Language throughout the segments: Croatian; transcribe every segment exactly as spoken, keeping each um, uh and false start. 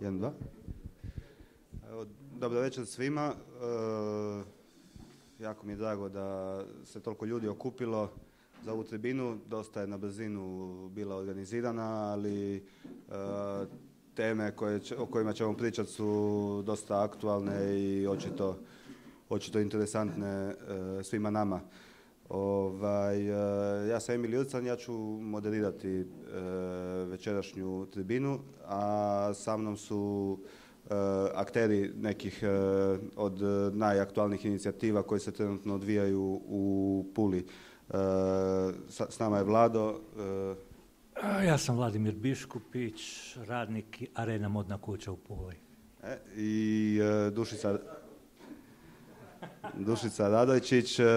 Jedan, dva. Evo, dobro večer svima. E, jako mi je drago da se toliko ljudi okupilo za ovu tribinu. Dosta je na brzinu bila organizirana, ali e, teme koje, o kojima ćemo pričati su dosta aktualne i očito, očito interesantne e, svima nama. Ovaj, ja sam Emil Jurcan, ja ću moderirati e, večerašnju tribinu, a sa mnom su e, akteri nekih e, od najaktualnijih inicijativa koje se trenutno odvijaju u Puli. E, sa, s nama je Vlado. E, ja sam Vladimir Biškupić, radnik Arena Modna kuća u Puli. E, I e, Dušica... Dušica Radojčić e, e,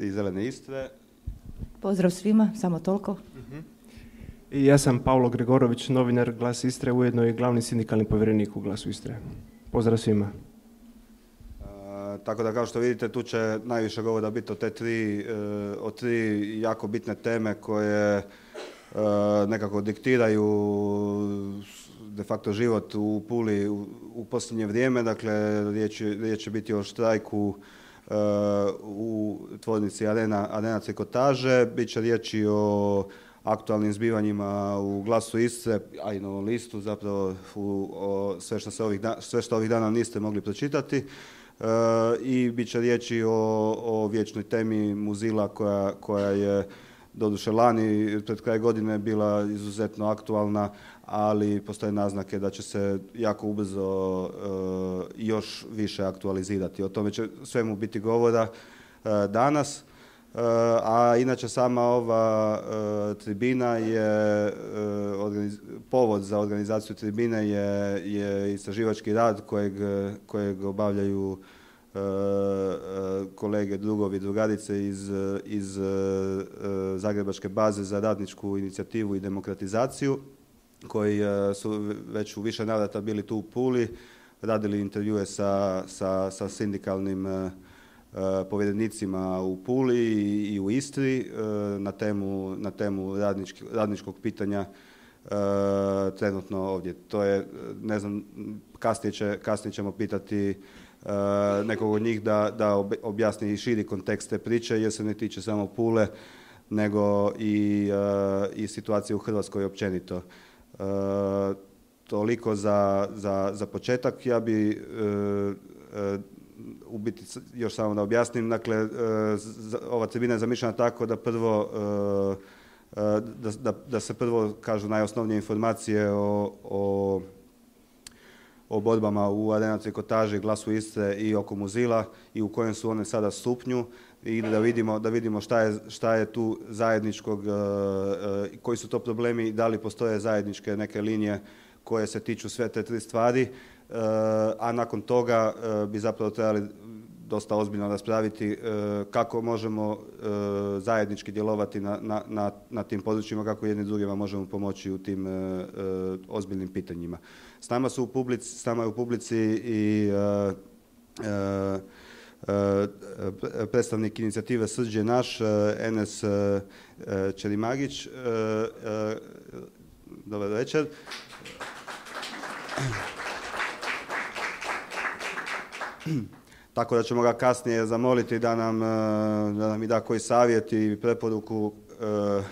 iz Zelene Istre. Pozdrav svima, samo toliko. Uh-huh. I ja sam Pavlo Gregorović, novinar Glas Istre, ujedno i glavni sindikalni povjerenik u Glasu Istre. Pozdrav svima. E, tako da kao što vidite tu će najviše govora biti o te tri, e, o tri jako bitne teme koje e, nekako diktiraju de facto život u Puli u, u posljednje vrijeme. Dakle, riječ, riječ će biti o štrajku uh, u tvornici Arena, Arena Trikotaže. Biće riječi o aktualnim zbivanjima u Glasu Istre, a i Novom listu, zapravo u, o sve, što se ovih da, sve što ovih dana niste mogli pročitati. Uh, I bit će riječi o, o vječnoj temi Muzila koja, koja je doduše lani pred kraj godine bila izuzetno aktualna, ali postoje naznake da će se jako ubrzo uh, još više aktualizirati. O tome će svemu biti govora uh, danas. Uh, a inače sama ova uh, tribina je, uh, organiz... povod za organizaciju tribine je, je istraživački rad kojeg, kojeg obavljaju Uh, uh, kolege, drugovi, drugarice iz, iz uh, Zagrebačke baze za radničku inicijativu i demokratizaciju, koji uh, su već u više navrata bili tu u Puli, radili intervjue sa, sa, sa sindikalnim uh, povjerenicima u Puli i, i u Istri uh, na temu, na temu radnički, radničkog pitanja uh, trenutno ovdje. To je, ne znam, kasnije, će, kasnije ćemo pitati Uh, nekog od njih da, da objasni i širi kontekst te priče, jer se ne tiče samo Pule, nego i, uh, i situacije u Hrvatskoj općenito. Uh, toliko za, za, za početak. Ja bi uh, uh, u biti još samo da objasnim. Dakle, uh, ova tribina je zamišljena tako da prvo uh, uh, da, da, da se prvo kažu najosnovnije informacije o, o o borbama u Arena Trikotaži, Glasu Istre i oko Muzila i u kojem su one sada stupnju i da vidimo, da vidimo šta je, šta je tu zajedničkog, uh, uh, koji su to problemi, da li postoje zajedničke neke linije koje se tiču sve te tri stvari, uh, a nakon toga uh, bi zapravo trebali dosta ozbiljno raspraviti uh, kako možemo uh, zajednički djelovati na, na, na, na tim područjima, kako jedni drugima možemo pomoći u tim uh, uh, ozbiljnim pitanjima. S nama su u publici, s nama je u publici i uh, uh, uh, predstavnik inicijative Srđ je naš, uh, Enes uh, Čerimagić. Uh, uh, dobar večer. Tako da ćemo ga kasnije zamoliti da nam, da nam i da koji savjet i preporuku uh,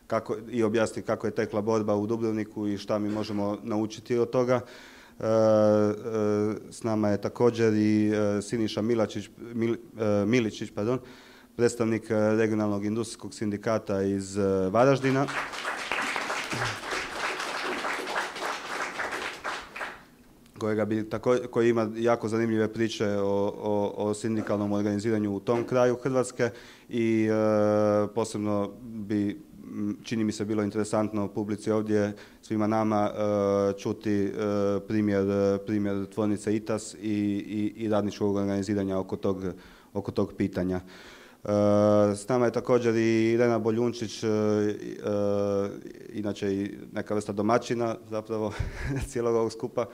kako, i objasni kako je tekla borba u Dubrovniku i šta mi možemo naučiti od toga. Uh, uh, s nama je također i uh, Siniša Milačić, Mil, uh, Miličić, pardon, predstavnik uh, regionalnog industrijskog sindikata iz uh, Varaždina. Kojega bi tako, koji ima jako zanimljive priče o, o, o sindikalnom organiziranju u tom kraju Hrvatske i e, posebno bi, čini mi se, bilo interesantno u publici ovdje svima nama e, čuti e, primjer, primjer tvornice Itas i, i, i radničkog organiziranja oko tog, oko tog pitanja. E, s nama je također i Irena Boljunčić, e, e, inače i neka vrsta domaćina zapravo cijelog ovog skupa,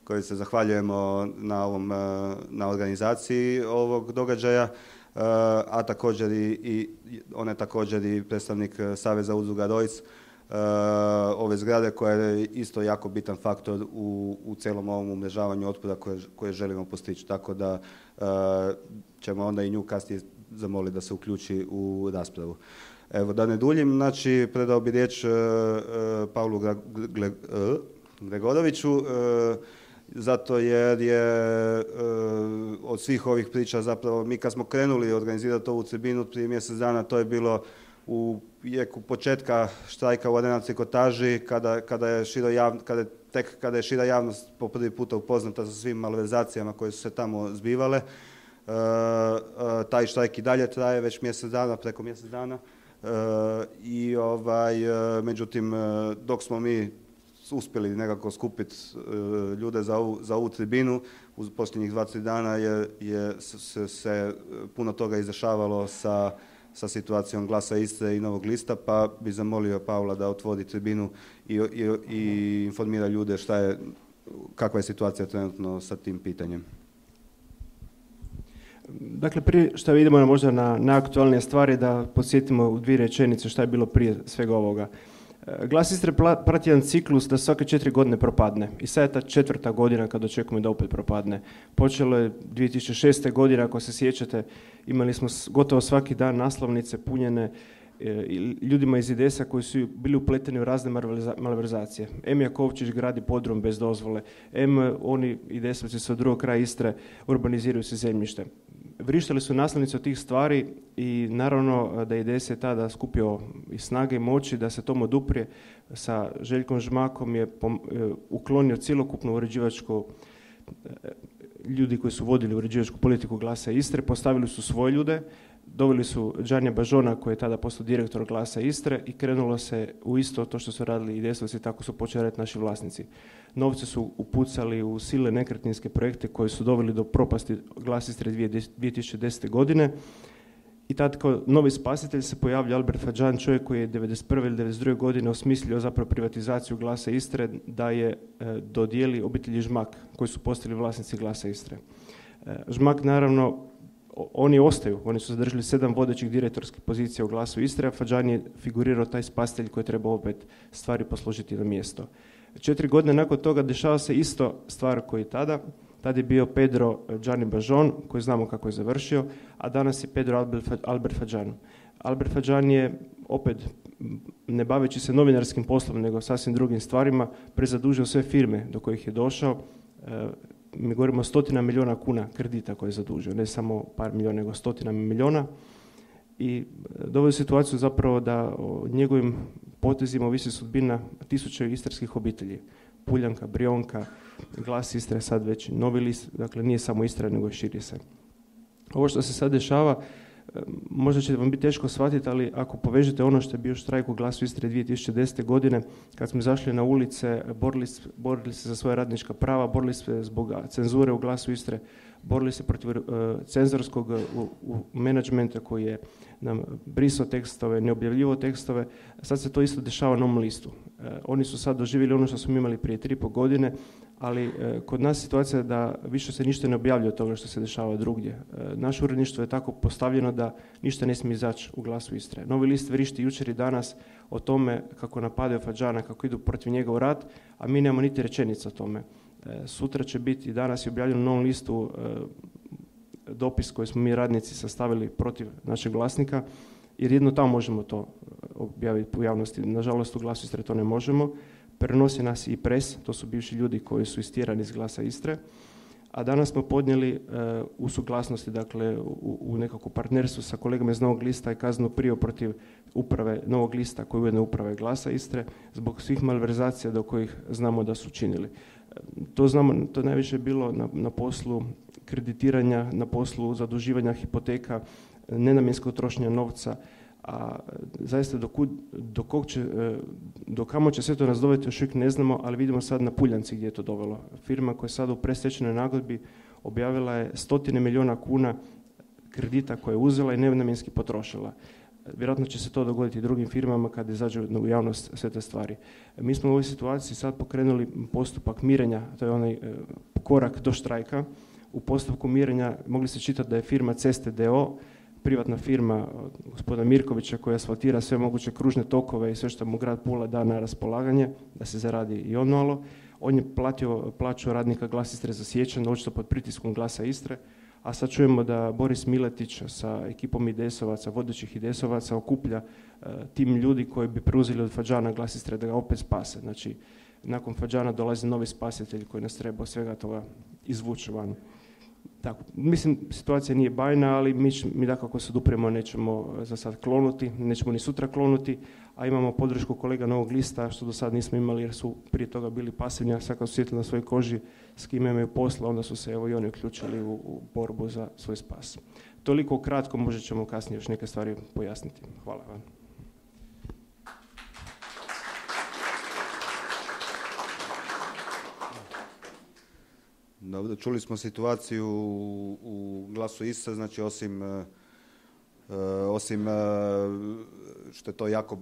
koji se zahvaljujemo na, ovom, na organizaciji ovog događaja, a također i, i on je također i predstavnik Saveza udruga Rojc, ove zgrade koja je isto jako bitan faktor u, u cijelom ovom umrežavanju otpada koje, koje želimo postići. Tako da ćemo onda i nju kasnije zamoliti da se uključi u raspravu. Evo, da ne duljim, znači predao bi riječ uh, uh, Pavlu Gle, uh, Gregoroviću, uh, zato jer je uh, od svih ovih priča zapravo, mi kad smo krenuli organizirati ovu tribinu prije mjesec dana, to je bilo u jeku početka štrajka u Arena Trikotaži, kada, kada je šira javnost, kada je, tek kada je šira javnost po prvi puta upoznata sa svim malverzacijama koje su se tamo zbivale. Uh, uh, taj štrajk i dalje traje već mjesec dana, preko mjesec dana. Uh, i ovaj, uh, međutim, uh, dok smo mi uspjeli nekako skupiti uh, ljude za ovu, za ovu tribinu, u posljednjih dva tri dana je, je se, se puno toga izdešavalo sa, sa situacijom Glasa Istre i Novog lista, pa bi zamolio Pavla da otvori tribinu i, i, i informira ljude šta je, kakva je situacija trenutno sa tim pitanjem. Dakle, prije što vidimo možda na najaktualnije stvari, da podsjetimo u dvije rečenice šta je bilo prije svega ovoga. Glas Istre prati jedan ciklus da svake četiri godine propadne. I sad je ta četvrta godina kad očekujemo da opet propadne. Počelo je dvije tisuće šeste godine, ako se sjećate, imali smo gotovo svaki dan naslovnice punjene ljudima iz I D S-a koji su bili upleteni u razne malverzacije. Em Jakovčić gradi podrum bez dozvole, em oni I D S-ovci sa drugog kraja Istre urbaniziraju se zemljište. Vrištali su naslovnice od tih stvari i naravno da I D S je tada skupio i snage i moći da se tomu oduprije. Sa Željkom Žmakom je uklonio cjelokupnu uređivačku, ljudi koji su vodili uređivačku politiku Glasa Istre, postavili su svoje ljude, doveli su Đanja Bažona koji je tada postao direktor Glasa Istre i krenulo se u isto to što su radili I D S-ovci, tako su počeli raditi naši vlasnici. Novce su upucali u silne nekretninske projekte koji su doveli do propasti Glas Istre dvije tisuće desete. godine i tad kao novi spasitelj se pojavlja Albert Fadžan, čovjek koji je devedeset prve ili devedeset druge. godine osmislio zapravo privatizaciju Glasa Istre, da je e, dodijeli obitelji Žmak koji su postali vlasnici Glasa Istre. E, Žmak naravno, oni ostaju, oni su zadržali sedam vodećih direktorskih pozicija u Glasu Istre, a Fadžan je figurirao taj spasitelj koji treba opet stvari posložiti na mjesto. Četiri godine nakon toga dešava se isto stvar koji tada. Tad je bio Pedro Đani Bažon, koji znamo kako je završio, a danas je Pedro Albert Fadžan. Albert Fadžan je opet, ne baveći se novinarskim poslom, nego sasvim drugim stvarima, prezadužio sve firme do kojih je došao. Mi govorimo o stotina milijuna kuna kredita koje je zadužio, ne samo par milijuna, nego stotina milijuna. I dovodi situaciju zapravo da o njegovim potezima ovisi sudbina tisuća istarskih obitelji. Puljanka, Brionka, Glas Istre, sad već Novi list, dakle nije samo Istra, nego i širi se. Ovo što se sad dešava, možda će vam biti teško shvatiti, ali ako povežete ono što je bio štrajk u Glasu Istre dvije tisuće desete. godine, kad smo izašli na ulice, borili, borili se za svoja radnička prava, borili se zbog cenzure u Glasu Istre, borili se protiv uh, cenzorskog uh, u, u menadžmenta koji je nam brisao tekstove, ne objavljivao tekstove. Sad se to isto dešava na Novom listu. Uh, oni su sad doživjeli ono što smo imali prije tri i pol godine, ali uh, kod nas situacija je da više se ništa ne objavljuje od toga što se dešava drugdje. Uh, naše uredništvo je tako postavljeno da ništa ne smije izaći u Glasu Istre. Novi list vrišti jučer i danas o tome kako napadaju Fadžana, kako idu protiv njega u rat, a mi nemamo niti rečenica o tome. Sutra će biti, danas je objavljeno na Novom listu dopis koji smo mi radnici sastavili protiv našeg vlasnika, jer jedno tamo možemo to objaviti u javnosti. Nažalost, u Glasu Istre to ne možemo. Prenosi nas i pres, to su bivši ljudi koji su istjerani iz Glasa Istre. A danas smo podnijeli u suglasnosti, dakle u, u nekako partnerstvu sa kolegama iz Novog lista i kaznenu prijavu protiv uprave Novog lista, koji je ujedno uprave Glasa Istre, zbog svih malverzacija do kojih znamo da su činili. To znamo, to najviše je bilo na, na poslu kreditiranja, na poslu zaduživanja hipoteka, nenamjenskog trošenja novca, a zaista do, kud, do, kog će, do kamo će sve to nas dovesti još uvijek ne znamo, ali vidimo sad na Puljanci gdje je to dovelo. Firma koja je sad u predstečajnoj nagodbi objavila je stotine milijuna kuna kredita koje je uzela i nenamjenski potrošila. Vjerojatno će se to dogoditi i drugim firmama kad izađu u javnost sve te stvari. Mi smo u ovoj situaciji sad pokrenuli postupak mirenja, to je onaj korak do štrajka. U postupku mirenja mogli se čitati da je firma Ceste d o o privatna firma gospodina Mirkovića koja asfaltira sve moguće kružne tokove i sve što mu grad Pula da na raspolaganje, da se zaradi i on malo. On je platio plaću radnika Glas Istre za siječanj, očito pod pritiskom Glasa Istre, a sad čujemo da Boris Miletić sa ekipom I D S-ovaca, vodećih I D S-ovaca okuplja uh, tim ljudi koji bi preuzeli od Fađana Glas Istre da ga opet spase. Znači, nakon Fađana dolazi novi spasitelj koji nas treba svega toga izvući van. Tako, mislim, situacija nije bajna, ali mi, mi dakako se dupremo, nećemo za sad klonuti, nećemo ni sutra klonuti, a imamo podršku kolega Novog lista, što do sad nismo imali jer su prije toga bili pasivni, a sad kad su sjetili na svojoj koži s kime imaju posla, onda su se evo i oni uključili u, u borbu za svoj spas. Toliko kratko, možda ćemo kasnije još neke stvari pojasniti. Hvala vam. Dobro, čuli smo situaciju u, u Glasu Istre, znači osim, uh, osim uh, što je to jako,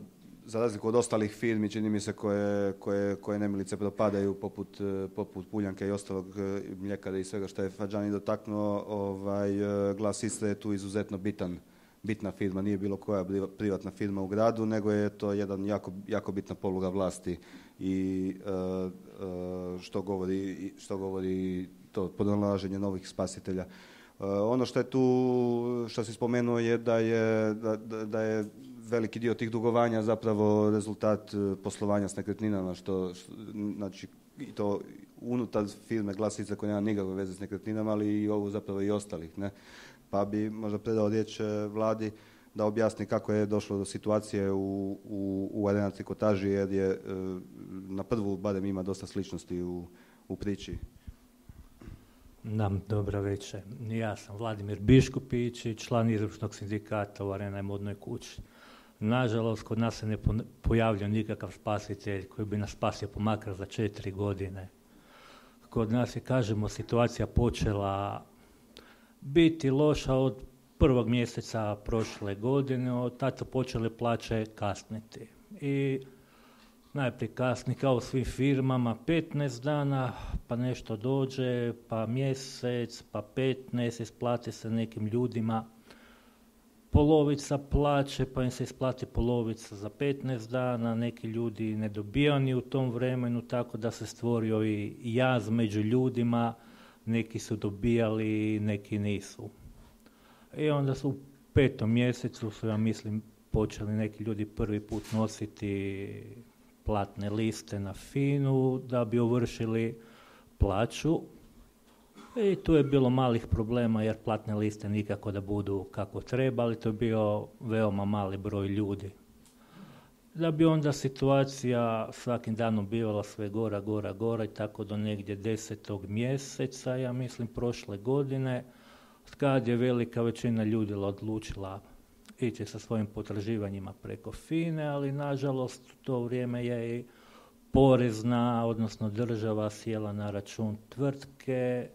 za razliku od ostalih firmi, čini mi se koje, koje, koje nemilice propadaju poput, poput Puljanke i ostalog mljekara i svega što je Fađani dotaknuo, ovaj, Glas Istre je tu izuzetno bitan, bitna firma, nije bilo koja privatna firma u gradu, nego je to jedan jako, jako bitna poluga vlasti i uh, uh, što govori, što govori to pronalaženje novih spasitelja. Uh, ono što je tu, što si spomenuo je da je, da, da je veliki dio tih dugovanja zapravo rezultat poslovanja s nekretninama, što, što znači i to unutar firme Glas Istre koja nema nikakve veze s nekretninama, ali i ovu zapravo i ostalih, ne? Pa bi možda predao riječ Vladi da objasni kako je došlo do situacije u, u, u Arena Trikotaži, jer je na prvu barem ima dosta sličnosti u, u priči. Nam, dobra večer. Ja sam Vladimir Biškupić i član izvršnog sindikata u Arena modnoj kući. Nažalost, kod nas se ne pojavlja nikakav spasitelj koji bi nas spasio pomakar za četiri godine. Kod nas je, kažemo, situacija počela biti loša od prvog mjeseca prošle godine, od tada počele plaće kasniti. I najprije kasni kao u svim firmama petnaest dana, pa nešto dođe, pa mjesec, pa petnaest, isplati se nekim ljudima polovica plaće, pa im se isplati polovica za petnaest dana, neki ljudi ne dobijaju ni u tom vremenu, tako da se stvorio i jaz među ljudima, neki su dobijali, neki nisu. I onda su u petom mjesecu su, ja mislim, počeli neki ljudi prvi put nositi platne liste na FINU da bi ovršili plaću. I tu je bilo malih problema jer platne liste nikako da budu kako treba, ali to je bio veoma mali broj ljudi. Da bi onda situacija svakim danom bivala sve gora, gora, gora i tako do negdje desetog mjeseca, ja mislim prošle godine, kad je velika većina ljudi odlučila ići sa svojim potraživanjima preko FINE, ali nažalost u to vrijeme je i porezna, odnosno država sjela na račun tvrtke,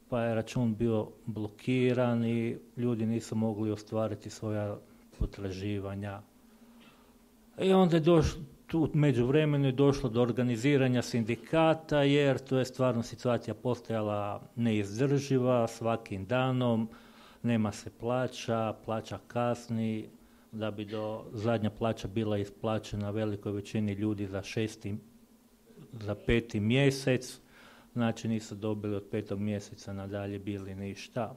pa je račun bio blokiran i ljudi nisu mogli ostvariti svoja potraživanja. I onda je došlo, tu među vremenu je došlo do organiziranja sindikata, jer to je stvarno situacija postajala neizdrživa, svakim danom nema se plaća, plaća kasni, da bi do zadnja plaća bila isplaćena velikoj većini ljudi za šesti, za peti mjesec, znači nisu dobili od petog mjeseca nadalje bili ništa.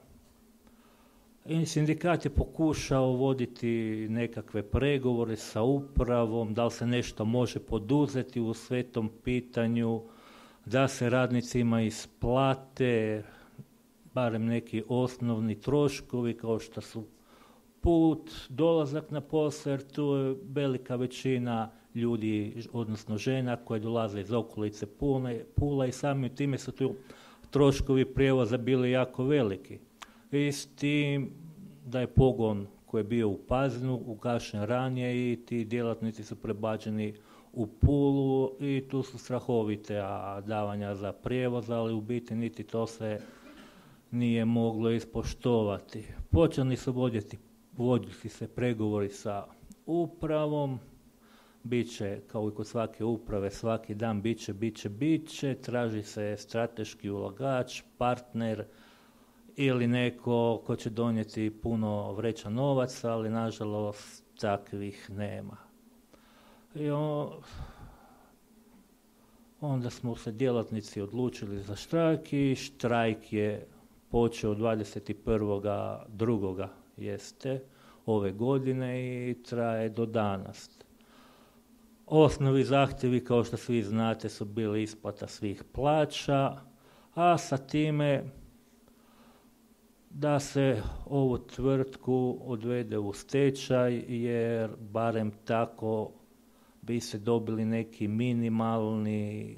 I sindikat je pokušao voditi nekakve pregovore sa upravom, da li se nešto može poduzeti u svetom pitanju, da se radnicima isplate barem neki osnovni troškovi kao što su put, dolazak na posao, jer tu je velika većina ljudi, odnosno žena koje dolaze iz okolice Pula i samim time su tu troškovi prijevoza bili jako veliki. I s tim da je pogon koji je bio u Pazinu ugašen ranije i ti djelatnici su prebačeni u Pulu i tu su strahovite davanja za prijevoz, ali u biti niti to se nije moglo ispoštovati. Počeli su voditi, voditi se pregovori sa upravom, bit će, kao i kod svake uprave, svaki dan bit će, bit će, bit će, traži se strateški ulagač, partner ili neko ko će donijeti puno vreća novaca, ali nažalost takvih nema. I on, onda smo se djelatnici odlučili za štrajk i štrajk je počeo dvadeset prvoga drugoga jeste ove godine i traje do danas. Osnovi zahtjevi, kao što svi znate, su bili isplata svih plaća, a sa time da se ovu tvrtku odvede u stečaj, jer barem tako bi se dobili neki minimalni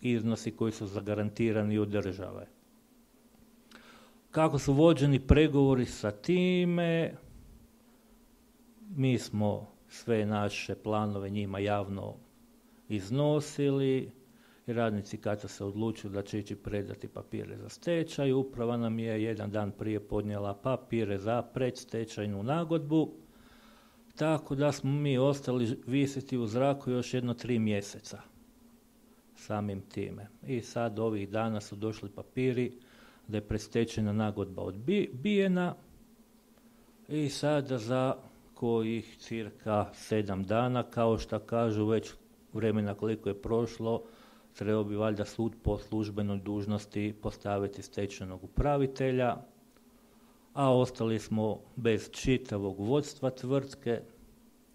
iznosi koji su zagarantirani od države. Kako su vođeni pregovori sa time, mi smo sve naše planove njima javno iznosili i radnici kad su se odlučili da će ići predati papire za stečaj, uprava nam je jedan dan prije podnijela papire za predstečajnu nagodbu, tako da smo mi ostali visiti u zraku još jedno tri mjeseca samim time. I sad ovih dana su došli papiri da je predstečajna nagodba odbijena i sada za kojih cirka sedam dana, kao što kažu već vremena koliko je prošlo, trebao bi valjda sud po službenoj dužnosti postaviti stečajnog upravitelja, a ostali smo bez čitavog vodstva tvrtke,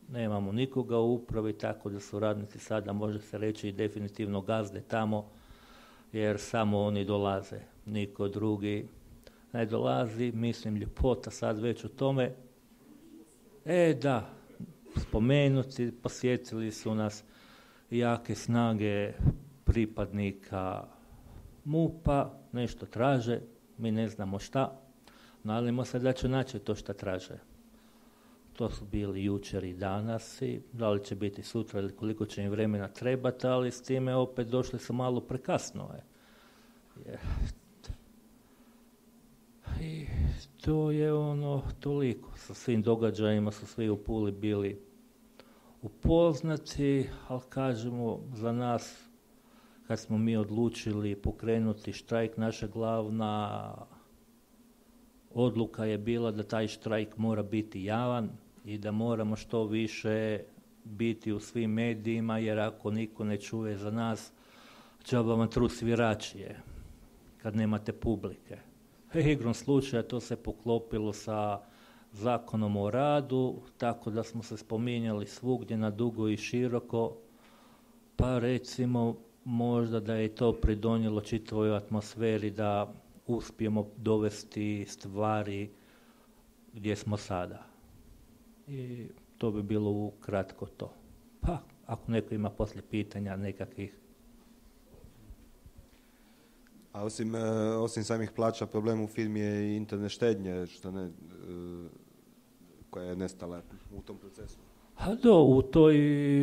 nemamo nikoga u upravi, tako da su radnici sada, može se reći, i definitivno gazde tamo, jer samo oni dolaze, niko drugi ne dolazi, mislim ljepota sad već u tome. E da, spomenuti, posjetili su nas jake snage pripadnika MUP-a, nešto traže, mi ne znamo šta, nadamo se da će naći to šta traže. To su bili jučer i danas i da li će biti sutra ili koliko će im vremena trebati, ali s time opet došli su malo prekasno. Je. I to je ono toliko. Sa svim događajima su svi u Puli bili upoznati, ali kažemo za nas, kad smo mi odlučili pokrenuti štrajk, naša glavna odluka je bila da taj štrajk mora biti javan i da moramo što više biti u svim medijima, jer ako niko ne čuje za nas, džaba vam trud sviračije kad nemate publike. Igrom slučaja to se poklopilo sa Zakonom o radu, tako da smo se spominjali svugdje na dugo i široko, pa recimo možda da je to pridonijelo čitavoj atmosferi da uspijemo dovesti stvari gdje smo sada. I to bi bilo ukratko to. Pa, ako neko ima poslije pitanja nekakvih. A osim, osim samih plaća, problem u firmi je i internet štednje, što ne, koja je nestala u tom procesu. A do, u toj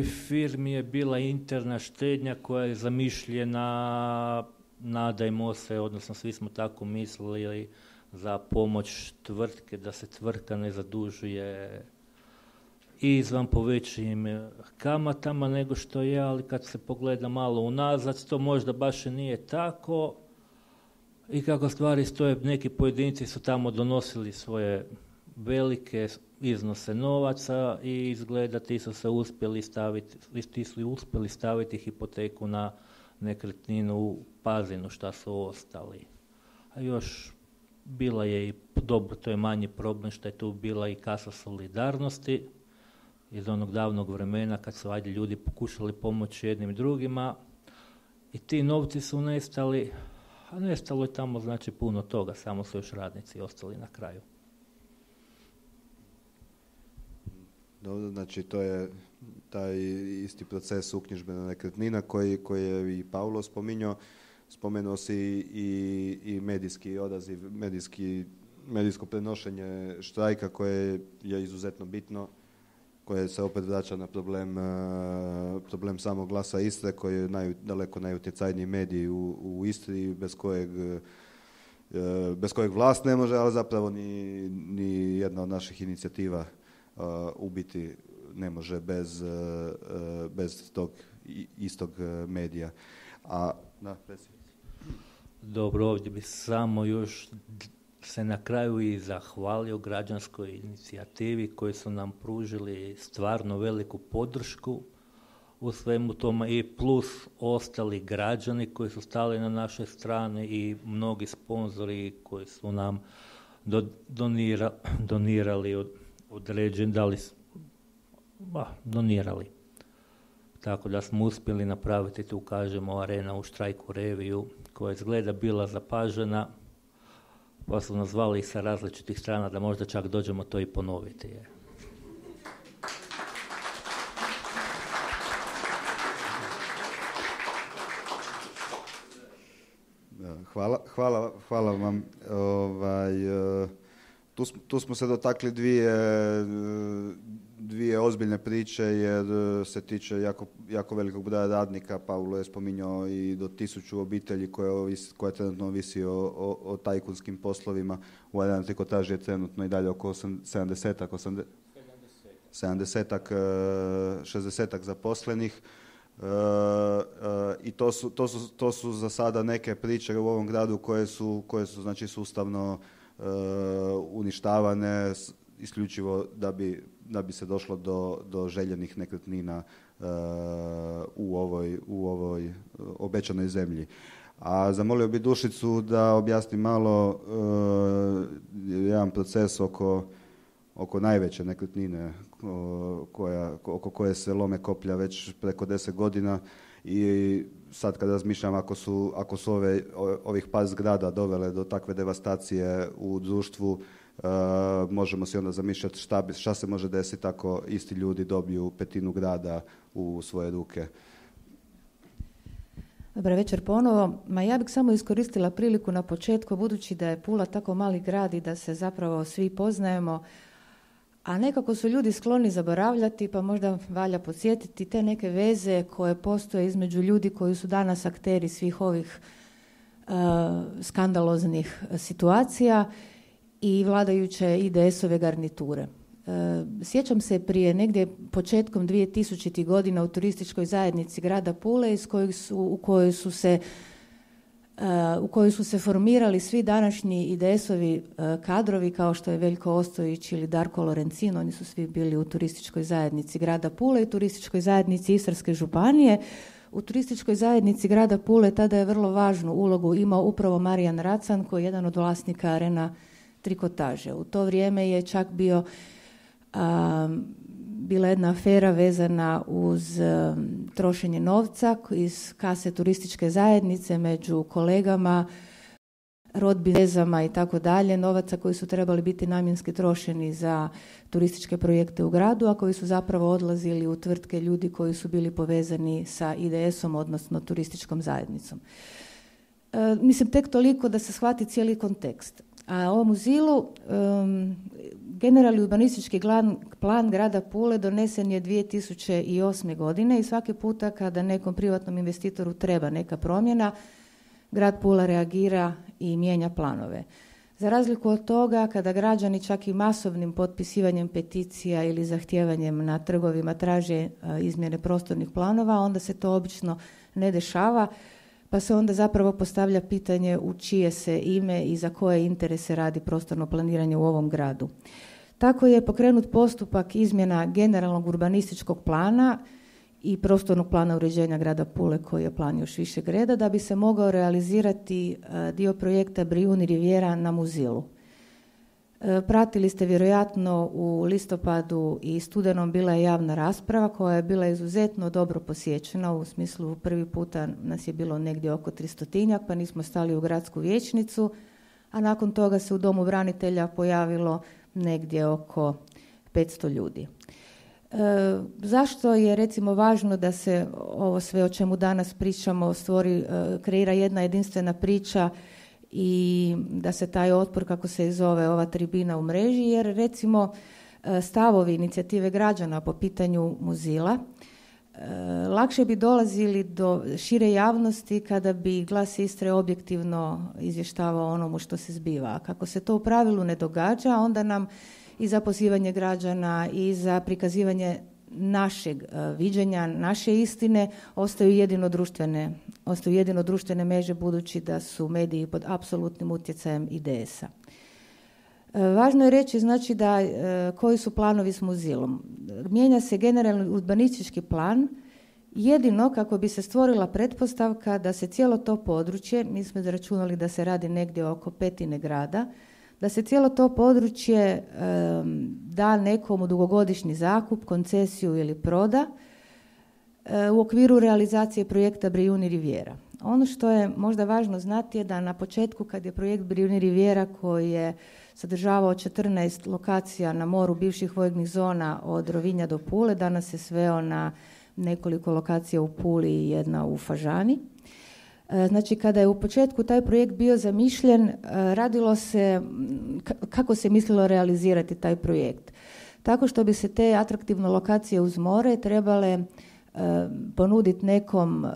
firmi je bila interna štednja koja je zamišljena, nadajmo se, odnosno svi smo tako mislili, za pomoć tvrtke, da se tvrtka ne zadužuje izvan po većim kamatama nego što je, ali kad se pogleda malo unazad, to možda baš i nije tako. I kako stvari stoje, neki pojedinci su tamo donosili svoje velike iznose novaca i izgleda ti su se uspjeli staviti, ti su uspjeli staviti hipoteku na nekretninu u Pazinu, šta su ostali. A još bila je i, dobro, to je manji problem što je tu bila i kasa solidarnosti iz onog davnog vremena kad su ajde ljudi pokušali pomoći jednim drugima i ti novci su nestali, a nestalo je tamo znači puno toga, samo su još radnici ostali na kraju. Dobro, znači to je taj isti proces uknjižbe na nekretnina koji, koji je i Paulo spominjao. Spomenuo si i, i medijski odaziv, medijski, medijsko prenošenje štrajka koje je izuzetno bitno, koje se opet vraća na problem, problem samog Glasa Istre, koji je naj, daleko najutjecajniji medij u, u Istri, bez kojeg, bez kojeg vlast ne može, ali zapravo ni, ni jedna od naših inicijativa uh, u biti ne može bez, uh, bez tog istog medija. A, da, predsjednici. Dobro, ovdje bi samo još se na kraju i zahvalio građanskoj inicijativi koji su nam pružili stvarno veliku podršku u svemu tome i plus ostali građani koji su stali na našoj strani i mnogi sponzori koji su nam do, donira, donirali od, određen, dali, ba, donirali. Tako da smo uspjeli napraviti tu, kažemo, Arena u štrajku reviju koja izgleda bila zapažena, pa su nas zvali sa različitih strana da možda čak dođemo to i ponoviti. Je. Hvala, hvala, hvala vam. Ovaj, tu, tu smo se dotakli dvije, dvije ozbiljne priče jer se tiče jako, jako velikog broja radnika. Paulo je spominjao i do tisuću obitelji koje, koje trenutno ovisi o, o, o tajkunskim poslovima. U Arena Trikotaži je trenutno i dalje oko sedamdesetak, sedamdesetak, šezdesetak zaposlenih. Uh, uh, i to su, to, su, to su za sada neke priče u ovom gradu koje su, koje su znači sustavno uh, uništavane isključivo da bi, da bi se došlo do, do željenih nekretnina uh, u ovoj, u ovoj obećanoj zemlji. A zamolio bi Dušicu da objasni malo uh, jedan proces oko oko najveće nekretnine koja, oko koje se lome koplja već preko deset godina i sad kad razmišljam ako su, ako su ove, ovih par zgrada dovele do takve devastacije u društvu, uh, možemo si onda zamišljati šta, šta se može desiti ako isti ljudi dobiju petinu grada u svoje ruke. Dobar večer ponovo. Ma ja bih samo iskoristila priliku na početku, budući da je Pula tako mali grad i da se zapravo svi poznajemo, a nekako su ljudi skloni zaboravljati, pa možda valja podsjetiti te neke veze koje postoje između ljudi koji su danas akteri svih ovih uh, skandaloznih situacija i vladajuće I D S-ove garniture. Uh, sjećam se prije negdje početkom dvije tisućitih godina u turističkoj zajednici grada Pule iz kojih su, u kojoj su se u kojoj su se formirali svi današnji I D S-ovi kadrovi kao što je Veljko Ostojić ili Darko Lorencin. Oni su svi bili u turističkoj zajednici grada Pule i turističkoj zajednici Istarske županije. U turističkoj zajednici grada Pule tada je vrlo važnu ulogu imao upravo Marijan Racan koji je jedan od vlasnika Arena Trikotaže. U to vrijeme je čak bio a, bila jedna afera vezana uz um, trošenje novca iz kase turističke zajednice među kolegama, rodbinama i tako dalje, novaca koji su trebali biti namjenski trošeni za turističke projekte u gradu, a koji su zapravo odlazili u tvrtke ljudi koji su bili povezani sa I D S-om, odnosno turističkom zajednicom. E, mislim, tek toliko da se shvati cijeli kontekst. A o muzilu, um, generalni urbanistički plan grada Pule donesen je dvije tisuće osme. godine i svaki puta kada nekom privatnom investitoru treba neka promjena, grad Pula reagira i mijenja planove. Za razliku od toga, kada građani čak i masovnim potpisivanjem peticija ili zahtijevanjem na trgovima traže uh, izmjene prostornih planova, onda se to obično ne dešava, pa se onda zapravo postavlja pitanje u čije se ime i za koje interese radi prostorno planiranje u ovom gradu. Tako je pokrenut postupak izmjena generalnog urbanističkog plana i prostornog plana uređenja grada Pule, koji je plan još višeg reda, da bi se mogao realizirati dio projekta Brijuni Rivijera na Muzilu. Pratili ste vjerojatno u listopadu i studenom bila je javna rasprava koja je bila izuzetno dobro posjećena, u smislu prvi puta nas je bilo negdje oko tristotinjak, pa nismo stali u gradsku vijećnicu, a nakon toga se u Domu branitelja pojavilo negdje oko petsto ljudi. E, zašto je recimo važno da se ovo sve o čemu danas pričamo stvori, e, kreira jedna jedinstvena priča i da se taj otpor, kako se i zove ova tribina, u mreži, jer recimo stavovi inicijative građana po pitanju Muzila lakše bi dolazili do šire javnosti kada bi Glas Istre objektivno izvještavao onomu što se zbiva. A kako se to u pravilu ne događa, onda nam i za pozivanje građana i za prikazivanje našeg uh, viđenja, naše istine, ostaju jedino društvene, ostaju jedino društvene mreže, budući da su mediji pod apsolutnim utjecajem I D S-a. Važno je reći znači da koji su planovi s muzilom. Mijenja se generalni urbanistički plan jedino kako bi se stvorila pretpostavka da se cijelo to područje, mi smo izračunali da se radi negdje oko petine grada, da se cijelo to područje um, da nekom u dugogodišnji zakup, koncesiju ili proda uh, u okviru realizacije projekta Brijuni Riviera. Ono što je možda važno znati je da na početku kad je projekt Brijuni Riviera koji je sadržavao četrnaest lokacija na moru bivših vojnih zona od Rovinja do Pule, danas se sveo na nekoliko lokacija u Puli i jedna u Fažani. Znači, kada je u početku taj projekt bio zamišljen, radilo se, kako se mislilo realizirati taj projekt. Tako što bi se te atraktivne lokacije uz more trebale ponuditi nekom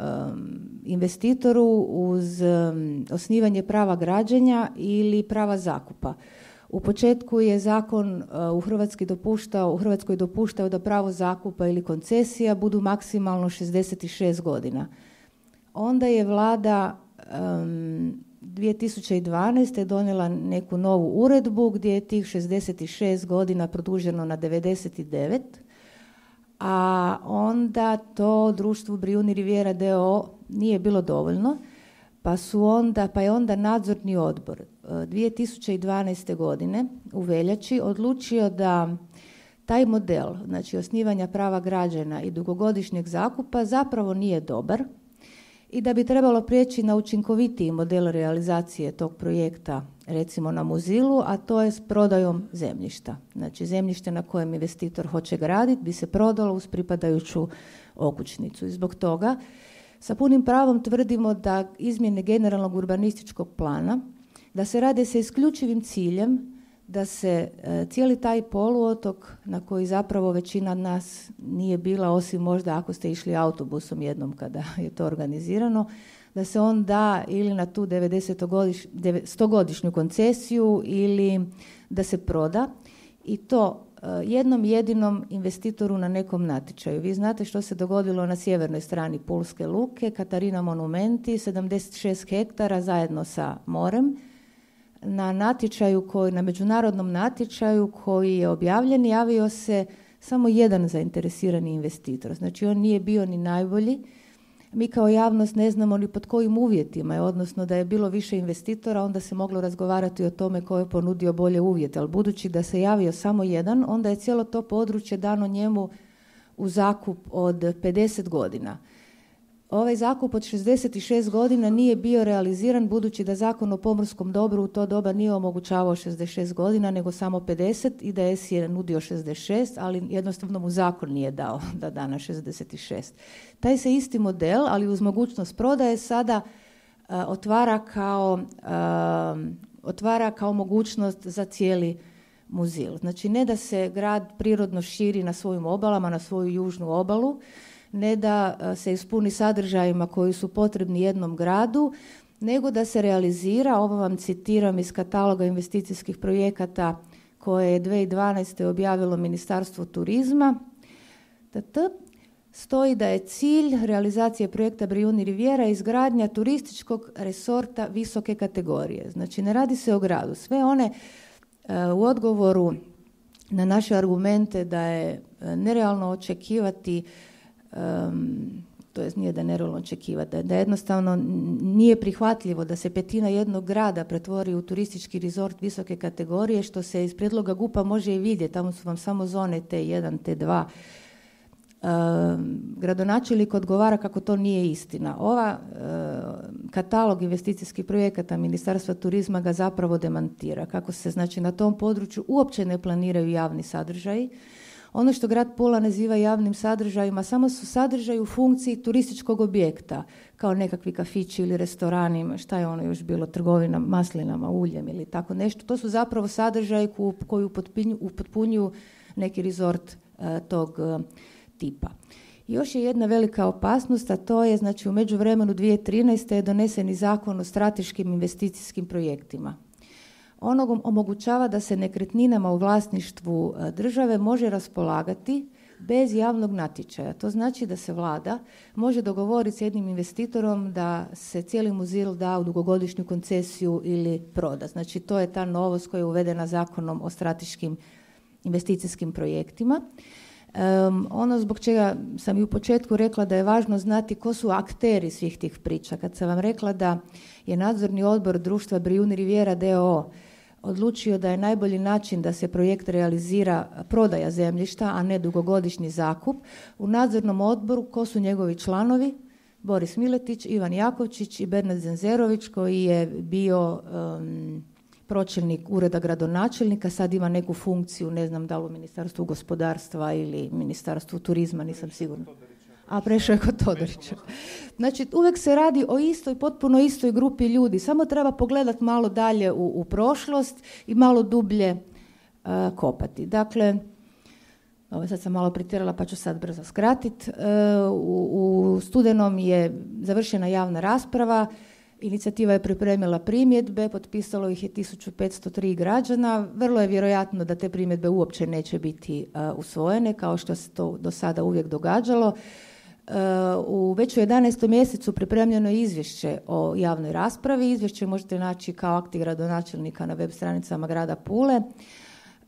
investitoru uz osnivanje prava građenja ili prava zakupa. U početku je zakon u Hrvatskoj dopuštao, u Hrvatskoj dopuštao da pravo zakupa ili koncesija budu maksimalno šezdeset šest godina. Onda je vlada um, dvije tisuće dvanaeste. donijela neku novu uredbu gdje je tih šezdeset šest godina produženo na devedeset devet, a onda to društvu Brijuni Riviera d o o nije bilo dovoljno, pa, su onda, pa je onda nadzorni odbor dvije tisuće dvanaeste. godine u veljači odlučio da taj model, znači osnivanja prava građana i dugogodišnjeg zakupa, zapravo nije dobar i da bi trebalo prijeći na učinkovitiji model realizacije tog projekta, recimo na Muzilu, a to je s prodajom zemljišta. Znači zemljište na kojem investitor hoće graditi bi se prodalo uz pripadajuću okućnicu. I zbog toga sa punim pravom tvrdimo da izmjene generalnog urbanističkog plana, da se rade sa isključivim ciljem da se e, cijeli taj poluotok na koji zapravo većina nas nije bila, osim možda ako ste išli autobusom jednom kada je to organizirano, da se on da ili na tu stogodišnju koncesiju ili da se proda i to e, jednom jedinom investitoru na nekom natječaju. Vi znate što se dogodilo na sjevernoj strani Pulske luke, Katarina Monumenti, sedamdeset šest hektara zajedno sa morem. Na natječaju koji, na međunarodnom natječaju koji je objavljen, javio se samo jedan zainteresirani investitor. Znači on nije bio ni najbolji. Mi kao javnost ne znamo ni pod kojim uvjetima, odnosno da je bilo više investitora, onda se moglo razgovarati o tome ko je ponudio bolje uvjete. Ali budući da se javio samo jedan, onda je cijelo to područje dano njemu u zakup od pedeset godina. Ovaj zakup od šezdeset šest godina nije bio realiziran budući da Zakon o pomorskom dobru u to doba nije omogućavao šezdeset šest godina nego samo pedeset. I D S je nudio šezdeset šest, ali jednostavno mu zakon nije dao da da na šezdeset šest. Taj se isti model, ali uz mogućnost prodaje, sada uh, otvara, kao, uh, otvara kao mogućnost za cijeli Muzil. Znači ne da se grad prirodno širi na svojim obalama, na svoju južnu obalu, ne da se ispuni sadržajima koji su potrebni jednom gradu, nego da se realizira, ovo vam citiram iz kataloga investicijskih projekata koje je dvije tisuće dvanaeste. objavilo Ministarstvo turizma, stoji da je cilj realizacije projekta Brijuni Riviera izgradnja turističkog resorta visoke kategorije. Znači ne radi se o gradu. Sve one uh, u odgovoru na naše argumente da je nerealno očekivati Um, to jest nije da je nerealno očekivati, da jednostavno nije prihvatljivo da se petina jednog grada pretvori u turistički rezort visoke kategorije, što se iz prijedloga G U P-a može i vidjeti, tamo su vam samo zone T jedan, T dva. Um, gradonačelnik odgovara kako to nije istina. Ova uh, katalog investicijskih projekata Ministarstva turizma ga zapravo demantira, kako se znači na tom području uopće ne planiraju javni sadržaji. Ono što grad Pula naziva javnim sadržajima samo su sadržaji u funkciji turističkog objekta, kao nekakvi kafići ili restorani, šta je ono još bilo, trgovina maslinama, uljem ili tako nešto. To su zapravo sadržaji koji upotpunjuju neki rezort uh, tog uh, tipa. Još je jedna velika opasnost, a to je, znači u međuvremenu dvije tisuće trinaeste. je donesen i Zakon o strateškim investicijskim projektima. Ono omogućava da se nekretninama u vlasništvu države može raspolagati bez javnog natječaja. To znači da se vlada može dogovoriti s jednim investitorom da se cijeli muzil da u dugogodišnju koncesiju ili proda. Znači to je ta novost koja je uvedena zakonom o strateškim investicijskim projektima. Um, ono zbog čega sam i u početku rekla da je važno znati ko su akteri svih tih priča. Kad sam vam rekla da je nadzorni odbor društva Brijuni Riviera d o o odlučio da je najbolji način da se projekt realizira prodaja zemljišta, a ne dugogodišnji zakup, u nadzornom odboru ko su njegovi članovi? Boris Miletić, Ivan Jakovčić i Bernard Zenzerović koji je bio um, pročelnik ureda gradonačelnika, sad ima neku funkciju, ne znam da li u Ministarstvu gospodarstva ili Ministarstvu turizma, nisam sigurna. A prešao je kod Todorića. Znači, uvijek se radi o istoj, potpuno istoj grupi ljudi. Samo treba pogledati malo dalje u, u prošlost i malo dublje uh, kopati. Dakle, ovo sad sam malo pretjerala pa ću sad brzo skratiti. Uh, u, u studenom je završena javna rasprava. Inicijativa je pripremila primjedbe, potpisalo ih je tisuću petsto tri građana. Vrlo je vjerojatno da te primjedbe uopće neće biti uh, usvojene, kao što se to do sada uvijek događalo. Uh, u već u jedanaestom mjesecu pripremljeno je izvješće o javnoj raspravi. Izvješće možete naći kao akti gradonačelnika na web stranicama grada Pule.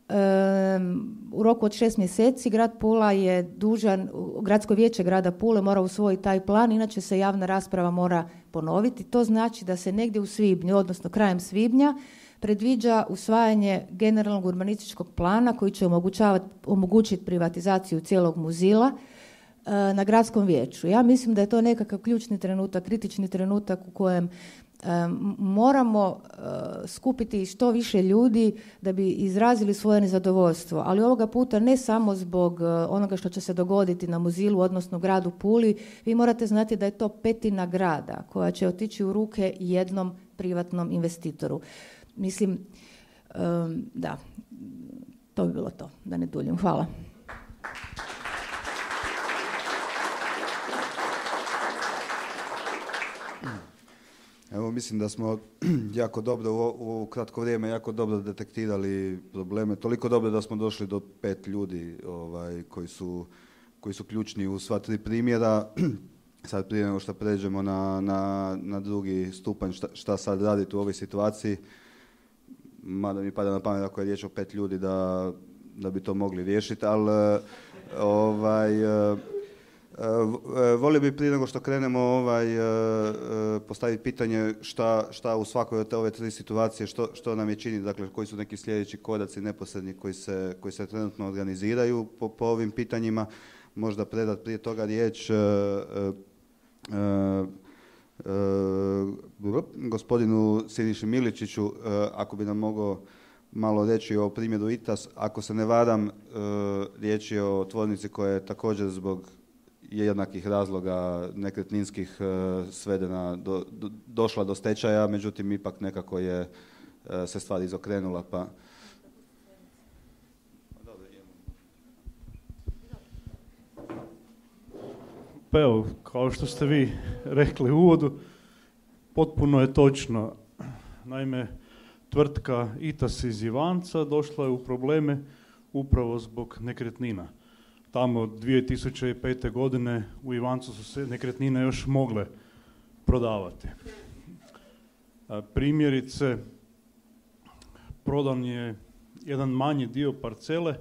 Um, u roku od šest mjeseci grad Pula je dužan, gradsko vijeće grada Pule mora usvojiti taj plan, inače se javna rasprava mora ponoviti. To znači da se negdje u svibnju, odnosno krajem svibnja, predviđa usvajanje generalnog urbanističkog plana koji će omogućiti privatizaciju cijelog muzila uh, na gradskom vijeću. Ja mislim da je to nekakav ključni trenutak, kritični trenutak u kojem Um, moramo uh, skupiti što više ljudi da bi izrazili svoje nezadovoljstvo, ali ovoga puta ne samo zbog uh, onoga što će se dogoditi na muzilu, odnosno gradu Puli. Vi morate znati da je to petina grada koja će otići u ruke jednom privatnom investitoru. Mislim, um, da, to bi bilo to, da ne duljim. Hvala. Evo, mislim da smo jako dobro u, u kratko vrijeme jako dobro detektirali probleme, toliko dobro da smo došli do pet ljudi ovaj, koji su, koji su ključni u sva tri primjera. Sad prije nego što pređemo na, na, na drugi stupanj šta, šta sad raditi u ovoj situaciji, mada mi pada na pamet ako je riječ o pet ljudi da, da bi to mogli riješiti, ali ovaj, volio bi prije nego što krenemo ovaj, postaviti pitanje šta, šta u svakoj od ove tri situacije, što, što nam je čini, dakle koji su neki sljedeći koraci neposredni koji se, koji se trenutno organiziraju po, po ovim pitanjima. Možda predati prije toga riječ uh, uh, uh, gospodinu Siniši Miličiću, uh, ako bi nam mogao malo reći o primjeru I T A S. Ako se ne varam, uh, riječ je o tvornici koja je također zbog jednakih razloga nekretninskih uh, svedena, do, do, došla do stečaja, međutim ipak nekako je uh, se stvar izokrenula, pa... Pa evo, kao što ste vi rekli u uvodu, potpuno je točno. Naime, tvrtka I T A S iz Ivanca došla je u probleme upravo zbog nekretnina. Tamo dvije tisuće pete. godine u Ivancu su se nekretnine još mogle prodavati. Primjerice, prodan je jedan manji dio parcele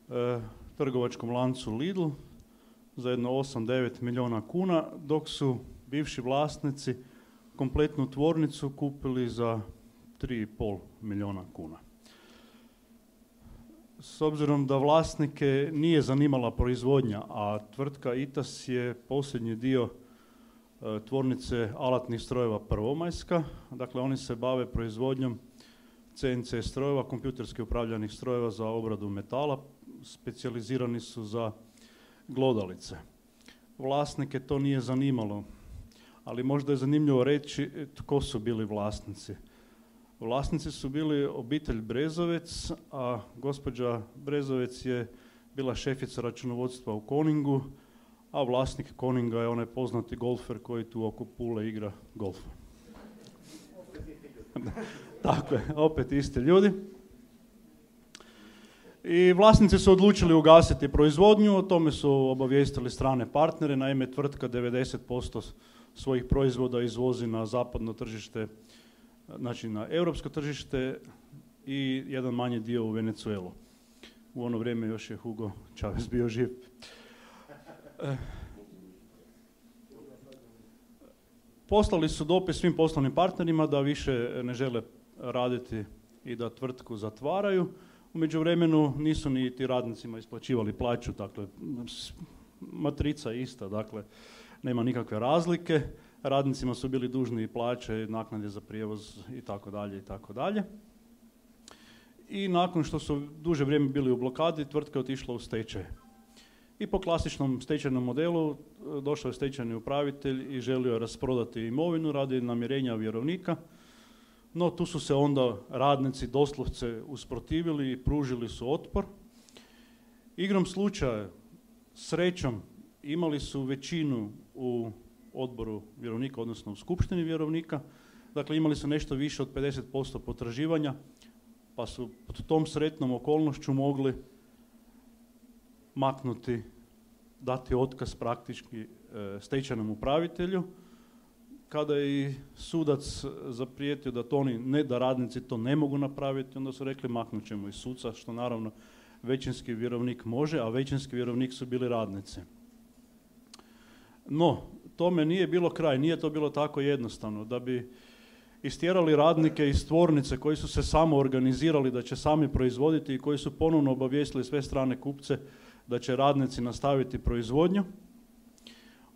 eh, trgovačkom lancu Lidl za jedno osam do devet milijuna kuna, dok su bivši vlasnici kompletnu tvornicu kupili za tri i pol milijuna kuna. S obzirom da vlasnike nije zanimala proizvodnja, a tvrtka I T A S je posljednji dio e, tvornice alatnih strojeva Prvomajska, dakle oni se bave proizvodnjom C N C strojeva, kompjuterski upravljanih strojeva za obradu metala, specijalizirani su za glodalice. Vlasnike to nije zanimalo, ali možda je zanimljivo reći tko su bili vlasnici. Vlasnici su bili obitelj Brezovec, a gospođa Brezovec je bila šefica računovodstva u Koningu, a vlasnik Koninga je onaj poznati golfer koji tu oko Pule igra golf. Tako je, opet isti ljudi. I vlasnici su odlučili ugasiti proizvodnju, o tome su obavijestili strane partnere, naime tvrtka devedeset posto svojih proizvoda izvozi na zapadno tržište, znači na europsko tržište i jedan manji dio u Venezuelu. U ono vrijeme još je Hugo Chavez bio živ. Poslali su dopis svim poslovnim partnerima da više ne žele raditi i da tvrtku zatvaraju. U međuvremenu nisu ni ti radnicima isplaćivali plaću, dakle matrica je ista, dakle nema nikakve razlike. Radnicima su bili dužni i plaće, naknade za prijevoz i tako dalje i tako dalje. I nakon što su duže vrijeme bili u blokadi, tvrtka je otišla u stečaj. I po klasičnom stečajnom modelu došao je stečajni upravitelj i želio rasprodati imovinu radi namirenja vjerovnika, no tu su se onda radnici doslovce usprotivili i pružili su otpor. Igrom slučaja, srećom, imali su većinu u odboru vjerovnika, odnosno u skupštini vjerovnika, dakle imali su nešto više od pedeset posto potraživanja, pa su pod tom sretnom okolnošću mogli maknuti, dati otkaz praktički e, stečajnom upravitelju. Kada je i sudac zaprijetio da to oni, ne da radnici to ne mogu napraviti, onda su rekli maknut ćemo i suca, što naravno većinski vjerovnik može, a većinski vjerovnik su bili radnici. No, tome nije bilo kraj, nije to bilo tako jednostavno. Da bi istjerali radnike iz tvornice koji su se samo organizirali da će sami proizvoditi i koji su ponovno obavijestili sve strane kupce da će radnici nastaviti proizvodnju,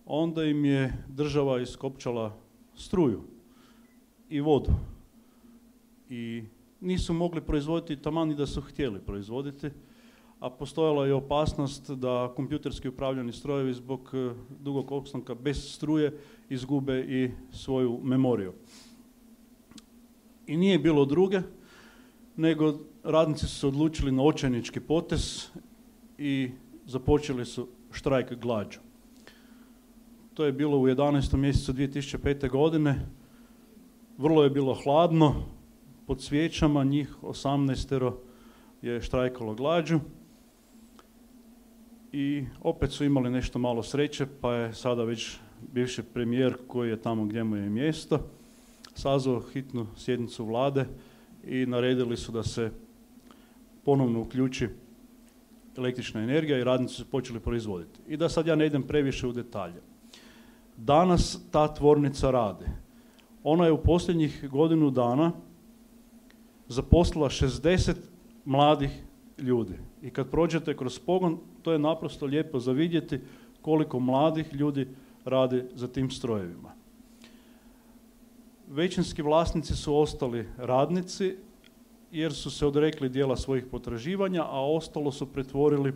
onda im je država iskopčala struju i vodu. I nisu mogli proizvoditi taman i da su htjeli proizvoditi, a postojala je opasnost da kompjuterski upravljani strojevi zbog dugog opstanka bez struje izgube i svoju memoriju. I nije bilo druge, nego radnici su se odlučili na očajnički potez i započeli su štrajk glađu. To je bilo u jedanaestom mjesecu dvije tisuće pete. godine. Vrlo je bilo hladno, pod svijećama njih osamnaestero je štrajkalo glađu. I opet su imali nešto malo sreće, pa je sada već bivši premijer, koji je tamo gdje mu je mjesto, sazvao hitnu sjednicu vlade i naredili su da se ponovno uključi električna energija i radnici su počeli proizvoditi. I da sad ja ne idem previše u detalje. Danas ta tvornica radi. Ona je u posljednjih godinu dana zaposlila šezdeset mladih ljudi. I kad prođete kroz pogon, to je naprosto lijepo za vidjeti koliko mladih ljudi radi za tim strojevima. Većinski vlasnici su ostali radnici jer su se odrekli dijela svojih potraživanja, a ostalo su pretvorili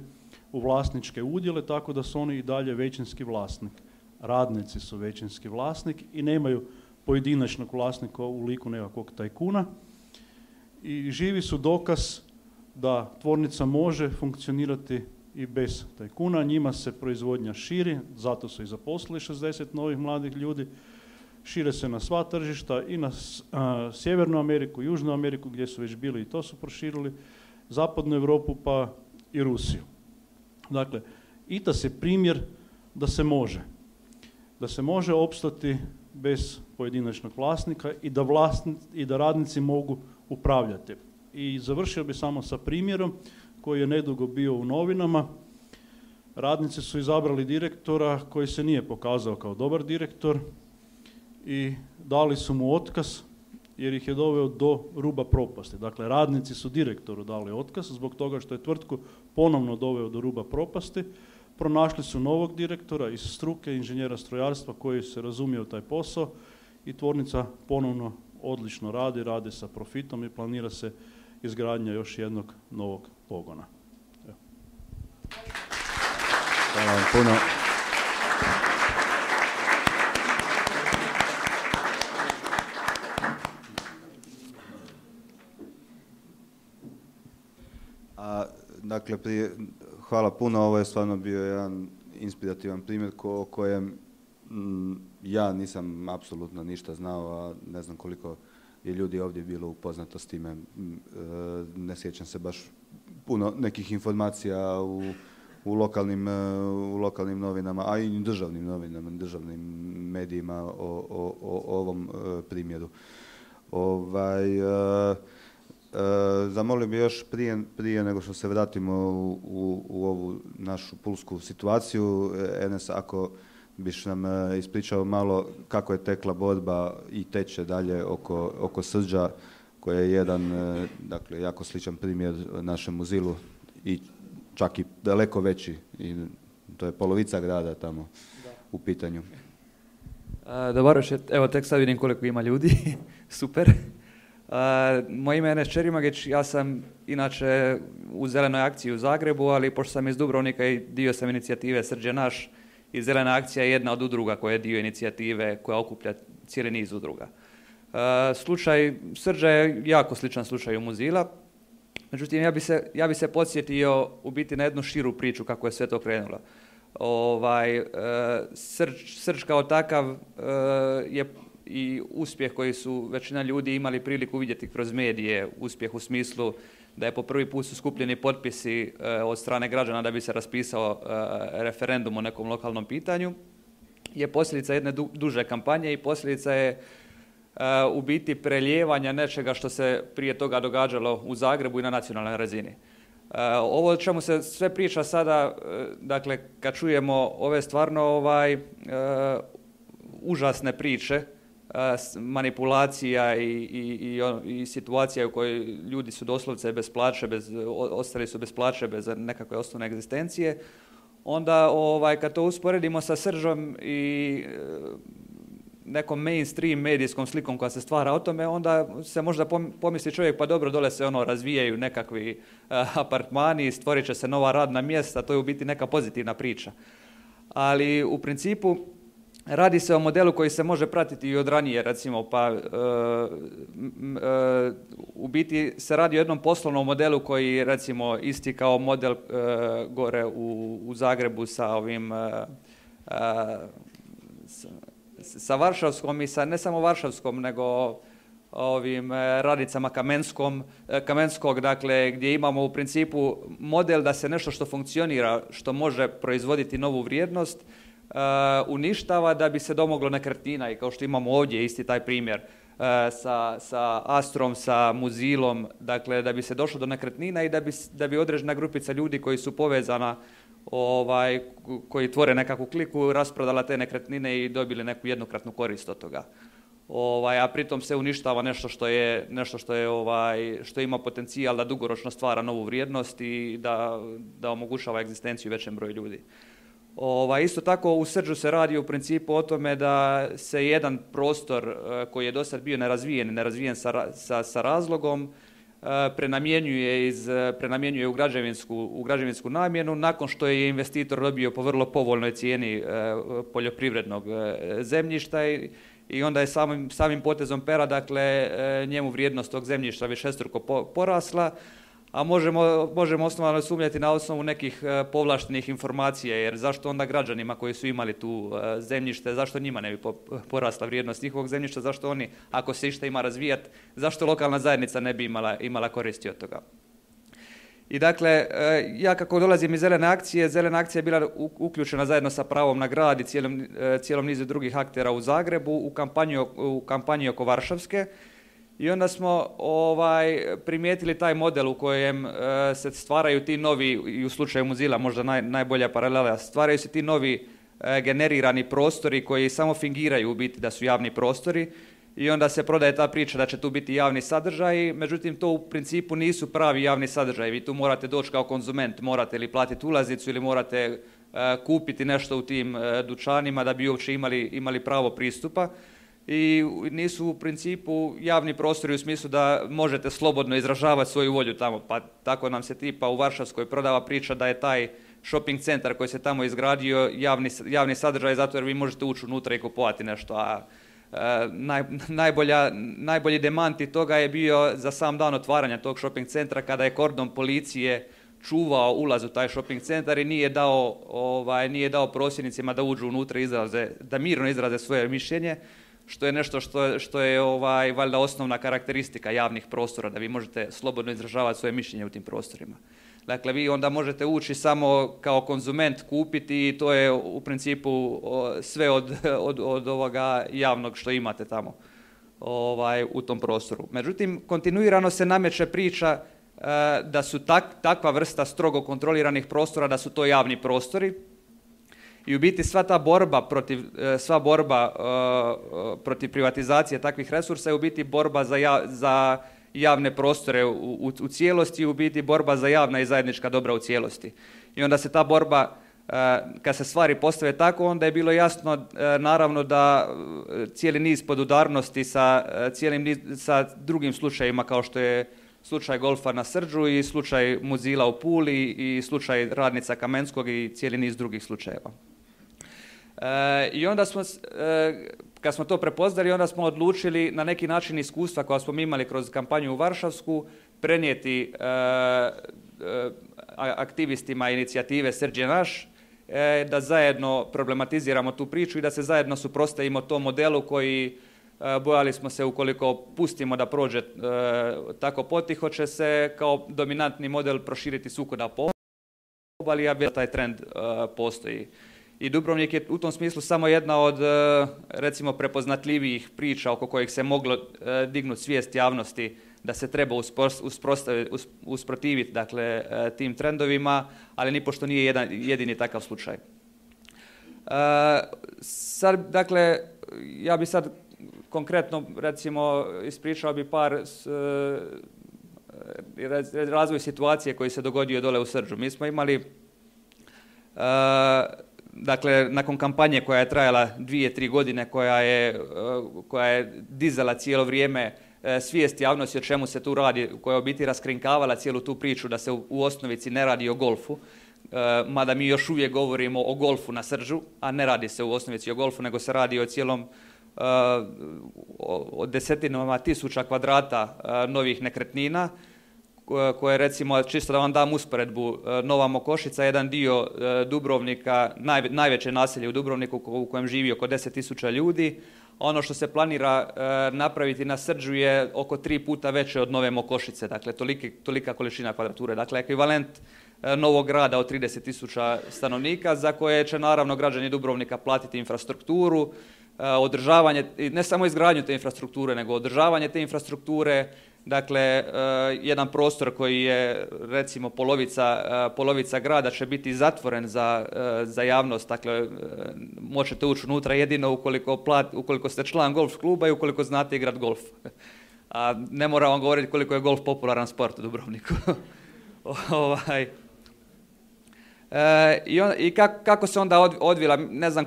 u vlasničke udjele, tako da su oni i dalje većinski vlasnik. Radnici su većinski vlasnik i nemaju pojedinačnog vlasnika u liku nekakvog tajkuna. I živi su dokaz da tvornica može funkcionirati i bez tajkuna. Njima se proizvodnja širi, zato su i zaposlili šezdeset novih mladih ljudi. Šire se na sva tržišta i na a, Sjevernu Ameriku, Južnu Ameriku gdje su već bili i to su proširili, Zapadnu Europu pa i Rusiju. Dakle, I T A S je primjer da se može. Da se može opstati bez pojedinačnog vlasnika i da, vlasni, i da radnici mogu upravljati. I završio bi samo sa primjerom koji je nedugo bio u novinama. Radnici su izabrali direktora koji se nije pokazao kao dobar direktor i dali su mu otkaz jer ih je doveo do ruba propasti. Dakle, radnici su direktoru dali otkaz zbog toga što je tvrtku ponovno doveo do ruba propasti. Pronašli su novog direktora iz struke, inženjera strojarstva koji se razumije u taj posao i tvornica ponovno odlično radi, radi sa profitom i planira se izgradnja još jednog novog pogona. Evo. Hvala vam puno. A, dakle, prije, hvala puno, ovo je stvarno bio jedan inspirativan primjer ko, o kojem m, ja nisam apsolutno ništa znao, a ne znam koliko je ljudi ovdje bilo upoznato s time. M, e, ne sjećam se baš puno nekih informacija u, u, lokalnim, u lokalnim novinama, a i državnim novinama, državnim medijima o, o, o ovom primjeru. Ovaj, uh, uh, zamolio bi još prije, prije nego što se vratimo u, u, u ovu našu pulsku situaciju, Enes, ako biš nam uh, ispričao malo kako je tekla borba i teče dalje oko, oko Srđa, koji je jedan, uh, dakle, jako sličan primjer našemu Zilu i čak i daleko veći, i to je polovica grada tamo da. U pitanju. Dobar, evo tek sad vidim koliko ima ljudi, super. Uh, moje ime je Enes Čerimagić, ja sam inače u Zelenoj akciji u Zagrebu, ali pošto sam iz Dubrovnika i dio sam inicijative Srđ naš, i Zelena akcija je jedna od udruga koja je dio inicijative koja okuplja cijeli niz udruga. Uh, slučaj Srđa je jako sličan slučaju Muzila, međutim ja bi se, ja bi se podsjetio u biti na jednu širu priču kako je sve to krenulo. Ovaj, uh, Srđ, Srđ kao takav uh, je i uspjeh koji su većina ljudi imali priliku vidjeti kroz medije, uspjeh u smislu da je po prvi put su skupljeni potpisi uh, od strane građana da bi se raspisao uh, referendum o nekom lokalnom pitanju, je posljedica jedne du, duže kampanje i posljedica je uh, u biti prelijevanja nečega što se prije toga događalo u Zagrebu i na nacionalnoj razini. Uh, ovo o čemu se sve priča sada, uh, dakle, kad čujemo ove stvarno ovaj, uh, užasne priče, manipulacija i, i, i, i situacija u kojoj ljudi su doslovce bez plaće, bez, ostali su bez plaće, bez nekakve osnovne egzistencije, onda ovaj, kad to usporedimo sa Sržom i nekom mainstream medijskom slikom koja se stvara o tome, onda se možda pomisli čovjek, pa dobro, dole se ono razvijaju nekakvi uh, apartmani, stvorit će se nova radna mjesta, to je u biti neka pozitivna priča. Ali u principu radi se o modelu koji se može pratiti i od ranije, recimo, pa e, e, u biti se radi o jednom poslovnom modelu koji, recimo, isti kao model e, gore u, u Zagrebu sa ovim, e, sa, sa Varšavskom i sa ne samo Varšavskom, nego ovim radnicama Kamenskom, Kamenskog, dakle, gdje imamo u principu model da se nešto što funkcionira, što može proizvoditi novu vrijednost, Uh, uništava da bi se domoglo nekretnina, i kao što imamo ovdje isti taj primjer uh, sa, sa Astrom, sa Muzilom, dakle da bi se došlo do nekretnina i da bi, da bi određena grupica ljudi koji su povezana, ovaj, koji tvore nekakvu kliku, rasprodala te nekretnine i dobili neku jednokratnu korist od toga. Ovaj, a pritom se uništava nešto što je, nešto što je ovaj, što ima potencijal da dugoročno stvara novu vrijednost i da, da omogućava egzistenciju većem broju ljudi. Ova, isto tako u Srđu se radi u principu o tome da se jedan prostor uh, koji je do sad bio nerazvijen, nerazvijen sa, sa, sa razlogom, uh, prenamjenjuje, iz, uh, prenamjenjuje u, građevinsku, u građevinsku namjenu nakon što je investitor dobio po vrlo povoljnoj cijeni uh, poljoprivrednog uh, zemljišta i, i onda je samim, samim potezom pera, dakle, uh, njemu vrijednost tog zemljišta višestruko po, porasla, a možemo, možemo osnovano sumnjati na osnovu nekih uh, povlaštenih informacija, jer zašto onda građanima koji su imali tu uh, zemljište, zašto njima ne bi po, porasla vrijednost njihovog zemljišta, zašto oni, ako se išta ima razvijati, zašto lokalna zajednica ne bi imala, imala koristi od toga. I dakle, uh, ja kako dolazim iz Zelene akcije, Zelena akcija je bila u, uključena zajedno sa Pravom na grad i cijelom, uh, cijelom nizu drugih aktera u Zagrebu u kampanju, u kampanji oko Varšavske. I onda smo ovaj, primijetili taj model u kojem uh, se stvaraju ti novi, i u slučaju Muzila možda naj, najbolja paralela, stvaraju se ti novi uh, generirani prostori koji samo fingiraju u biti da su javni prostori i onda se prodaje ta priča da će tu biti javni sadržaj, međutim to u principu nisu pravi javni sadržaj. Vi tu morate doći kao konzument, morate ili platiti ulaznicu ili morate uh, kupiti nešto u tim uh, dućanima da bi uopće imali, imali pravo pristupa. I nisu u principu javni prostori u smislu da možete slobodno izražavati svoju volju tamo, pa tako nam se tipa u Varšavskoj prodava priča da je taj shopping centar koji se tamo izgradio javni, javni sadržaj zato jer vi možete ući unutra i kupovati nešto, a e, naj, najbolja, najbolji demanti toga je bio za sam dan otvaranja tog shopping centra kada je kordon policije čuvao ulaz u taj shopping centar i nije dao, ovaj, nije dao prosvjednicima da uđu unutra i izraze, da mirno izraze svoje mišljenje, što je nešto što, što je ovaj, valjda osnovna karakteristika javnih prostora, da vi možete slobodno izražavati svoje mišljenje u tim prostorima. Dakle, vi onda možete ući samo kao konzument, kupiti i to je u principu sve od, od, od ovoga javnog što imate tamo ovaj, u tom prostoru. Međutim, kontinuirano se nameće priča uh, da su tak, takva vrsta strogo kontroliranih prostora, da su to javni prostori. I u biti sva ta borba protiv, sva borba uh, protiv privatizacije takvih resursa je u biti borba za, ja, za javne prostore u, u, u cijelosti, u biti borba za javna i zajednička dobra u cijelosti. I onda se ta borba, uh, kad se stvari postave tako, onda je bilo jasno uh, naravno da cijeli niz podudarnosti sa, uh, cijelim niz, sa drugim slučajevima kao što je slučaj golfa na Srđu i slučaj Muzila u Puli i slučaj radnica Kamenskog i cijeli niz drugih slučajeva. E, I onda smo, e, kad smo to prepoznali, onda smo odlučili na neki način iskustva koja smo imali kroz kampanju u Varšavsku prenijeti e, e, aktivistima inicijative Srđ je naš, e, da zajedno problematiziramo tu priču i da se zajedno suprotstavimo tom modelu koji bojali smo se ukoliko pustimo da prođe e, tako potiho će se kao dominantni model proširiti svukuda po obali, a taj trend e, postoji. I Dubrovnik je u tom smislu samo jedna od e, recimo prepoznatljivijih priča oko kojih se moglo e, dignuti svijest javnosti da se treba usprotiviti dakle, e, tim trendovima, ali nipošto nije jedan, jedini takav slučaj. E, sad, dakle, ja bi sad konkretno, recimo, ispričao bi par s, e, razvoj situacije koji se dogodio dole u Srđu. Mi smo imali, e, dakle, nakon kampanje koja je trajala dvije, tri godine, koja je, e, koja je dizala cijelo vrijeme e, svijest javnosti o čemu se tu radi, koja je u biti raskrinkavala cijelu tu priču da se u, u osnovici ne radi o golfu, e, mada mi još uvijek govorimo o golfu na Srđu, a ne radi se u osnovici o golfu, nego se radi o cijelom Uh, o desetinama tisuća kvadrata uh, novih nekretnina koje, recimo, čisto da vam dam usporedbu, uh, Nova Mokošica je jedan dio uh, Dubrovnika, naj, najveće naselje u Dubrovniku u kojem živi oko deset tisuća ljudi. Ono što se planira uh, napraviti na Srđu je oko tri puta veće od Nove Mokošice, dakle toliki, tolika količina kvadrature, dakle ekvivalent uh, novog grada od trideset tisuća stanovnika za koje će naravno građani Dubrovnika platiti infrastrukturu, održavanje, ne samo izgradnju te infrastrukture, nego održavanje te infrastrukture, dakle, jedan prostor koji je, recimo, polovica, polovica grada će biti zatvoren za, za javnost, dakle, možete ući unutra jedino ukoliko, plat, ukoliko ste član golf kluba i ukoliko znate igrat golf. A ne moram vam govoriti koliko je golf popularan sport u Dubrovniku. ovaj. E, I, on, i kako, kako se onda odvila, ne znam,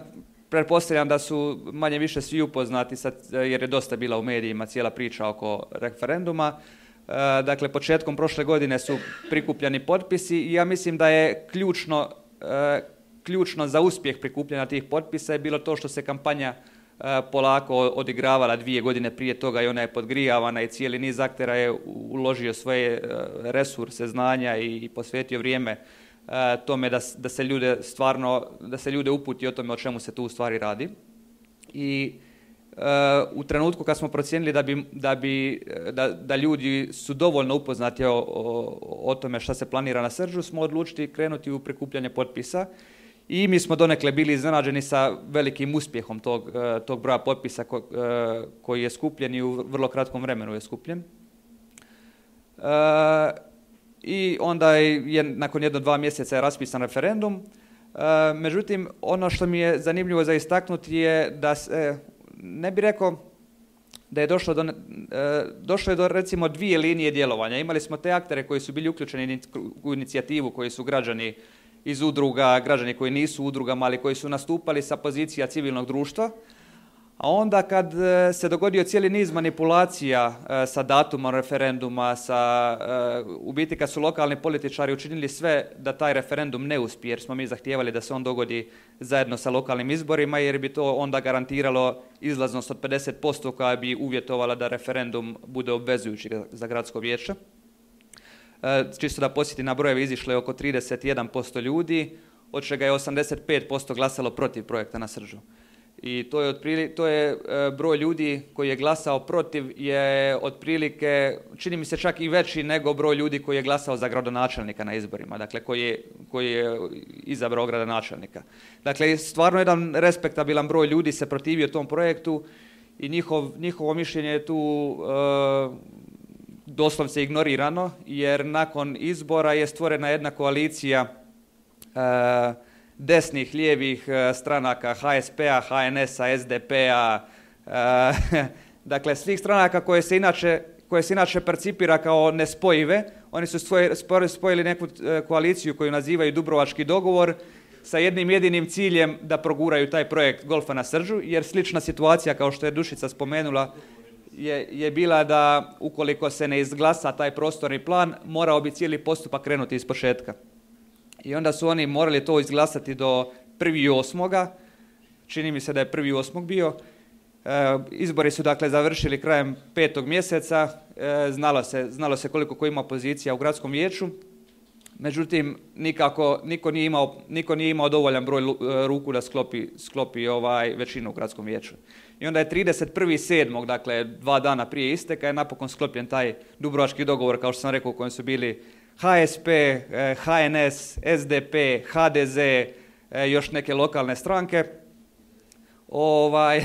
pretpostavljam da su manje više svi upoznati sad, jer je dosta bila u medijima cijela priča oko referenduma. E, dakle, početkom prošle godine su prikupljani potpisi i ja mislim da je ključno, e, ključno za uspjeh prikupljanja tih potpisa je bilo to što se kampanja e, polako odigravala dvije godine prije toga i ona je podgrijavana i cijeli niz aktera je uložio svoje resurse, znanja i, i posvetio vrijeme tome da, da se ljude stvarno, da se ljude uputi o tome o čemu se tu u stvari radi. I uh, u trenutku kad smo procijenili da, bi, da, bi, da, da ljudi su dovoljno upoznati o, o, o tome šta se planira na Srđu, smo odlučili krenuti u prikupljanje potpisa i mi smo donekle bili iznenađeni sa velikim uspjehom tog, tog broja potpisa ko, koji je skupljen i u vrlo kratkom vremenu je skupljen. Uh, I onda je nakon jedno dva mjeseca je raspisan referendum. E, međutim, ono što mi je zanimljivo za istaknuti je da se, ne bi rekao da je došlo do, e, došlo je do recimo dvije linije djelovanja. Imali smo te aktere koji su bili uključeni u inicijativu, koji su građani iz udruga, građani koji nisu u udrugama, ali koji su nastupali sa pozicija civilnog društva. A onda kad se dogodio cijeli niz manipulacija sa datumom referenduma, sa, u biti kad su lokalni političari učinili sve da taj referendum ne uspije, jer smo mi zahtijevali da se on dogodi zajedno sa lokalnim izborima, jer bi to onda garantiralo izlaznost od pedeset posto koja bi uvjetovala da referendum bude obvezujući za gradsko vijeće. Čisto da podsjetim, na brojeve izišlo je oko trideset jedan posto ljudi, od čega je osamdeset pet posto glasalo protiv projekta na Srđu. I to je, otprilike, to je broj ljudi koji je glasao protiv je otprilike, čini mi se čak i veći nego broj ljudi koji je glasao za gradonačelnika na izborima, dakle koji je, koji je izabrao gradonačelnika. Dakle, stvarno jedan respektabilan broj ljudi se protivio tom projektu i njihov, njihovo mišljenje je tu e, doslovce ignorirano, jer nakon izbora je stvorena jedna koalicija e, desnih, lijevih stranaka, ha es pe a, ha en es a, es de pe a, e, dakle svih stranaka koje se inače, koje se inače percipira kao nespojive. Oni su spojili neku koaliciju koju nazivaju Dubrovački dogovor sa jednim jedinim ciljem da proguraju taj projekt golfa na Srđu, jer slična situacija, kao što je Dušica spomenula, je, je bila da ukoliko se ne izglasa taj prostorni plan, morao bi cijeli postupak krenuti iz početka. I onda su oni morali to izglasati do prvog osmoga Čini mi se da je prvog osmog bio. E, izbori su dakle završili krajem petog mjeseca. E, znalo se, znalo se koliko ko ima pozicija u gradskom vijeću. Međutim, nikako, niko, nije imao, niko nije imao dovoljan broj ruku da sklopi, sklopi ovaj većinu u gradskom vijeću. I onda je trideset prvog sedmog dakle dva dana prije isteka, je napokon sklopljen taj Dubrovački dogovor, kao što sam rekao, u kojem su bili ha es pe, ha en es, es de pe, ha de ze, još neke lokalne stranke. Ovaj...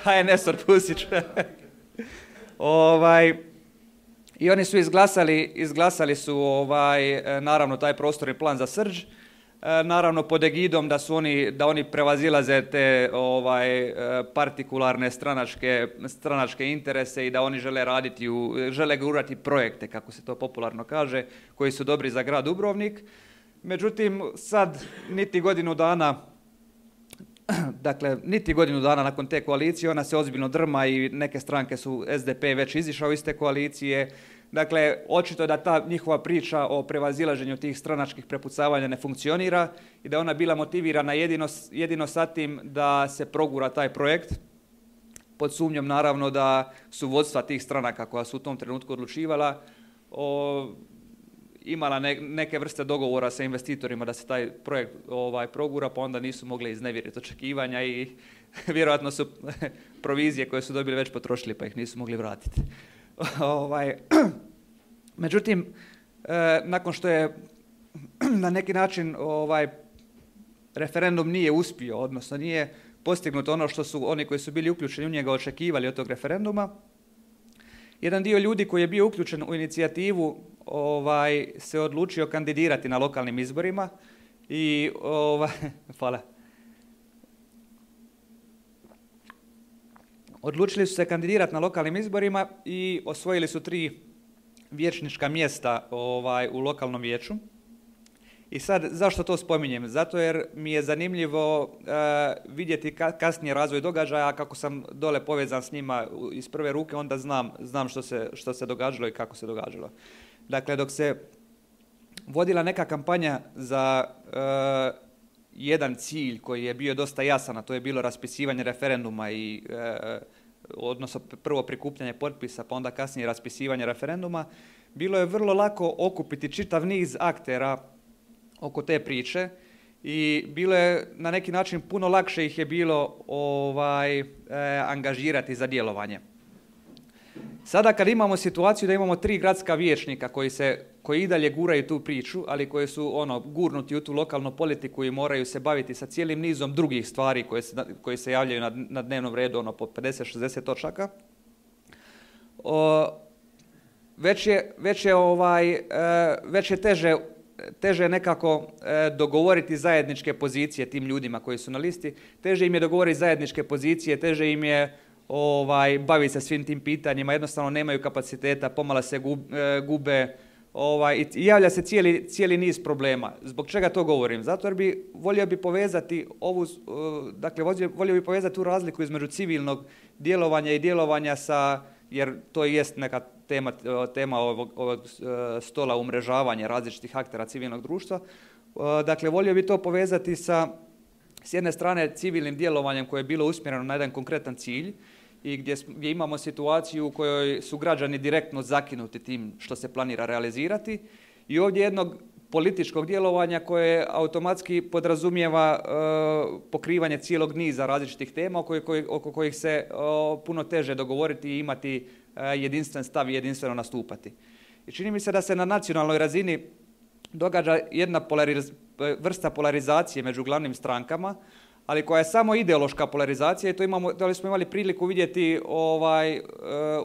ha en es Orpusić. ovaj... I oni su izglasali, izglasali su ovaj, naravno taj prostorni plan za Srđ, naravno pod egidom da su oni, da oni prevazilaze te ovaj, partikularne stranačke, stranačke interese i da oni žele raditi, u, žele gurati projekte, kako se to popularno kaže, koji su dobri za grad Dubrovnik. Međutim, sad niti godinu dana, dakle, niti godinu dana nakon te koalicije, ona se ozbiljno drma i neke stranke su, es de pe već izišao iz te koalicije. Dakle, očito da ta njihova priča o prevazilaženju tih stranačkih prepucavanja ne funkcionira i da ona bila motivirana jedino, jedino sa tim da se progura taj projekt, pod sumnjom naravno da su vodstva tih stranaka koja su u tom trenutku odlučivala o, imala ne, neke vrste dogovora sa investitorima da se taj projekt ovaj, progura, pa onda nisu mogli iznevjeriti očekivanja i vjerojatno su provizije koje su dobili već potrošili pa ih nisu mogli vratiti. ovaj, međutim, e, nakon što je na neki način ovaj, referendum nije uspio, odnosno nije postignuto ono što su oni koji su bili uključeni u njega očekivali od tog referenduma, jedan dio ljudi koji je bio uključen u inicijativu ovaj, se odlučio kandidirati na lokalnim izborima i ovaj, hvala. Odlučili su se kandidirati na lokalnim izborima i osvojili su tri vijećnička mjesta ovaj, u lokalnom vijeću. I sad, zašto to spominjem? Zato jer mi je zanimljivo uh, vidjeti ka, kasnije razvoj događaja, kako sam dole povezan s njima iz prve ruke, onda znam, znam što se, što se događalo i kako se događalo. Dakle, dok se vodila neka kampanja za uh, jedan cilj koji je bio dosta jasan, a to je bilo raspisivanje referenduma i uh, odnosno prvo prikupljanje potpisa, pa onda kasnije raspisivanje referenduma, bilo je vrlo lako okupiti čitav niz aktera oko te priče i bilo je na neki način puno lakše ih je bilo ovaj, e, angažirati za djelovanje. Sada kad imamo situaciju da imamo tri gradska vijećnika koji, se, koji i dalje guraju tu priču, ali koji su ono, gurnuti u tu lokalnu politiku i moraju se baviti sa cijelim nizom drugih stvari koje se, koje se javljaju na, na dnevnom redu, ono, po pedeset šezdeset točaka, o, već, je, već, je, ovaj, e, već je teže teže je nekako e, dogovoriti zajedničke pozicije tim ljudima koji su na listi, teže im je dogovoriti zajedničke pozicije, teže im je ovaj, baviti se svim tim pitanjima, jednostavno nemaju kapaciteta, pomalo se gub, e, gube ovaj, i javlja se cijeli, cijeli niz problema. Zbog čega to govorim? Zato jer bi volio bi povezati ovu, dakle, volio bi povezati tu razliku između civilnog djelovanja i djelovanja sa, jer to i jest neka tema, tema ovog, ovog stola umrežavanja različitih aktera civilnog društva. Dakle, volio bi to povezati sa, s jedne strane, civilnim djelovanjem koje je bilo usmjereno na jedan konkretan cilj i gdje, gdje imamo situaciju u kojoj su građani direktno zakinuti tim što se planira realizirati. I ovdje jednog političkog djelovanja koje automatski podrazumijeva pokrivanje cijelog niza različitih tema oko, kojih, oko kojih se puno teže dogovoriti i imati jedinstven stav i jedinstveno nastupati. I čini mi se da se na nacionalnoj razini događa jedna polariz, vrsta polarizacije među glavnim strankama, ali koja je samo ideološka polarizacija i to, imamo, to smo imali priliku vidjeti, ovaj,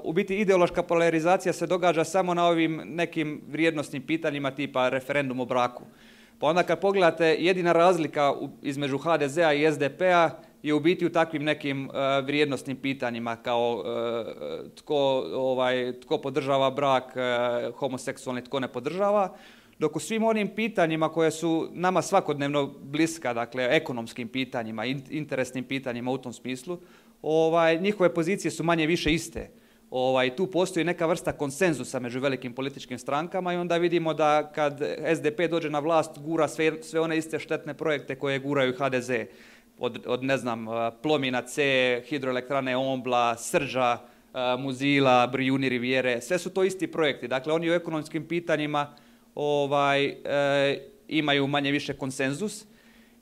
u biti ideološka polarizacija se događa samo na ovim nekim vrijednosnim pitanjima tipa referendum o braku. Pa onda kad pogledate, jedina razlika između ha de zea i es de pe-a je u biti u takvim nekim uh, vrijednosnim pitanjima kao uh, tko, ovaj, tko podržava brak, uh, homoseksualni, tko ne podržava, dok u svim onim pitanjima koje su nama svakodnevno bliska, dakle ekonomskim pitanjima, interesnim pitanjima u tom smislu, ovaj, njihove pozicije su manje više iste. Ovaj, tu postoji neka vrsta konsenzusa među velikim političkim strankama i onda vidimo da kad es de pe dođe na vlast gura sve, sve one iste štetne projekte koje guraju ha de ze. Od, od ne znam, Plomina C, hidroelektrane Ombla, Srđa, Muzila, Brijuni Rivijere, sve su to isti projekti. Dakle, oni u ekonomskim pitanjima ovaj, e, imaju manje više konsenzus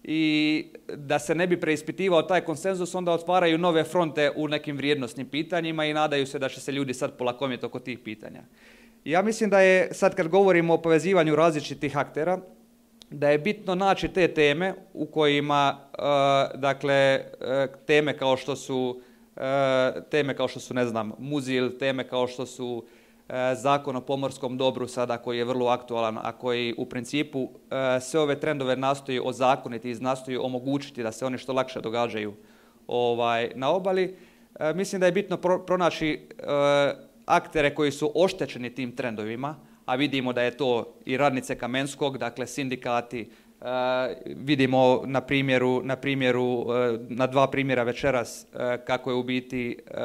i da se ne bi preispitivao taj konsenzus, onda otvaraju nove fronte u nekim vrijednosnim pitanjima i nadaju se da će se ljudi sad polakomiti oko tih pitanja. Ja mislim da je, sad kad govorimo o povezivanju različitih aktera, da je bitno naći te teme u kojima, uh, dakle, uh, teme kao što su, uh, teme kao što su, ne znam, Muzil, teme kao što su uh, Zakon o pomorskom dobru sada koji je vrlo aktualan, a koji u principu uh, sve ove trendove nastoji ozakoniti i nastoji omogućiti da se oni što lakše događaju ovaj, na obali. Uh, mislim da je bitno pro, pronaći uh, aktere koji su oštećeni tim trendovima, a vidimo da je to i radnice Kamenskog, dakle sindikati, uh, vidimo na primjeru, na primjeru, uh, na dva primjera večeras uh, kako je u biti uh,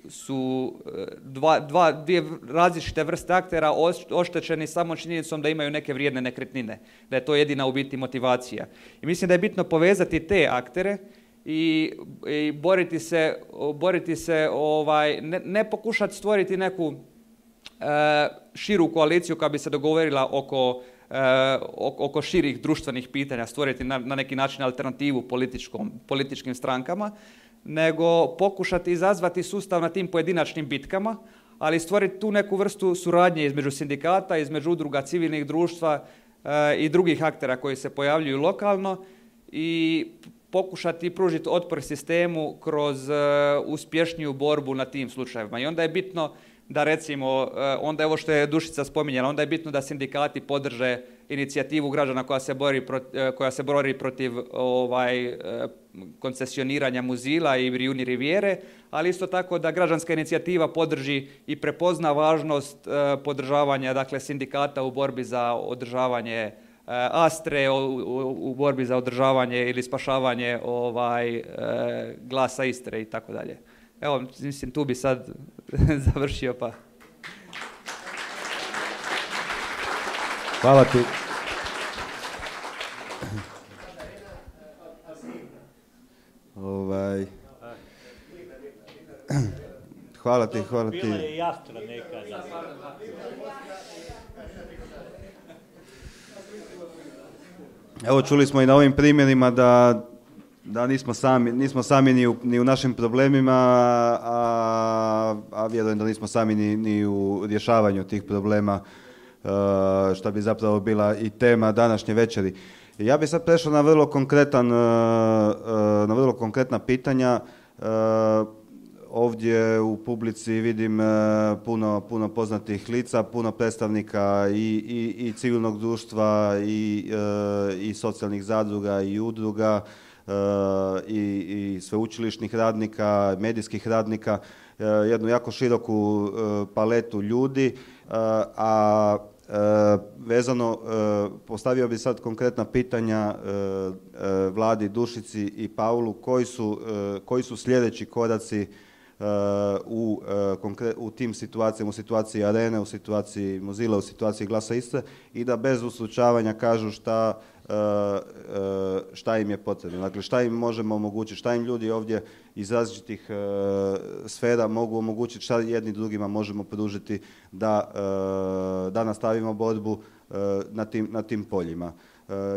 su dva, dva, dvije različite vrste aktera oštećeni samo činjenicom da imaju neke vrijedne nekretnine, da je to jedina u biti motivacija. I mislim da je bitno povezati te aktere i, i boriti se, boriti se ovaj, ne, ne pokušati stvoriti neku širu koaliciju koja bi se dogovorila oko, oko širih društvenih pitanja, stvoriti na, na neki način alternativu političkom, političkim strankama, nego pokušati izazvati sustav na tim pojedinačnim bitkama, ali stvoriti tu neku vrstu suradnje između sindikata, između udruga civilnih društva i drugih aktera koji se pojavljuju lokalno i pokušati pružiti otpor sistemu kroz uspješniju borbu na tim slučajevima. I onda je bitno da recimo, onda je ovo što je Dušica spominjala, onda je bitno da sindikati podrže inicijativu građana koja se bori protiv, koja se bori protiv ovaj, koncesioniranja Muzila i Brijuni Rivijere, ali isto tako da građanska inicijativa podrži i prepozna važnost podržavanja, dakle, sindikata u borbi za održavanje Astre, u, u, u borbi za održavanje ili spašavanje ovaj, Glasa Istre i tako dalje. Evo, mislim, tu bi sad završio, pa... Hvala ti. Ovaj... Hvala ti, hvala ti. Bila je jastra nekada. Evo, čuli smo i na ovim primjerima da da nismo sami, nismo sami ni u, ni u našim problemima, a, a vjerujem da nismo sami ni, ni u rješavanju tih problema, uh, što bi zapravo bila i tema današnje večeri. Ja bih sad prešao na vrlo konkretan, uh, uh, na vrlo konkretna pitanja. Uh, ovdje u publici vidim uh, puno, puno poznatih lica, puno predstavnika i, i, i civilnog društva i, uh, i socijalnih zadruga i udruga, I, i sveučilišnih radnika, medijskih radnika, jednu jako široku paletu ljudi, a vezano, postavio bi sad konkretna pitanja Vladi, Dušici i Paulu, koji su, koji su sljedeći koraci u, u tim situacijama, u situaciji Arene, u situaciji Mozilla, u situaciji Glasa Istre i da bez uslučavanja kažu šta, šta im je potrebno. Dakle, šta im možemo omogućiti, šta im ljudi ovdje iz različitih sfera mogu omogućiti, šta jedni drugima možemo pružiti da, da nastavimo borbu na tim, na tim poljima.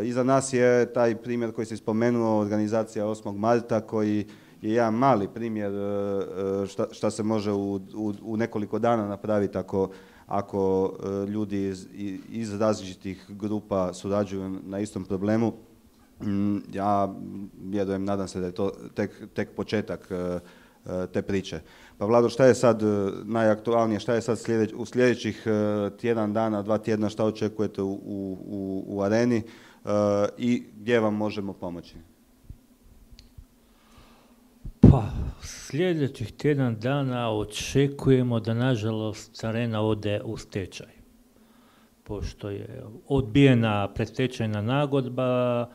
Iza nas je taj primjer koji si spomenuo, organizacija osmog marta, koji je jedan mali primjer šta, šta se može u, u, u nekoliko dana napraviti ako, ako ljudi iz, iz različitih grupa surađuju na istom problemu. Ja vjerujem, nadam se da je to tek, tek početak te priče. Pa Vlado, šta je sad najaktualnije, šta je sad slijedeć, u sljedećih tjedan dana, dva tjedna, šta očekujete u, u, u Areni i gdje vam možemo pomoći? Pa, sljedećih tjedan dana očekujemo da, nažalost, Arena ode u stečaj. Pošto je odbijena predstečajna nagodba,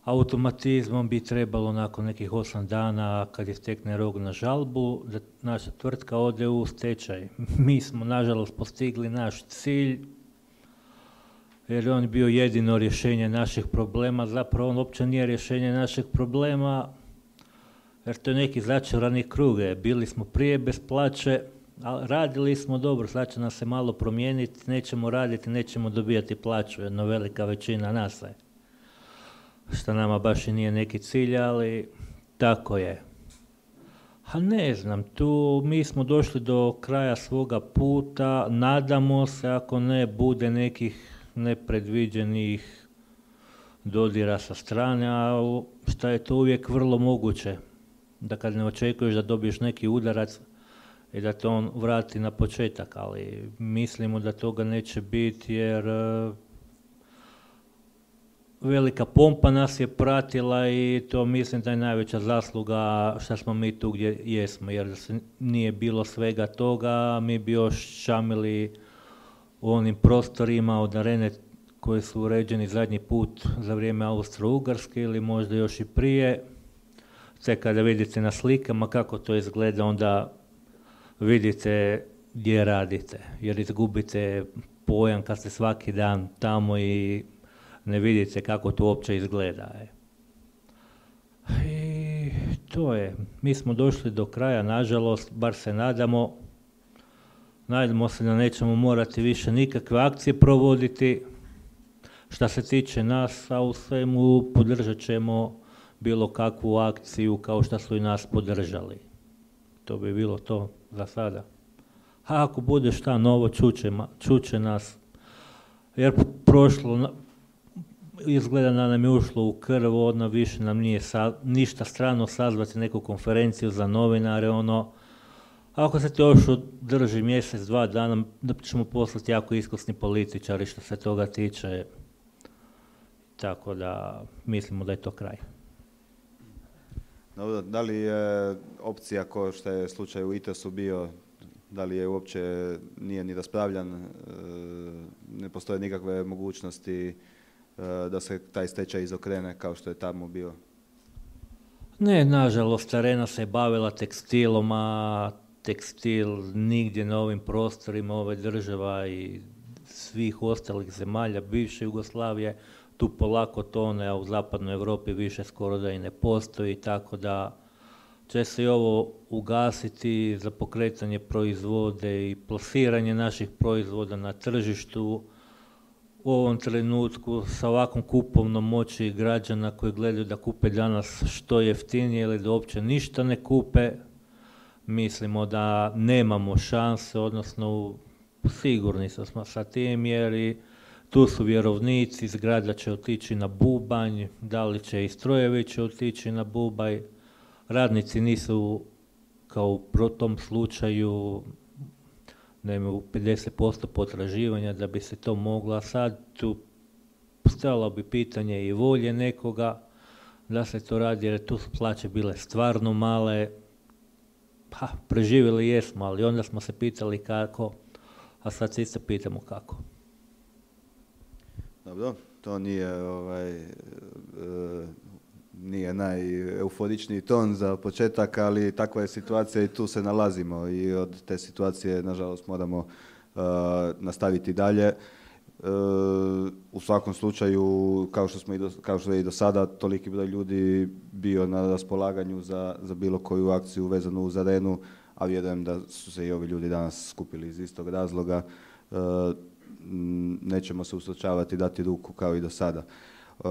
automatizmom bi trebalo nakon nekih osam dana, kad je stekne rok na žalbu, da naša tvrtka ode u stečaj. Mi smo, nažalost, postigli naš cilj, jer je on bio jedino rješenje naših problema. Zapravo on uopće nije rješenje naših problema, jer to je neki začarani krug. Bili smo prije bez plaće, a radili smo dobro, sad će nas se malo promijeniti, nećemo raditi, nećemo dobijati plaću, jedna velika većina nas je. Što nama baš i nije neki cilj, ali tako je. A ne znam, tu mi smo došli do kraja svoga puta, nadamo se, ako ne bude nekih nepredviđenih dodira sa strane, a šta je to uvijek vrlo moguće, da kad ne očekuješ da dobiješ neki udarac i da te on vrati na početak, ali mislimo da toga neće biti, jer velika pompa nas je pratila i to mislim da je najveća zasluga što smo mi tu gdje jesmo, jer da se nije bilo svega toga, mi bi još čamili u onim prostorima od Arene koji su uređeni zadnji put za vrijeme Austro-Ugarske ili možda još i prije. Sve kada vidite na slikama kako to izgleda, onda vidite gdje radite, jer izgubite pojam kad ste svaki dan tamo i ne vidite kako to uopće izgleda. I to je. Mi smo došli do kraja, nažalost, bar se nadamo. Nadamo se da nećemo morati više nikakve akcije provoditi. Što se tiče nas, a u svemu podržat ćemo bilo kakvu akciju kao što su i nas podržali. To bi bilo to za sada. A ako bude šta novo, čuće, čuće nas. Jer prošlo, izgleda da nam je ušlo u krv, odno više nam nije sa, ništa strano sazvati neku konferenciju za novinare, ono, ako se to još održi mjesec, dva dana, da ćemo poslati jako iskusni političari što se toga tiče. Tako da mislimo da je to kraj. Dobro, da li je opcija kao što je slučaj u I T E S-u bio, da li je uopće nije ni raspravljan, ne postoje nikakve mogućnosti da se taj stečaj izokrene kao što je tamo bio? Ne, nažalost, Arena se bavila tekstilom, a tekstil nigdje na ovim prostorima ove država i svih ostalih zemalja bivše Jugoslavije tu polako tone, a u zapadnoj Europi više skoro da i ne postoji, tako da će se i ovo ugasiti za pokretanje proizvode i plasiranje naših proizvoda na tržištu. U ovom trenutku sa ovakvom kupovnom moći građana koji gledaju da kupe danas što jeftinije ili da uopće ništa ne kupe, mislimo da nemamo šanse, odnosno sigurni smo sa tim, jer i tu su vjerovnici, zgrada će otići na bubanj, da li će i strojevi će otići na bubanj. Radnici nisu, kao u tom slučaju, nemaju pedeset posto potraživanja da bi se to moglo, a sad tu stalo bi pitanje i volje nekoga da se to radi, jer tu su plaće bile stvarno male. Pa, preživjeli jesmo, ali onda smo se pitali kako, a sad se isto pitamo kako. Dobro, to nije ovaj, nije najeuforičniji ton za početak, ali takva je situacija i tu se nalazimo i od te situacije, nažalost, moramo uh, nastaviti dalje. Uh, u svakom slučaju, kao što smo i do, kao što je i do sada, toliki broj ljudi bio na raspolaganju za, za bilo koju akciju vezanu uz arenu, a vjerujem da su se i ovi ljudi danas skupili iz istog razloga. Uh, nećemo se usrećavati, dati ruku kao i do sada. Uh,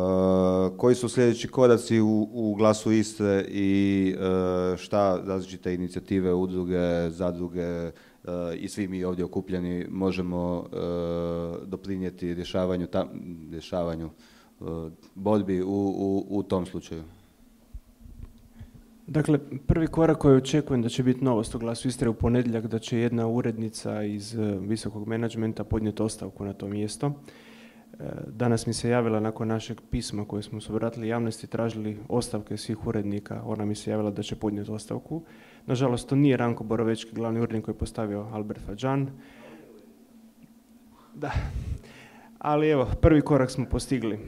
koji su sljedeći koraci u, u Glasu Istre i uh, šta različite inicijative, udruge, zadruge uh, i svi mi ovdje okupljeni možemo uh, doprinijeti rješavanju, ta, rješavanju uh, borbi u, u, u tom slučaju? Dakle, prvi korak koji očekujem da će biti novost u Glasu Istre u ponedjeljak, da će jedna urednica iz visokog menadžmenta podnijeti ostavku na to mjesto. Danas mi se javila nakon našeg pisma koje smo se obratili javnosti, tražili ostavke svih urednika, ona mi se javila da će podnijeti ostavku. Nažalost, to nije Ranko Borovečki, glavni urednik koji je postavio Albert Fadžan. Da, ali evo, prvi korak smo postigli.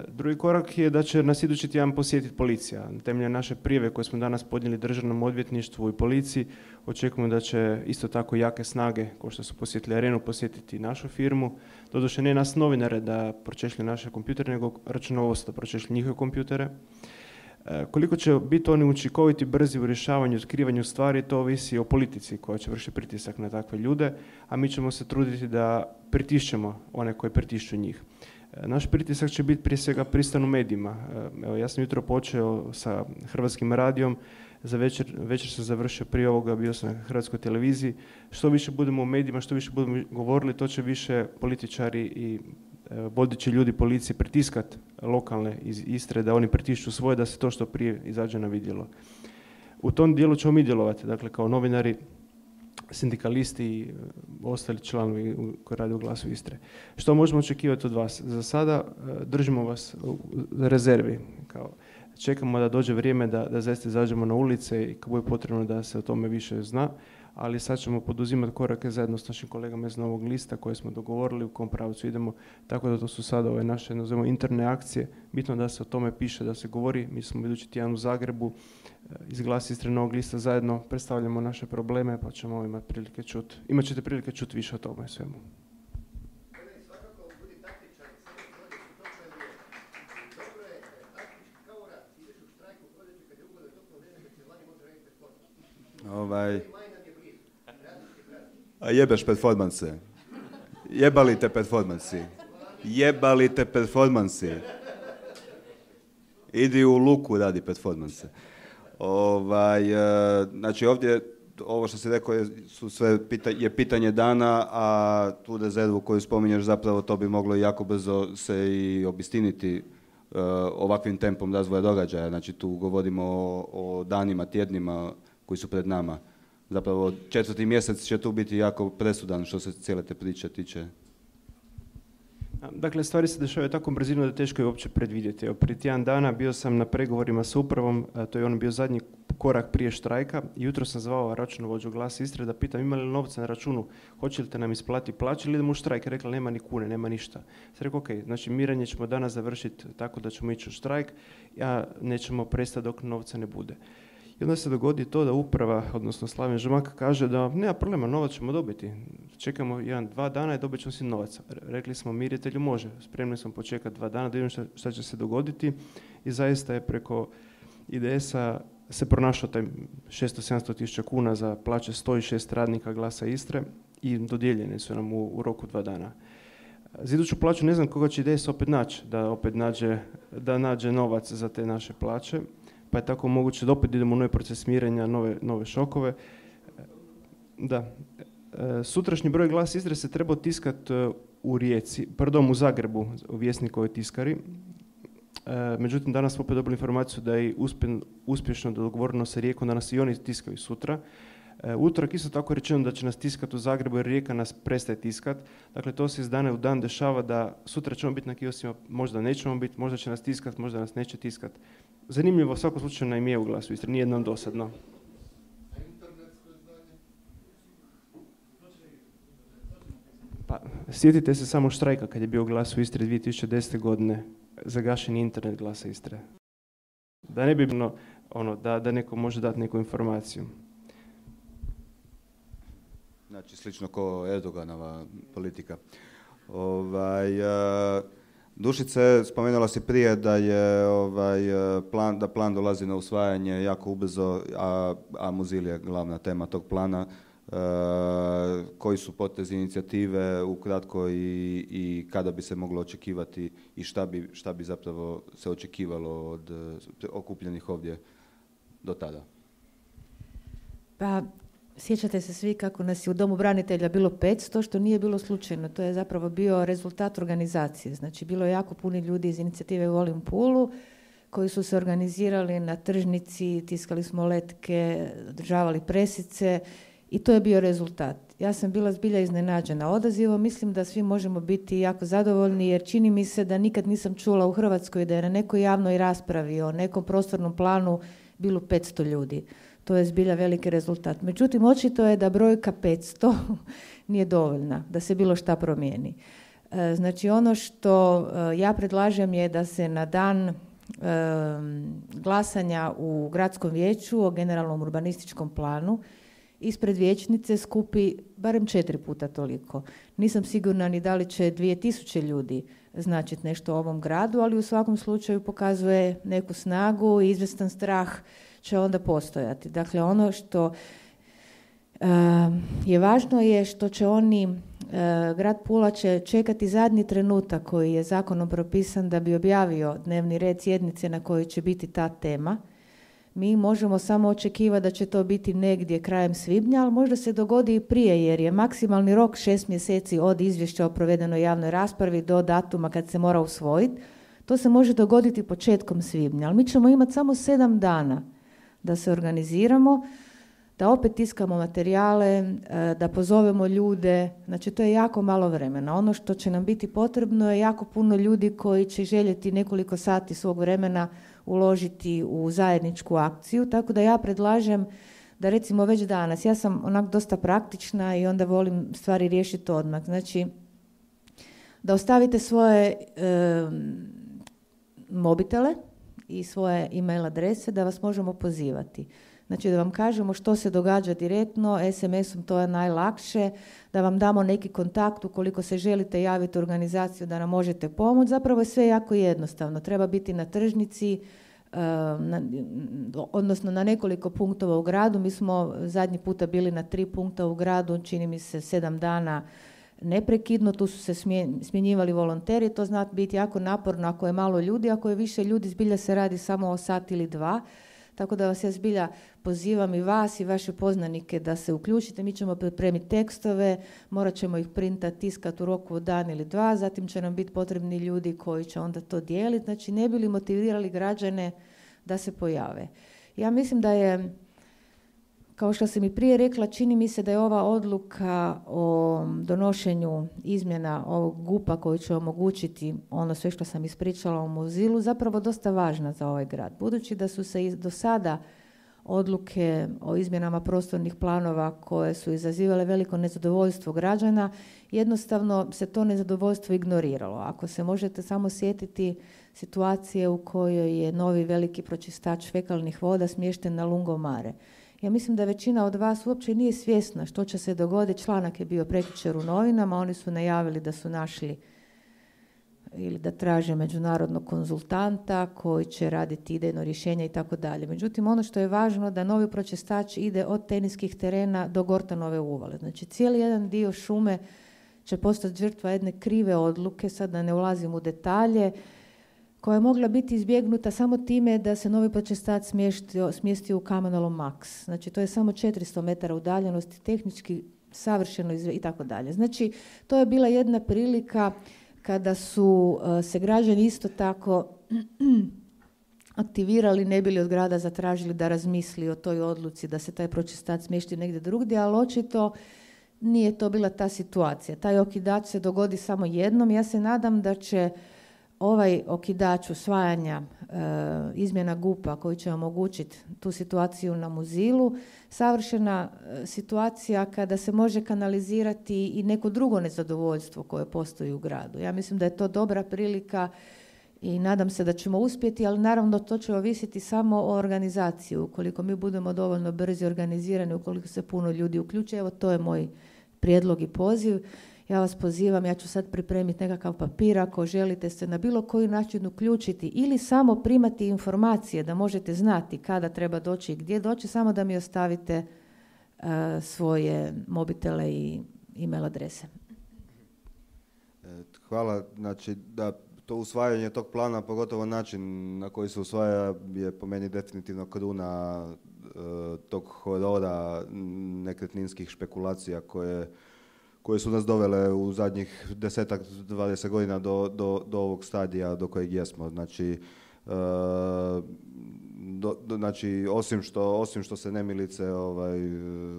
Drugi korak je da će nas idući tjedan posjetiti policija. Temeljem naše prijave koje smo danas podnijeli Državnom odvjetništvu i policiji, očekujemo da će isto tako jake snage, kao što su posjetili arenu, posjetiti našu firmu. Doduše ne nas novinare da pročešlju naše kompjutere, nego računovodstvo da pročešlju njihove kompjutere. Koliko će biti oni učinkoviti, brzi u rješavanju i otkrivanju stvari, to ovisi o politici koja će vršiti pritisak na takve ljude, a mi ćemo se truditi da pritišćemo one koji pritišću njih. Naš pritisak će biti prije svega pristan u medijima. Evo, ja sam jutro počeo sa Hrvatskim radijom, za večer, večer sam završio prije ovoga, bio sam na Hrvatskoj televiziji. Što više budemo u medijima, što više budemo govorili, to će više političari i vodeći ljudi policije pritiskat lokalne iz Istre, da oni pritišću svoje, da se to što prije izađe na vidjelo. U tom dijelu ćemo mi djelovati, dakle kao novinari, sindikalisti i ostali članovi koji rade u Glasu Istre. Što možemo očekivati od vas? Za sada držimo vas u rezervi. Kao, čekamo da dođe vrijeme da, da zaista izađemo na ulice i kako je potrebno da se o tome više zna, ali sad ćemo poduzimati korake zajedno s našim kolegama iz Novog lista koje smo dogovorili u kom pravcu idemo, tako da to su sada ove naše, nazovimo, interne akcije. Bitno da se o tome piše, da se govori. Mi smo idući tjedan u Zagrebu iz Glasa Istre Novog lista zajedno predstavljamo naše probleme, pa ćemo imati prilike čuti. Imat ćete prilike čuti više o tome svemu. Ovaj, a jebeš performanse. Jebali te performansi. Jebali te performansi. Idi u luku radi performanse. Ovaj, znači ovdje, ovo što si rekao je, su sve pita, je pitanje dana, a tu rezervu koju spominješ zapravo to bi moglo jako brzo se i obistiniti uh, ovakvim tempom razvoja događaja. Znači tu govorimo o, o danima, tjednima koji su pred nama. Zapravo četvrti mjesec će tu biti jako presudan što se cijele te priče tiče. Dakle, stvari se dešavaju tako brzino da teško je uopće predvidjeti. Evo, prije tjedan dana bio sam na pregovorima sa upravom, to je on bio zadnji korak prije štrajka. Jutro sam zvao računovođu Glasa Istre da pitam ima li novca na računu, hoće li te nam isplati plaće ili idemo u štrajk. Rekla nema ni kune, nema ništa. Sam rekao ok, znači miranje ćemo danas završiti tako da ćemo ići u štrajk, a nećemo prestati dok novca ne bude. I onda se dogodi to da uprava, odnosno Slaven Žumak, kaže da nema problema, novac ćemo dobiti. Čekamo jedan, dva dana i dobit ćemo si novac. Rekli smo miritelju može, spremni smo počekati dva dana da vidimo šta, šta će se dogoditi. I zaista je preko I D S-a se pronašao taj šesto sedamsto tisuća kuna za plaće sto šest radnika Glasa Istre i dodijeljene su nam u, u roku dva dana. Za iduću plaću ne znam koga će I D S opet naći, da opet nađe, da nađe novac za te naše plaće. Pa je tako moguće da opet idemo u novi proces mirenja, nove, nove šokove. Da. Sutrašnji broj Glas Istre se trebao tiskati u Rijeci, pardon, u Zagrebu, u Vjesnikovoj tiskari. Međutim, danas smo opet dobili informaciju da je uspješno dogovoreno sa Rijekom da nas i oni tiskaju sutra. Utorak isto tako rečeno da će nas tiskati u Zagrebu jer Rijeka nas prestaje tiskati. Dakle, to se iz dana u dan dešava da sutra ćemo biti na kioscima, možda nećemo biti, možda će nas tiskati, možda nas neće tiskati. Zanimljivo, u svakom slučaju nam je u Glasu Istre, nije nam dosadno. Pa, sjetite se samo štrajka kad je bio u Glasu Istre dvije tisuće desete godine, zagašen internet Glasa Istre. Da ne bi bilo ono, da, da neko može dati neku informaciju. Znači, slično kao Erdoganova politika. Ovaj, Dušice, spomenula si prije da je ovaj, plan, da plan dolazi na usvajanje jako ubrzo, a, a Muzil je glavna tema tog plana. Uh, koji su potezi inicijative ukratko i, i kada bi se moglo očekivati i šta bi, šta bi zapravo se očekivalo od okupljenih ovdje do tada? Pa, sjećate se svi kako nas je u Domu branitelja bilo petsto, što nije bilo slučajno. To je zapravo bio rezultat organizacije. Znači, bilo je jako puno ljudi iz inicijative Volim Pulu koji su se organizirali na tržnici, tiskali smo letke, održavali presice i to je bio rezultat. Ja sam bila zbilja iznenađena odazivom. Mislim da svi možemo biti jako zadovoljni jer čini mi se da nikad nisam čula u Hrvatskoj da je na nekoj javnoj raspravi o nekom prostornom planu bilo petsto ljudi. To je zbilja veliki rezultat. Međutim, očito je da brojka petsto nije dovoljna da se bilo šta promijeni. Znači, ono što ja predlažem je da se na dan glasanja u gradskom vijeću o generalnom urbanističkom planu ispred vijećnice skupi barem četiri puta toliko. Nisam sigurna ni da li će dvije tisuće ljudi značiti nešto u ovom gradu, ali u svakom slučaju pokazuje neku snagu i izvjestan strah će onda postojati. Dakle, ono što uh, je važno je što će oni, uh, grad Pula će čekati zadnji trenutak koji je zakonom propisan da bi objavio dnevni red sjednice na kojoj će biti ta tema. Mi možemo samo očekivati da će to biti negdje krajem svibnja, ali možda se dogodi i prije, jer je maksimalni rok šest mjeseci od izvješća o provedenoj javnoj raspravi do datuma kad se mora usvojiti. To se može dogoditi početkom svibnja, ali mi ćemo imati samo sedam dana da se organiziramo, da opet tiskamo materijale, da pozovemo ljude. Znači, to je jako malo vremena. Ono što će nam biti potrebno je jako puno ljudi koji će željeti nekoliko sati svog vremena uložiti u zajedničku akciju, tako da ja predlažem da recimo već danas, ja sam onak dosta praktična i onda volim stvari riješiti odmah. Znači, da ostavite svoje e, mobitele i svoje e-mail adrese da vas možemo pozivati. Znači, da vam kažemo što se događa direktno, es em esom to je najlakše, da vam damo neki kontakt ukoliko se želite javiti u organizaciju da nam možete pomoći. Zapravo je sve jako jednostavno. Treba biti na tržnici, na, odnosno na nekoliko punktova u gradu. Mi smo zadnji puta bili na tri punkta u gradu, čini mi se sedam dana neprekidno. Tu su se smjenjivali volonteri. To zna biti jako naporno ako je malo ljudi, ako je više ljudi zbilja se radi samo o sat ili dva. Tako da vas ja zbilja pozivam i vas i vaše poznanike da se uključite. Mi ćemo pripremiti tekstove, morat ćemo ih printati, tiskati u roku od dan ili dva, zatim će nam biti potrebni ljudi koji će onda to dijeliti. Znači, ne bi li motivirali građane da se pojave. Ja mislim da je, kao što sam i prije rekla, čini mi se da je ova odluka o donošenju izmjena ovog gupa koji će omogućiti ono sve što sam ispričala o Muzilu zapravo dosta važna za ovaj grad. Budući da su se do sada odluke o izmjenama prostornih planova koje su izazivale veliko nezadovoljstvo građana, jednostavno se to nezadovoljstvo ignoriralo. Ako se možete samo sjetiti situacije u kojoj je novi veliki pročistač fekalnih voda smješten na Lungomare. Ja mislim da većina od vas uopće nije svjesna što će se dogoditi. Članak je bio prekjučer u novinama, oni su najavili da su našli ili da traže međunarodnog konzultanta koji će raditi idejno rješenje i tako dalje. Međutim, ono što je važno da novi pročistač ide od teniskih terena do Gortanove uvale. Znači, cijeli jedan dio šume će postati žrtva jedne krive odluke, sad da ne ulazim u detalje, koja je mogla biti izbjegnuta samo time da se novi pročistač smjestio, smjestio u Kamenolom Max. Znači, to je samo četiristo metara udaljenosti, tehnički savršeno izve, i tako dalje. Znači, to je bila jedna prilika kada su uh, se građani isto tako aktivirali, ne bili od grada zatražili da razmisli o toj odluci da se taj pročistač smjesti negdje drugdje, ali očito nije to bila ta situacija. Taj okidač se dogodi samo jednom. Ja se nadam da će ovaj okidač usvajanja e, izmjena gupa koji će omogućiti tu situaciju na Muzilu, savršena e, situacija kada se može kanalizirati i neko drugo nezadovoljstvo koje postoji u gradu. Ja mislim da je to dobra prilika i nadam se da ćemo uspjeti, ali naravno to će ovisiti samo o organizaciji. Ukoliko mi budemo dovoljno brzi organizirani, ukoliko se puno ljudi uključe, evo to je moj prijedlog i poziv. Ja vas pozivam, ja ću sad pripremiti nekakav papir ako želite se na bilo koji način uključiti ili samo primati informacije da možete znati kada treba doći i gdje doći, samo da mi ostavite uh, svoje mobitele i e-mail adrese. Hvala. Znači, da to usvajanje tog plana, pogotovo način na koji se usvaja, je po meni definitivno kruna uh, tog horora nekretninskih špekulacija koje koje su nas dovele u zadnjih desetak, dvadeset godina do, do, do ovog stadija do kojeg jesmo. Znači, uh, do, do, znači osim, što, osim što se nemilice ovaj,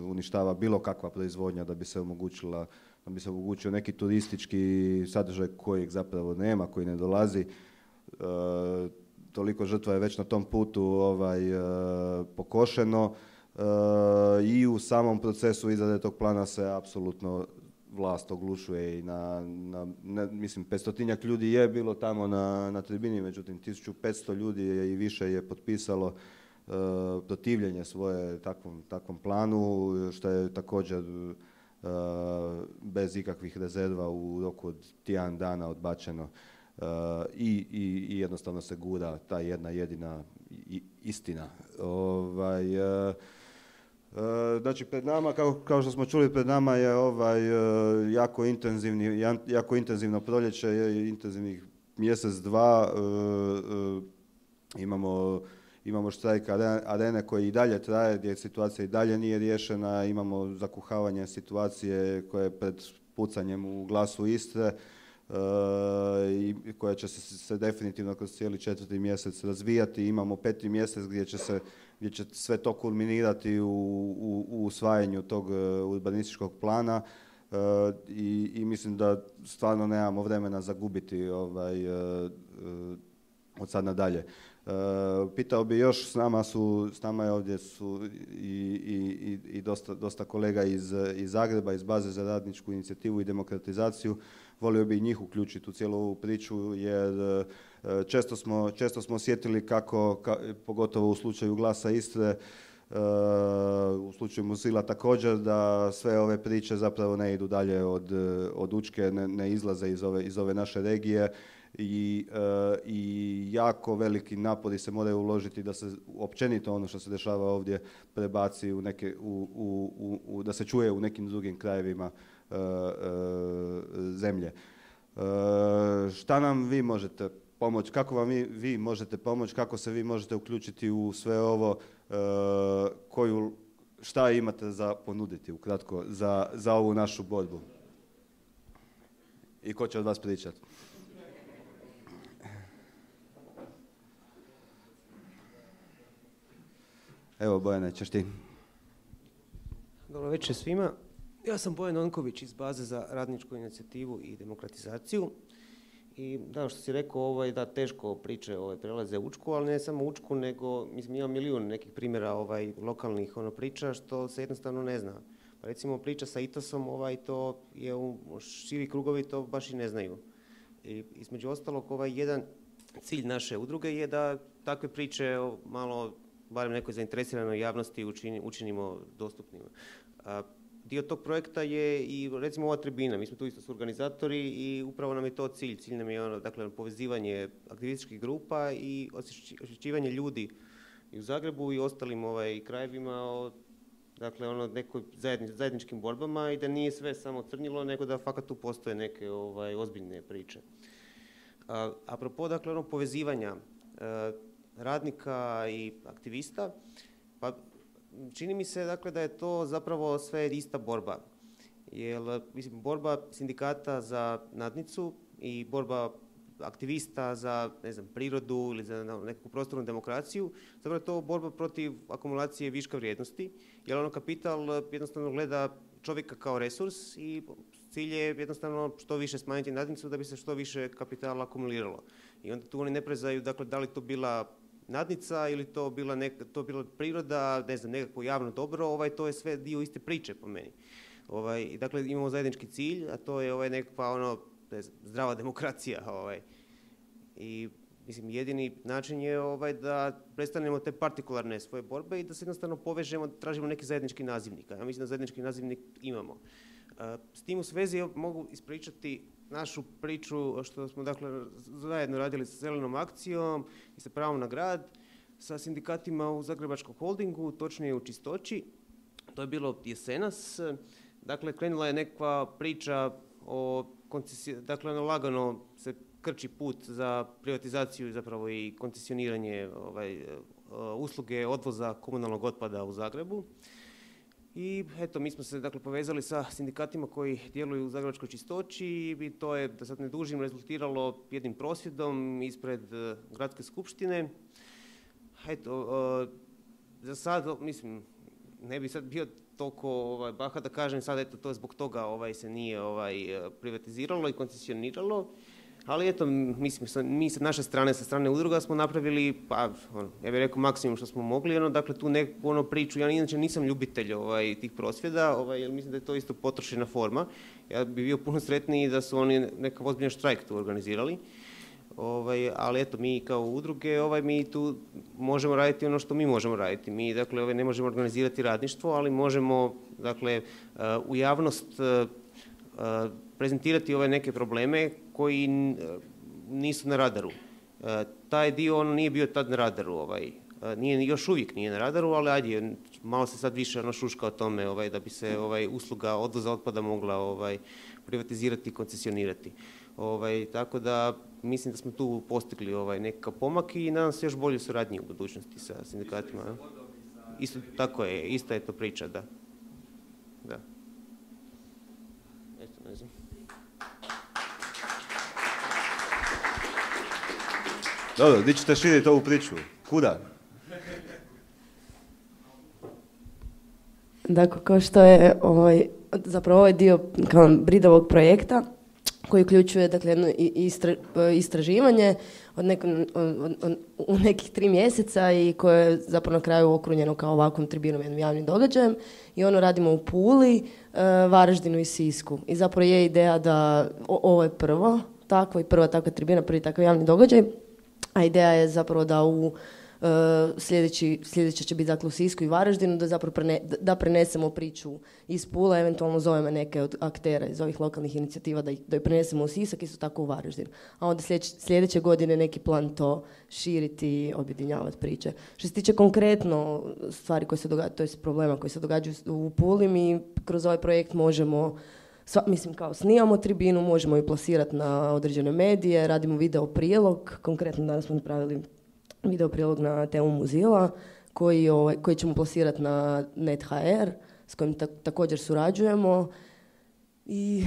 uništava bilo kakva proizvodnja da bi se omogućila, da bi se omogućio neki turistički sadržaj kojeg zapravo nema, koji ne dolazi. Uh, toliko žrtva je već na tom putu ovaj, uh, pokošeno uh, i u samom procesu izrade tog plana se apsolutno vlast oglušuje i na, na ne, mislim, petstotinjak ljudi je bilo tamo na, na tribini, međutim tisuću petsto ljudi je i više je potpisalo uh, protivljenje svoje takvom, takvom planu, što je također uh, bez ikakvih rezerva u roku od tjedan dana odbačeno uh, i, i, i jednostavno se gura ta jedna jedina i, istina. Ovaj, uh, Znači, pred nama, kao, kao što smo čuli, pred nama je ovaj jako intenzivni, jako intenzivno proljeće, je intenzivnih mjesec, dva. Imamo, imamo štrajk Arene koji i dalje traje, gdje situacija i dalje nije riješena. Imamo zakuhavanje situacije koje je pred pucanjem u Glasu Istre i koja će se, se definitivno kroz cijeli četvrti mjesec razvijati. Imamo peti mjesec gdje će se gdje će sve to kulminirati u, u, u usvajanju tog urbanističkog plana uh, i, i mislim da stvarno nemamo vremena zagubiti ovaj, uh, uh, od sad nadalje. Uh, pitao bi još, s nama su, s nama je ovdje su i, i, i dosta, dosta kolega iz, iz Zagreba, iz Baze za radničku inicijativu i demokratizaciju. Volio bi i njih uključiti u cijelu ovu priču, jer često smo, često smo osjetili kako, ka, pogotovo u slučaju Glasa Istre, uh, u slučaju Muzila također, da sve ove priče zapravo ne idu dalje od, od Učke, ne, ne izlaze iz ove, iz ove naše regije i, uh, i jako veliki napori se moraju uložiti da se općenito ono što se dešava ovdje prebaci u neke, u, u, u, u, da se čuje u nekim drugim krajevima Uh, uh, zemlje. Uh, šta nam vi možete pomoći, kako vam vi, vi možete pomoći, kako se vi možete uključiti u sve ovo, uh, koju, šta imate za ponuditi ukratko za, za ovu našu borbu? I ko će od vas pričati? Evo, Bojane, ćeš ti. Dobro večer svima. Ja sam Bojan Onković iz Baze za radničku inicijativu i demokratizaciju. I da, što si rekao, ovaj, da teško priče ovaj, prelaze Učku, ali ne samo Učku, nego mislim, ima milijun nekih primjera ovaj, lokalnih ono, priča što se jednostavno ne zna. Pa recimo priča sa Itosom, ovaj, to je u širi krugovi, to baš i ne znaju. I između ostalog, ovaj, jedan cilj naše udruge je da takve priče malo, barem nekoj zainteresiranoj javnosti učini, učinimo dostupnima. A, dio tog projekta je i recimo ova tribina. Mi smo tu isto su organizatori i upravo nam je to cilj. Cilj nam je ono, dakle, povezivanje aktivističkih grupa i osvješćivanje ljudi i u Zagrebu i ostalim ovaj, krajevima o dakle, ono, nekoj zajedni, zajedničkim borbama i da nije sve samo crnilo, nego da fakat tu postoje neke ovaj, ozbiljne priče. A, apropo, dakle, ono, povezivanja a, radnika i aktivista, pa čini mi se dakle, da je to zapravo sve ista borba. Jer, mislim, borba sindikata za nadnicu i borba aktivista za ne znam, prirodu ili za neku prostornu demokraciju, zapravo je to borba protiv akumulacije viška vrijednosti, jer ono kapital jednostavno gleda čovjeka kao resurs i cilj je jednostavno što više smanjiti nadnicu da bi se što više kapitala akumuliralo. I onda tu oni ne prezaju, dakle, da li to bila nadnica ili to bila, neka, to bila priroda, ne znam, nekako javno dobro, ovaj, to je sve dio iste priče po meni. Ovaj, dakle, imamo zajednički cilj, a to je ovaj, nekakva ono, ne znam, zdrava demokracija. Ovaj. I Mislim, jedini način je ovaj, da prestanemo te partikularne svoje borbe i da se jednostavno povežemo, tražimo neki zajednički nazivnik. Ja mislim da zajednički nazivnik imamo. S tim u svezi mogu ispričati našu priču što smo dakle zajedno radili sa Zelenom akcijom i sa pravom na grad, sa sindikatima u Zagrebačkom holdingu, točnije u Čistoći. To je bilo jesenas. Dakle, krenula je nekakva priča o koncesiji, dakle, ono lagano se krči put za privatizaciju zapravo i koncesioniranje ovaj, usluge odvoza komunalnog otpada u Zagrebu. I eto, mi smo se dakle povezali sa sindikatima koji djeluju u Zagrebačkoj Čistoći i to je, da sad ne dužim, rezultiralo jednim prosvjedom ispred gradske skupštine. Eto, za sad, mislim, ne bi sad bio toliko ovaj, baha da kažem sad, eto, to je zbog toga ovaj, se nije ovaj, privatiziralo i koncesioniralo. Ali eto, mislim, mi sa naše strane, sa strane udruga smo napravili, pa, ono, ja bih rekao maksimum što smo mogli, ono, dakle, tu neku ono priču, ja inače nisam ljubitelj ovaj, tih prosvjeda, ovaj, jer mislim da je to isto potrošena forma. Ja bih bio puno sretniji da su oni nekav ozbiljan štrajk tu organizirali. Ovaj, ali eto, mi kao udruge, ovaj, mi tu možemo raditi ono što mi možemo raditi. Mi, dakle, ovaj, ne možemo organizirati radništvo, ali možemo, dakle, uh, u javnost uh, uh, prezentirati ove neke probleme koji nisu na radaru. E, taj dio on nije bio tad na radaru, ovaj, nije, još uvijek nije na radaru, ali ajde, malo se sad više ono šuška o tome ovaj, da bi se ovaj, usluga odvoza otpada mogla ovaj, privatizirati i koncesionirati. Ovaj, tako da mislim da smo tu postigli ovaj, nekakav pomak i nadam se još bolje suradnje u budućnosti sa sindikatima. Isto tako je, ista je to priča, da. Da. Eto, ne znam. Dobro, gdje ćete širiti ovu priču? Kuda? Dakle, kao što je ovaj, zapravo ovaj dio kao Bridovog projekta koji uključuje dakle, jedno istra, istraživanje od neko, od, od, u nekih tri mjeseca i koje je zapravo na kraju okrunjeno kao ovakvom tribinom, jednim javnim događajem. I ono radimo u Puli, Varaždinu i Sisku. I zapravo je ideja da o, ovo je prvo takvo i prva takva tribina, prvi takav javni događaj. A ideja je zapravo da u uh, sljedeći, sljedeće će biti dakle u Sisku i Varaždinu, da zapravo prene, da prenesemo priču iz Pule, eventualno zovemo neke od aktera iz ovih lokalnih inicijativa da ih, da ih prenesemo u Sisak, isto tako u Varaždinu. A onda sljedeće, sljedeće godine neki plan to širiti i objedinjavati priče. Što se tiče konkretno stvari koje se događaju, to je problema koji se događaju u Puli, mi kroz ovaj projekt možemo Sva, mislim, kao snimamo tribinu, možemo ju plasirati na određene medije, radimo video prilog, konkretno danas smo napravili video prilog na temu Muzila, koji, ovaj, koji ćemo plasirati na net ha er, s kojim ta, također surađujemo. I,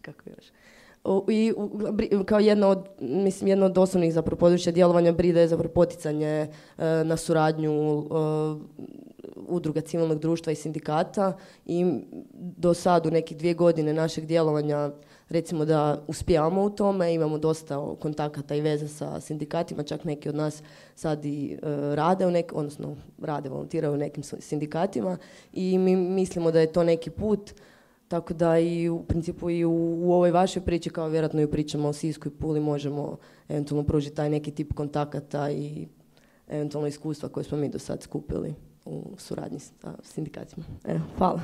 kako još? I kao jedno od, mislim, jedno od osnovnih zapravo područja djelovanja Bride je zapravo poticanje uh, na suradnju uh, udruga civilnog društva i sindikata i do sad u nekih dvije godine našeg djelovanja recimo da uspijamo u tome, imamo dosta kontakata i veze sa sindikatima, čak neki od nas sad i uh, rade u nekim, odnosno rade, volontiraju u nekim sindikatima i mi mislimo da je to neki put. Tako da i u principu i u, u ovoj vašoj priči, kao vjerojatno i u pričama o Sisku i Puli, možemo eventualno pružiti taj neki tip kontakata i eventualno iskustva koje smo mi do sad skupili u suradnji sa sindikatima. Evo, hvala.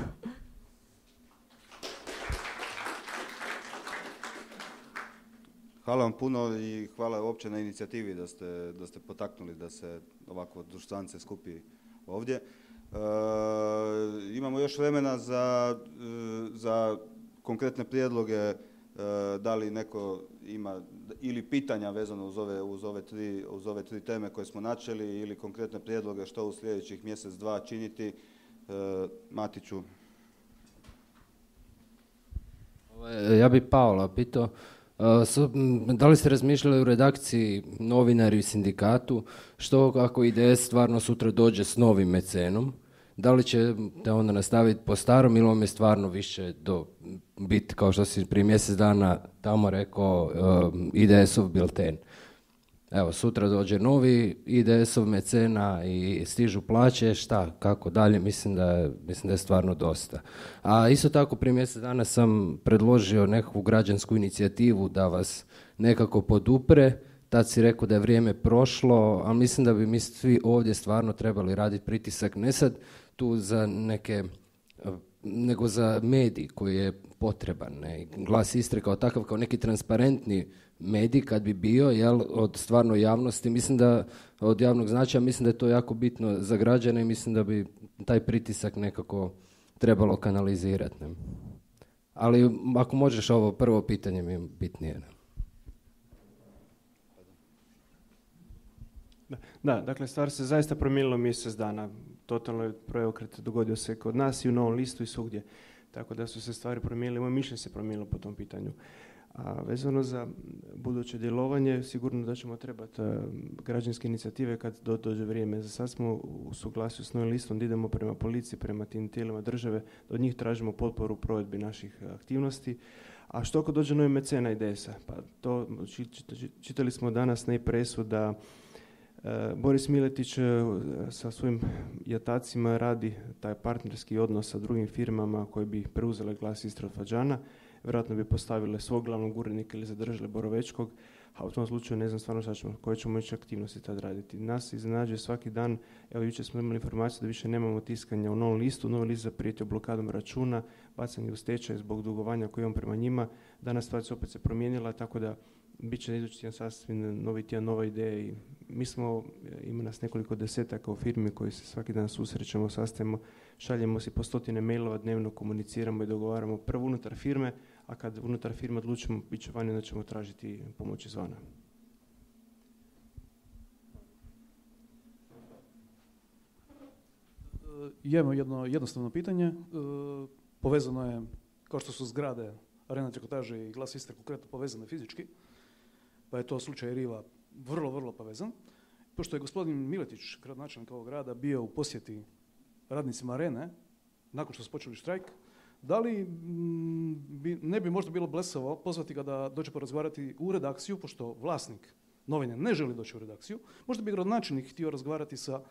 Hvala vam puno i hvala uopće na inicijativi da ste, da ste potaknuli da se ovako društvance skupi ovdje. E, imamo još vremena za, za konkretne prijedloge, e, da li neko ima ili pitanja vezano uz ove, uz, ove tri, uz ove tri teme koje smo načeli ili konkretne prijedloge što u sljedećih mjesec, dva činiti. E, Matiću. Ja bih Paola pitao, da li ste razmišljali u redakciji, novinari i sindikatu, što ako I D S stvarno sutra dođe s novim mecenom? Da li će te onda nastaviti po starom ili vam je stvarno više do biti, kao što si prije mjesec dana tamo rekao, I D S-ov bilten? Evo, sutra dođe novi I D S-ov mecena i stižu plaće, šta, kako dalje, mislim da je, mislim da je stvarno dosta. A isto tako prije mjesec dana sam predložio nekakvu građansku inicijativu da vas nekako podupre, tad si rekao da je vrijeme prošlo, ali mislim da bi mi svi ovdje stvarno trebali raditi pritisak, ne sad tu za neke, nego za medij koji je potreban. Ne? Glas Istre kao takav, kao neki transparentni medij kad bi bio, jel, od stvarno javnosti, mislim da od javnog značaja, mislim da je to jako bitno za građane i mislim da bi taj pritisak nekako trebalo kanalizirati. Ne? Ali ako možeš, ovo prvo pitanje mi je bitnije. Ne? Da, dakle, stvar se zaista promijenila mjesec dana. Totalno je preokret dogodio se kod nas i u Novom listu i svugdje. Tako da su se stvari promijenile, moje mišljenje se promijenilo po tom pitanju. A vezano za buduće djelovanje, sigurno da ćemo trebati uh, građanske inicijative kad do, dođe vrijeme. Za sad smo u suglasju s Novim listom da idemo prema policiji, prema tim tijelima države, da od njih tražimo potporu u provedbi naših aktivnosti. A što ako dođe novi mecena I D S-a? Pa to čitali smo danas na i-presu da Boris Miletić sa svojim jatacima radi taj partnerski odnos sa drugim firmama koje bi preuzele Glas Istre od Fađana. Vjerojatno bi postavile svog glavnog urednika ili zadržale Borovečkog, a u tom slučaju ne znam stvarno šta ćemo, koje ćemo ići aktivnosti tad raditi. Nas iznenađuje svaki dan, evo jučer smo imali informaciju da više nemamo tiskanja u Novom listu, Novi list zaprijetio blokadom računa, bacanje u stečaj zbog dugovanja koje imamo prema njima. Danas stvar se opet se promijenila, tako da bit će idući tjedan sasvim novi tjedan, nova ideja i mi smo, ima nas nekoliko desetaka u firmi koji se svaki dan susrećemo, sastajemo, šaljemo si po stotine mailova, dnevno komuniciramo i dogovaramo prvo unutar firme, a kad unutar firme odlučimo bit će vani, onda ćemo tražiti pomoć izvana. Imamo jedno jednostavno pitanje, povezano je, kao što su zgrade Arena Trikotaže i Glas Istre konkretno povezane fizički, pa je to slučaj Riva vrlo, vrlo povezan. Pošto je gospodin Miletić, gradonačelnik ovog grada, bio u posjeti radnicima Arene, nakon što su počeli štrajk, da li bi, ne bi možda bilo blesavo pozvati ga da dođe porazgovarati u redakciju, pošto vlasnik novine ne želi doći u redakciju, možda bi gradonačelnik htio razgovarati sa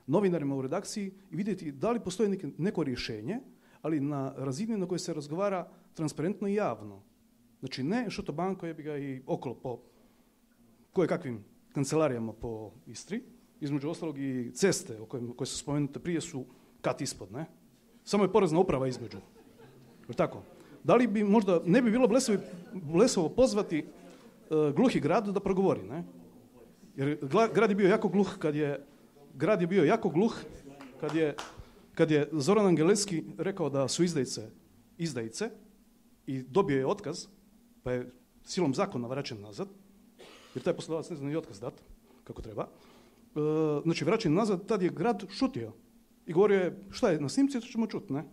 novinarima u redakciji i vidjeti da li postoji neko, neko rješenje, ali na razini na kojoj se razgovara transparentno i javno. Znači ne šotobanko je bi ga i okolo po koje kakvim kancelarijama po Istri, između ostalog i ceste o kojim, koje su spomenute prije su kat ispod, ne? Samo je porezna uprava između. Je tako? Da li bi možda, ne bi bilo blesovo, blesovo pozvati uh, gluhi grad da progovori, ne? Jer gla, grad je bio jako gluh kad je, grad je bio jako gluh kad je, kad je Zoran Angelevski rekao da su izdajice izdajice i dobio je otkaz, pa je silom zakona vraćen nazad, jer taj poslodavac ne zna ni otkaz dat, kako treba. E, znači, vraćen nazad, tad je grad šutio i govorio je, šta je, na snimci, to ćemo čuti, ne?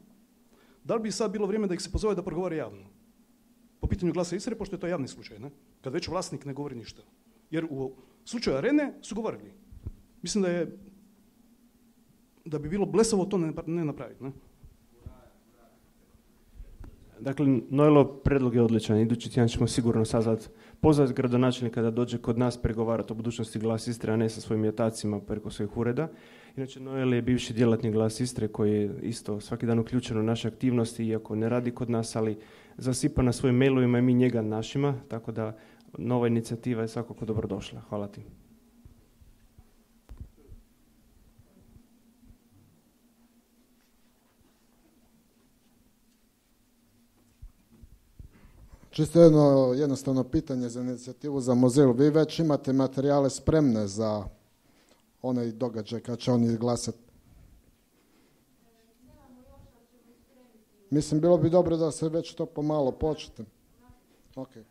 Da li bi sad bilo vrijeme da ih se pozove da progovore javno? Po pitanju Glasa Istre, pošto je to javni slučaj, ne? Kad već vlasnik ne govori ništa. Jer u slučaju Arene su govorili. Mislim da je, da bi bilo blesavo to ne, ne napraviti, ne? Dakle, Nojlo, predlog je odličan. Idući tjedan ćemo sigurno sazvati, pozvati gradonačelnika da dođe kod nas pregovarati o budućnosti Glas Istre, a ne sa svojim jatacima preko svojih ureda. Inače, Nojlo je bivši djelatnik Glas Istre koji je isto svaki dan uključen u naše aktivnosti, iako ne radi kod nas, ali zasipa na svojim mailovima i mi njega našima, tako da nova inicijativa je svakako dobrodošla. Hvala ti. Čisto jedno jednostavno pitanje za inicijativu za Mozilu. Vi već imate materijale spremne za onaj događaj kad će oni glasati? Mislim, bilo bi dobro da se već to pomalo počete. Okay.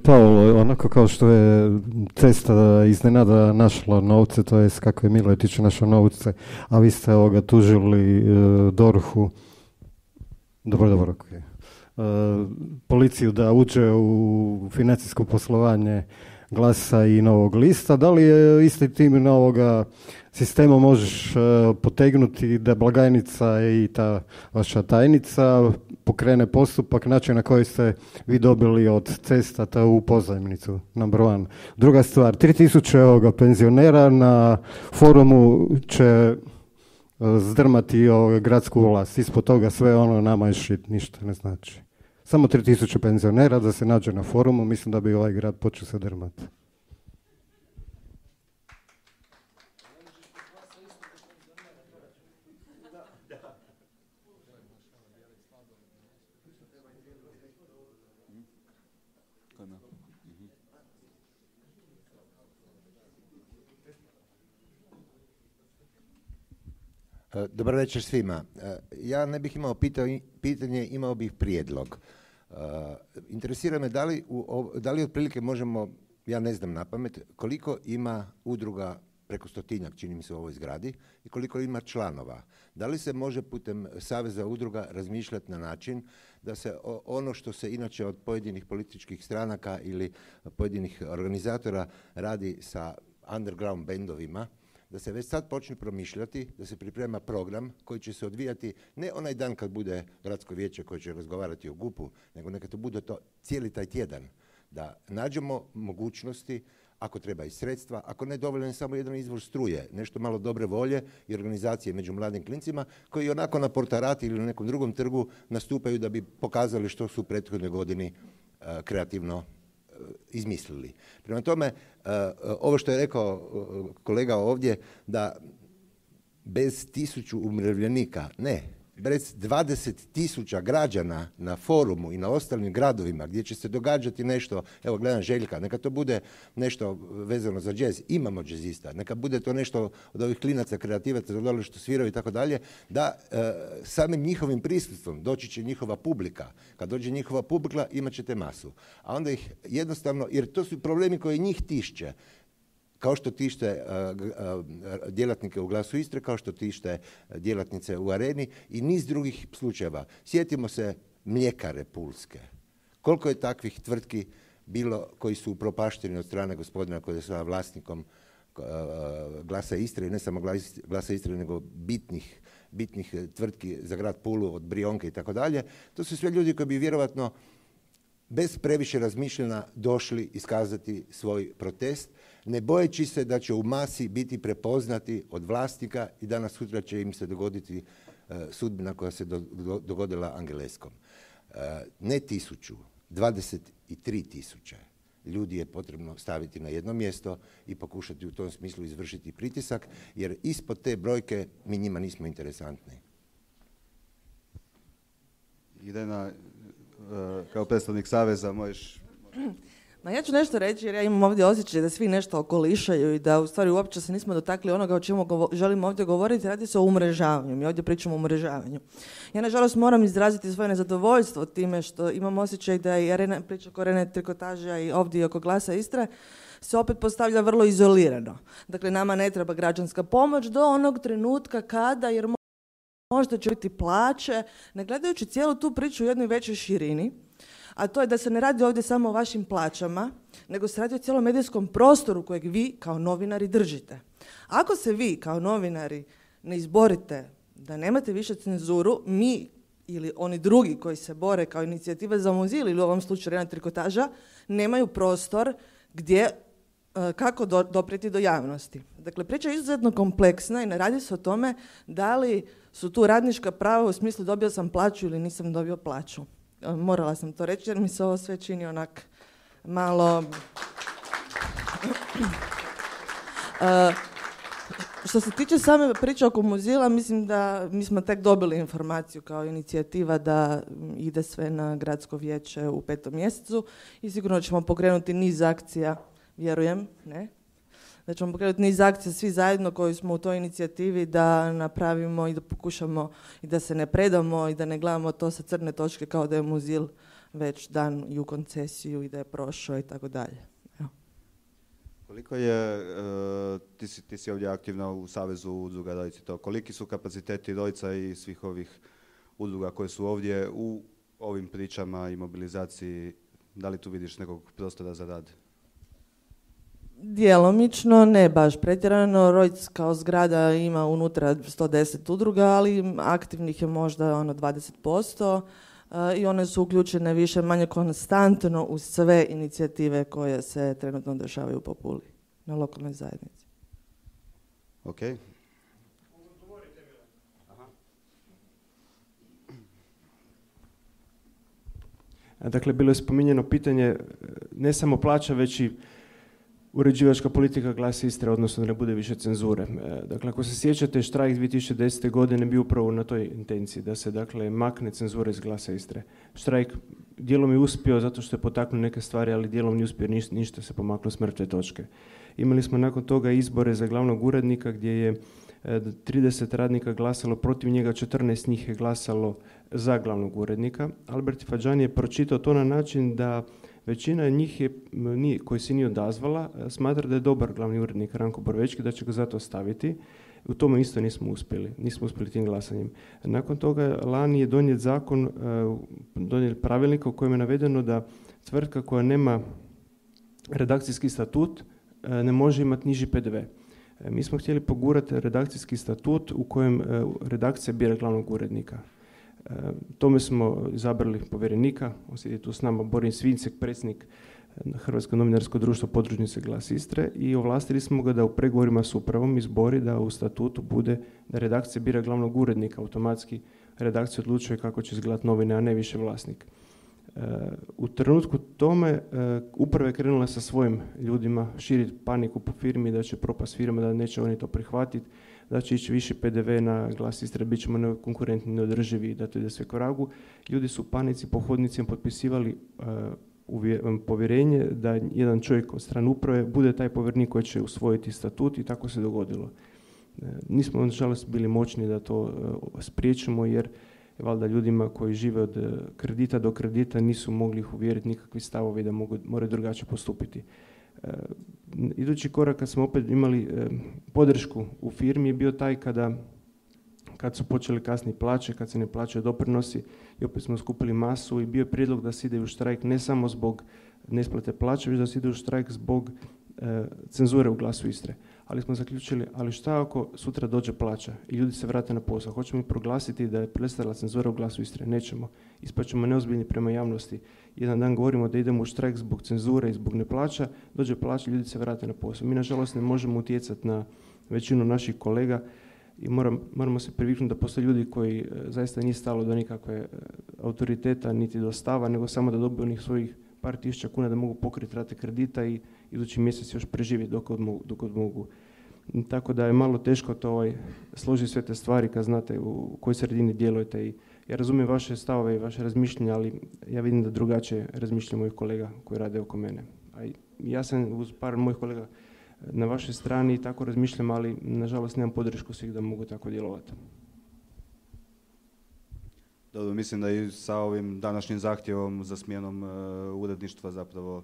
Paolo, onako kao što je cesta iznenada našla novce, to je kako je Miletić našao novce, a vi ste ovoga tužili uh, dorhu, dobro, dobro, okay. uh, policiju da uđe u financijsko poslovanje Glasa i Novog lista. Da li je isti tim novoga sistema možeš uh, potegnuti da blagajnica i ta vaša tajnica pokrene postupak, način na koji ste vi dobili od cestata u pozajmnicu, number one. Druga stvar, tri tisuće ovoga penzionera na forumu će uh, zdrmati ovoga gradsku vlast. Ispod toga sve ono nama je shit, ništa ne znači. Samo tri tisuće penzionera da se nađe na forumu, mislim da bi ovaj grad počeo se drmati. Dobar večer svima. Ja ne bih imao pitanje, imao bih prijedlog. Interesira me da li, u, da li otprilike možemo, ja ne znam na pamet, koliko ima udruga, preko stotinjak čini mi se u ovoj zgradi, i koliko ima članova. Da li se može putem Saveza udruga razmišljati na način da se ono što se inače od pojedinih političkih stranaka ili pojedinih organizatora radi sa underground bendovima, da se već sad počne promišljati, da se priprema program koji će se odvijati ne onaj dan kad bude gradsko vijeće koje će razgovarati o GUP-u, nego neka to bude to cijeli taj tjedan. Da nađemo mogućnosti, ako treba i sredstva, ako ne dovoljan samo jedan izvor struje, nešto malo dobre volje i organizacije među mladim klincima koji onako na Portarati ili na nekom drugom trgu nastupaju da bi pokazali što su u prethodnoj godini uh, kreativno izmislili. Prema tome, ovo što je rekao kolega ovdje, da bez tisuću umirovljenika, ne, bez dvadeset tisuća građana na forumu i na ostalim gradovima gdje će se događati nešto, evo gledam Željka, neka to bude nešto vezano za džez, imamo džezista, neka bude to nešto od ovih klinaca, kreativaca, za dole što sviraju i tako dalje, da e, samim njihovim prisustvom doći će njihova publika. Kad dođe njihova publika, imat ćete masu. A onda ih jednostavno, jer to su problemi koji njih tišće, kao što tište uh, uh, djelatnike u Glasu Istre, kao što tište djelatnice u Areni i niz drugih slučajeva. Sjetimo se mljekare pulske. Koliko je takvih tvrtki bilo koji su upropašteni od strane gospodina koji je sada vlasnikom uh, Glasa Istre, i ne samo Glasa Istre, nego bitnih, bitnih tvrtki za grad Pulu, od Brionke i tako dalje. To su sve ljudi koji bi vjerovatno bez previše razmišljena došli iskazati svoj protest, ne bojeći se da će u masi biti prepoznati od vlasnika i danas sutra će im se dogoditi uh, sudbina koja se do, do, dogodila Angeleskom. Uh, ne tisuću, dvadeset tri tisuće ljudi je potrebno staviti na jedno mjesto i pokušati u tom smislu izvršiti pritisak, jer ispod te brojke mi njima nismo interesantni. Idena, kao predstavnik Saveza možeš... Ma ja ću nešto reći jer ja imam ovdje osjećaj da svi nešto okolišaju i da u stvari uopće se nismo dotakli onoga o čemu govo- želimo ovdje govoriti. Radi se o umrežavanju. Mi ovdje pričamo o umrežavanju. Ja nažalost moram izraziti svoje nezadovoljstvo time što imam osjećaj da i arena, priča oko Arene Trikotaža i ovdje oko Glasa Istre se opet postavlja vrlo izolirano. Dakle, nama ne treba građanska pomoć do onog trenutka kada, jer možda će biti plaće, ne gledajući cijelu tu priču u jednoj većoj širini, a to je da se ne radi ovdje samo o vašim plaćama, nego se radi o cijelom medijskom prostoru kojeg vi kao novinari držite. Ako se vi kao novinari ne izborite da nemate više cenzuru, mi ili oni drugi koji se bore kao inicijativa za Mozil ili u ovom slučaju Arena Trikotaža, nemaju prostor gdje, kako do, doprijeti do javnosti. Dakle, priča je izuzetno kompleksna i ne radi se o tome da li su tu radnička prava u smislu dobio sam plaću ili nisam dobio plaću. Morala sam to reći jer mi se ovo sve čini onak malo... uh, što se tiče same priče oko Mozila, mislim da mi smo tek dobili informaciju kao inicijativa da ide sve na gradsko vijeće u petom mjesecu i sigurno ćemo pokrenuti niz akcija, vjerujem, ne? Da ćemo pokrenuti niz akcija svi zajedno koji smo u toj inicijativi da napravimo i da pokušamo i da se ne predamo i da ne gledamo to sa crne točke kao da je Mozil već dan i u koncesiju i da je prošao i tako dalje. Koliko je, uh, ti, si, ti si ovdje aktivna u Savezu udruga Dojci, to, koliki su kapaciteti Dojca i svih ovih udruga koje su ovdje u ovim pričama i mobilizaciji, da li tu vidiš nekog prostora za rad? Djelomično, ne baš pretjerano. Rojc kao zgrada ima unutra sto deset udruga, ali aktivnih je možda ono dvadeset posto uh, i one su uključene više manje konstantno u sve inicijative koje se trenutno dešavaju po Puli na lokalnoj zajednici. Ok. Dakle, bilo je spominjeno pitanje ne samo plaća, već i uređivačka politika Glas Istre, odnosno da ne bude više cenzure. Dakle, ako se sjećate, štrajk dvije tisuće desete. godine bio upravo na toj intenciji, da se dakle makne cenzura iz Glasa Istre. Štrajk dijelom je uspio zato što je potaknuo neke stvari, ali dijelom nije uspio, ništa, ništa se pomaklo s mrtve točke. Imali smo nakon toga izbore za glavnog urednika gdje je trideset radnika glasalo protiv njega, četrnaest njih je glasalo za glavnog urednika. Albert Fadžani je pročitao to na način da većina njih je, nije, koji se nije odazvala, smatra da je dobar glavni urednik Ranko Borovečki, da će ga zato staviti. U tome isto nismo uspjeli, nismo uspjeli tim glasanjem. Nakon toga lani je donijet zakon, donijet pravilnik u kojem je navedeno da tvrtka koja nema redakcijski statut ne može imati niži P D V. Mi smo htjeli pogurati redakcijski statut u kojem redakcija bira glavnog urednika. Tome smo izabrali povjerenika, on sjedi tu s nama, Boris Svincek, predsjednik Hrvatsko novinarsko društvo podružnice Glas Istre, i ovlastili smo ga da u pregovorima s upravom izbori da u statutu bude da redakcija bira glavnog urednika, automatski redakcija odlučuje kako će izgledati novine, a ne više vlasnik. U trenutku tome uprava je krenula sa svojim ljudima širiti paniku po firmi da će propast firma, da neće oni to prihvatiti, da će ići više P D V na Glas Istre, bit ćemo nekonkurentni, neodrživi, da to ide sve k vragu. Ljudi su u panici po hodnicima potpisivali uh, povjerenje da jedan čovjek od strane uprave bude taj povjerenik koji će usvojiti statut, i tako se dogodilo. Uh, nismo nažalost bili moćni da to uh, spriječimo, jer valjda ljudima koji žive od kredita do kredita nisu mogli ih uvjeriti nikakvi stavovi da mogu, moraju drugačije postupiti. E, idući korak kad smo opet imali e, podršku u firmi je bio taj kada kad su počeli kasnije plaće, kad se ne plaćaju doprinosi, i opet smo skupili masu i bio je prijedlog da se ide u štrajk ne samo zbog neisplate plaće, već da se ide u štrajk zbog e, cenzure u Glasu Istre. Ali smo zaključili, ali šta ako sutra dođe plaća i ljudi se vrate na posao? Hoćemo mi proglasiti da je prestala cenzura u Glasu Istre? Nećemo. Ispaćemo neozbiljni prema javnosti. Jedan dan govorimo da idemo u štrajk zbog cenzure i zbog neplaća, dođe plaća, ljudi se vrate na posao. Mi nažalost ne možemo utjecati na većinu naših kolega i moram, moramo se priviknuti da postoje ljudi koji e, zaista nije stalo do nikakve e, autoriteta niti do stava, nego samo da dobiju onih svojih par tisuća kuna da mogu pokriti rate kredita i idući mjesec još preživjeti dok god mogu. Dok god mogu. Tako da je malo teško to ovaj, složiti sve te stvari kad znate u kojoj sredini djelujete. I ja razumijem vaše stavove i vaše razmišljanja, ali ja vidim da drugačije razmišljaju mojih kolega koji rade oko mene. A ja sam uz par mojih kolega na vašoj strani i tako razmišljam, ali nažalost nemam podršku svih da mogu tako djelovati. Dobro, mislim da i sa ovim današnjim zahtjevom za smjenom uh, uredništva zapravo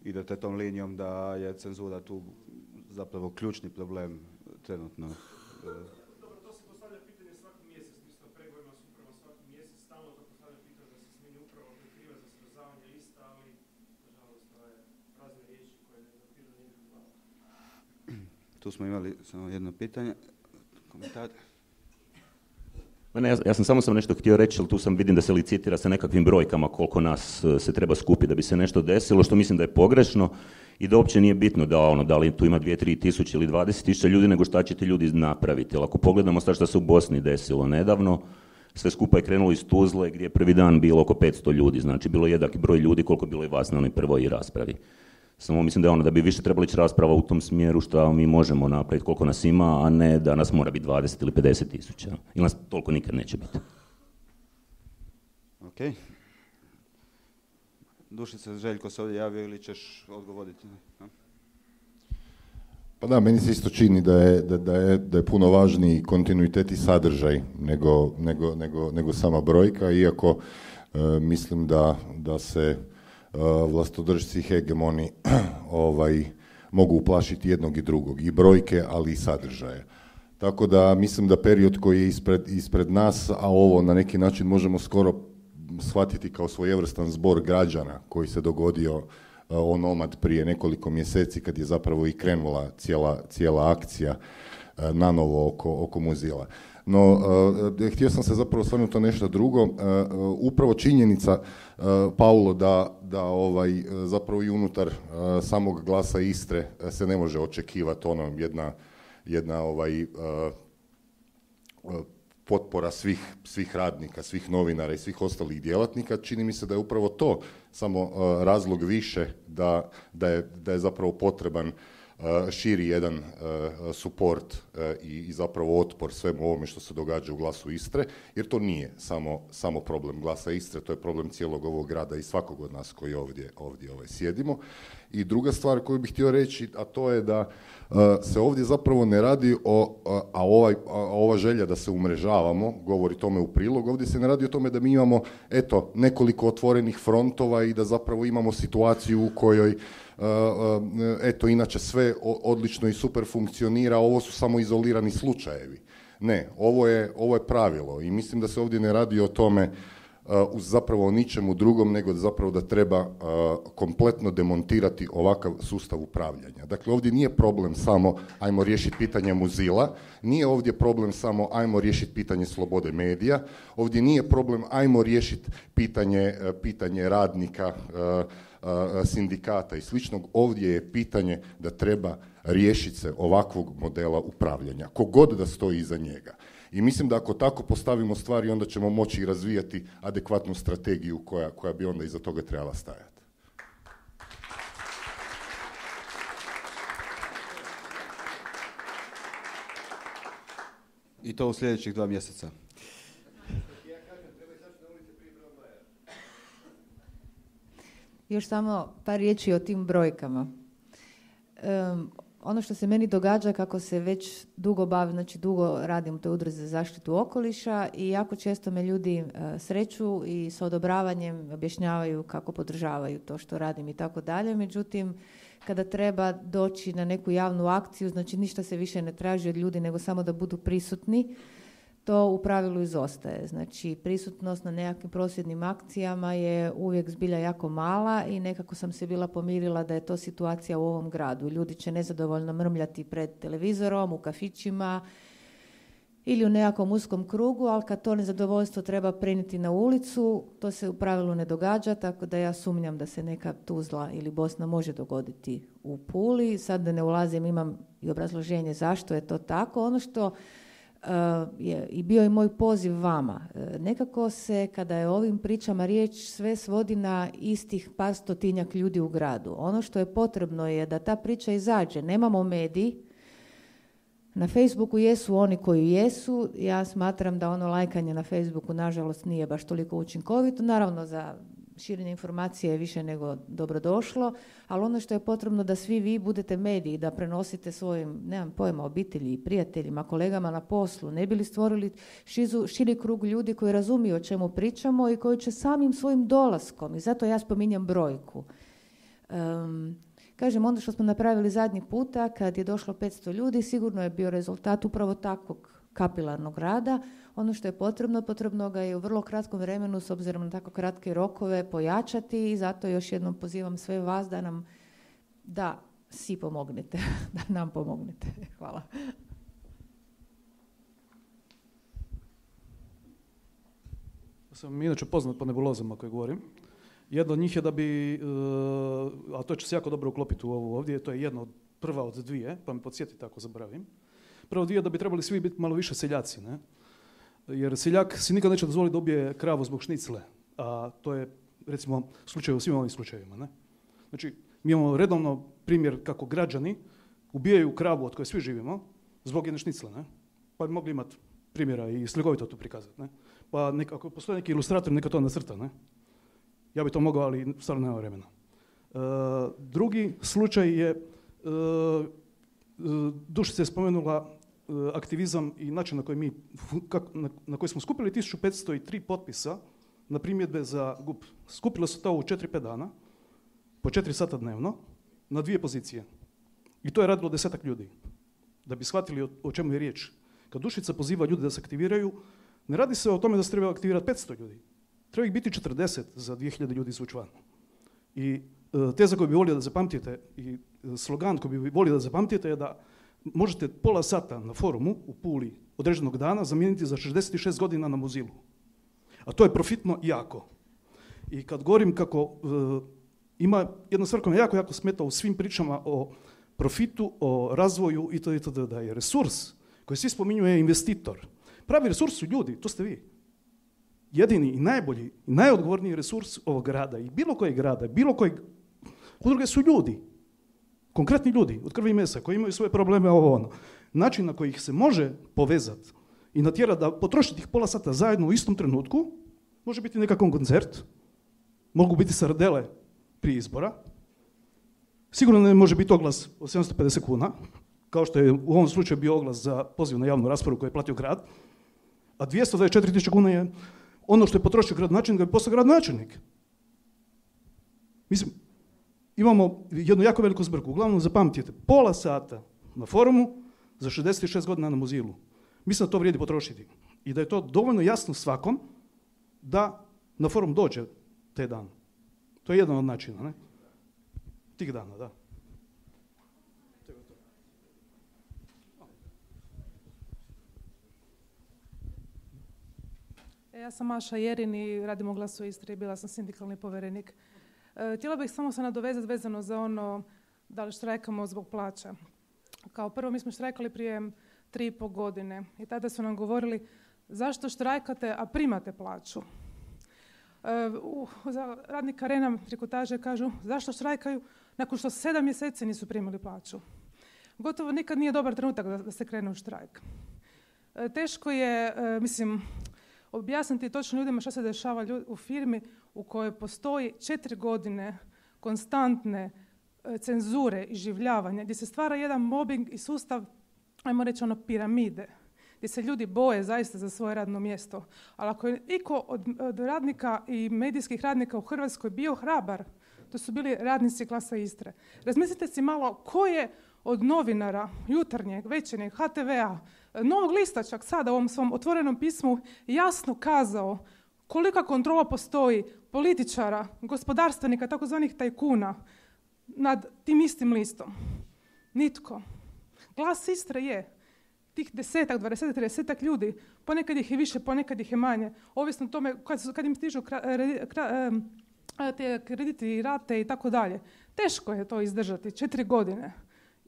idete tom linijom da je cenzura tu zapravo ključni problem trenutno. Dobro, to se postavlja pitanje svaki mjesec, mi smo pregovorima s upravom svaki mjesec, stalno to postavlja pitanje da se smijeni uprava koja je kriva za smrzavanje lista, ali nažalost to je prazne riječi koje ne dopiru nikakvu glavu. Tu smo imali samo jedno pitanje, komentar. Ne, ja, ja sam samo sam nešto htio reći, ali tu sam vidim da se licitira sa nekakvim brojkama koliko nas se treba skupiti da bi se nešto desilo, što mislim da je pogrešno i da uopće nije bitno da, ono, da li tu ima dvije, tri tisuće ili dvadeset tisuća ljudi, nego šta će ti ljudi napraviti. Jer ako pogledamo sad što se u Bosni desilo nedavno, sve skupa je krenulo iz Tuzle gdje je prvi dan bilo oko petsto ljudi, znači bilo je jednaki broj ljudi koliko je bilo i vas na onoj prvoj raspravi. Samo mislim da je ono da bi više trebala ići rasprava u tom smjeru što mi možemo napraviti koliko nas ima, a ne da nas mora biti dvadeset ili pedeset tisuća. Ili nas toliko nikad neće biti. Ok. Dušica, Željko se ovdje javio ili ćeš odgovoriti? No? Pa da, meni se isto čini da je, da, da je, da je puno važniji kontinuitet i sadržaj nego, nego, nego, nego sama brojka, iako e, mislim da, da se Uh, vlastodržci i hegemoni ovaj, mogu uplašiti jednog i drugog, i brojke, ali i sadržaje. Tako da mislim da period koji je ispred, ispred nas, a ovo na neki način možemo skoro shvatiti kao svojevrstan zbor građana koji se dogodio uh, onomad prije nekoliko mjeseci kad je zapravo i krenula cijela, cijela akcija uh, nanovo oko, oko Mozilla. No, uh, htio sam se zapravo osvrnuti to nešto drugo. Uh, uh, upravo činjenica, uh, Paulo, da, da ovaj, zapravo i unutar uh, samog Glasa Istre uh, se ne može očekivati ono jedna, jedna ovaj, uh, uh, potpora svih, svih radnika, svih novinara i svih ostalih djelatnika, čini mi se da je upravo to samo uh, razlog više da, da, je, da je zapravo potreban uh, širi jedan uh, suport uh, i, i zapravo otpor svemu ovome što se događa u Glasu Istre, jer to nije samo, samo problem Glasa Istre, to je problem cijelog ovog grada i svakog od nas koji ovdje, ovdje ovaj, sjedimo. I druga stvar koju bih htio reći, a to je da uh, se ovdje zapravo ne radi o, a, a, ovaj, a ova želja da se umrežavamo, govori tome u prilog, ovdje se ne radi o tome da mi imamo, eto, nekoliko otvorenih frontova i da zapravo imamo situaciju u kojoj, uh, uh, eto, inače sve odlično i super funkcionira, ovo su samo izolirani slučajevi. Ne, ovo je, ovo je pravilo i mislim da se ovdje ne radi o tome Uh, zapravo o ničemu drugom, nego da zapravo da treba uh, kompletno demontirati ovakav sustav upravljanja. Dakle, ovdje nije problem samo ajmo riješiti pitanje Muzila, nije ovdje problem samo ajmo riješiti pitanje slobode medija, ovdje nije problem ajmo riješiti pitanje, uh, pitanje radnika, uh, uh, sindikata i sličnog, ovdje je pitanje da treba riješiti se ovakvog modela upravljanja, kogod da stoji iza njega. I mislim da ako tako postavimo stvari, onda ćemo moći razvijati adekvatnu strategiju koja, koja bi onda iza toga trebala stajati. I to u sljedećih dva mjeseca. Još samo par riječi o tim brojkama. Um, Ono što se meni događa kako se već dugo bavim, znači dugo radim u toj udruzi za zaštitu okoliša i jako često me ljudi uh, sreću i s odobravanjem objašnjavaju kako podržavaju to što radim i tako dalje. Međutim, kada treba doći na neku javnu akciju, znači ništa se više ne traži od ljudi nego samo da budu prisutni, to u pravilu izostaje. Znači, prisutnost na nekakvim prosvjednim akcijama je uvijek zbilja jako mala i nekako sam se bila pomirila da je to situacija u ovom gradu. Ljudi će nezadovoljno mrmljati pred televizorom, u kafićima ili u nekakvom uskom krugu, ali kad to nezadovoljstvo treba prenijeti na ulicu, to se u pravilu ne događa, tako da ja sumnjam da se neka Tuzla ili Bosna može dogoditi u Puli. Sad da ne ulazim, imam i obrazloženje zašto je to tako. Ono što Uh, je i bio je moj poziv vama. Uh, nekako se, kada je o ovim pričama riječ, sve svodi na istih par stotinjak ljudi u gradu. Ono što je potrebno je da ta priča izađe. Nemamo mediji. Na Facebooku jesu oni koji jesu. Ja smatram da ono lajkanje na Facebooku, nažalost, nije baš toliko učinkovito. Naravno, za širenje informacije je više nego dobrodošlo, ali ono što je potrebno da svi vi budete mediji, da prenosite svojim, nemam pojma, obitelji, prijateljima, kolegama na poslu, ne bi li stvorili šizu, širi krug ljudi koji razumiju o čemu pričamo i koji će samim svojim dolaskom, i zato ja spominjem brojku. Um, kažem, ono što smo napravili zadnji puta, kad je došlo petsto ljudi, sigurno je bio rezultat upravo takvog kapilarnog rada. Ono što je potrebno, potrebno ga je u vrlo kratkom vremenu, s obzirom na tako kratke rokove, pojačati i zato još jednom pozivam sve vas da nam, da si pomognete, da nam pomognete. Hvala. Sam inače poznat po nebulozama koje govorim. Jedno od njih je da bi, a to će se jako dobro uklopiti u ovu ovdje, to je jedna od, prva od dvije, pa me podsjetite ako zaboravim. Prvo dvije da bi trebali svi biti malo više seljaci, ne? Jer seljak si nikad neće dozvoliti da ubije kravu zbog šnicle, a to je, recimo, slučaj u svim ovim slučajevima, ne? Znači, mi imamo redovno primjer kako građani ubijaju kravu od koje svi živimo zbog jedne šnicle, ne? Pa bi mogli imati primjera i slikovito to prikazati, ne? Pa nek, ako postoji neki ilustrator, neka to nacrta, ne? Ja bi to mogao, ali stvarno nema vremena. E, drugi slučaj je, e, Dušica je spomenula aktivizam i način na koji, mi, na, na koji smo skupili tisuću petsto tri potpisa na primjedbe za G U P. Skupilo se to u četiri pet dana, po četiri sata dnevno, na dvije pozicije. I to je radilo desetak ljudi. Da bi shvatili o, o čemu je riječ. Kad Dušica poziva ljude da se aktiviraju, ne radi se o tome da se treba aktivirati petsto ljudi. Treba ih biti četrdeset za dvije hiljade ljudi izvući van. I e, teza koju bi volio da zapamtite i slogan koji bi volio da zapamtite je da možete pola sata na forumu u Puli određenog dana zamijeniti za šezdeset šest godina na Muzilu. A to je profitno jako. I kad govorim kako uh, ima jedna stvar koja me jako, jako smeta u svim pričama o profitu, o razvoju itd., itd., da je resurs koji svi spominju je investitor. Pravi resurs su ljudi, to ste vi. Jedini i najbolji i najodgovorniji resurs ovog grada i bilo kojeg grada, bilo kojeg udruge su ljudi. Konkretni ljudi od krvi i mesa koji imaju svoje probleme, ovo ono. Način na koji ih se može povezati i natjerati da potroši tih pola sata zajedno u istom trenutku, može biti nekakav koncert, mogu biti sardele prije izbora, sigurno ne može biti oglas od sedamsto pedeset kuna, kao što je u ovom slučaju bio oglas za poziv na javnu raspravu koju je platio grad, a dvjesto dvadeset četiri tisuće kuna je ono što je potrošio gradonačelnik da bi postao gradonačelnik. Mislim, imamo jednu jako veliku zbrku. Uglavnom, zapamtite, pola sata na forumu za šezdeset šest godina na Mozilu. Mislim da to vrijedi potrošiti. I da je to dovoljno jasno svakom da na forum dođe te dan. To je jedan od načina, ne? Tih dana, da. Ja sam Maša Jerin i radim u Glasu Istre i bila sam sindikalni povjerenik. E, htjela bih samo se nadovezati vezano za ono da li štrajkamo zbog plaća. Kao prvo, mi smo štrajkali prije tri i pol godine i tada su nam govorili zašto štrajkate, a primate plaću. E, u, za radnika Rena trikotaže kažu zašto štrajkaju nakon što sedam mjeseci nisu primili plaću. Gotovo nikad nije dobar trenutak da, da se krene u štrajk. E, teško je, e, mislim, objasniti točno ljudima što se dešava u firmi u kojoj postoji četiri godine konstantne e, cenzure i življavanja, gdje se stvara jedan mobbing i sustav, ajmo reći ono, piramide, gdje se ljudi boje zaista za svoje radno mjesto. Ali ako je iko od, od radnika i medijskih radnika u Hrvatskoj bio hrabar, to su bili radnici Glasa Istre. Razmislite si malo ko je od novinara, Jutarnjeg, Večernjeg, ha te vea, Novog lista čak sada u ovom svom otvorenom pismu jasno kazao kolika kontrola postoji političara, gospodarstvenika, takozvanih tajkuna nad tim istim listom. Nitko. Glas Istre je tih desetak, dvadesetak, tridesetak ljudi, ponekad ih je više, ponekad ih je manje, ovisno o tome kad, kad im stižu kra, kra, te krediti i rate i tako dalje. Teško je to izdržati, četiri godine.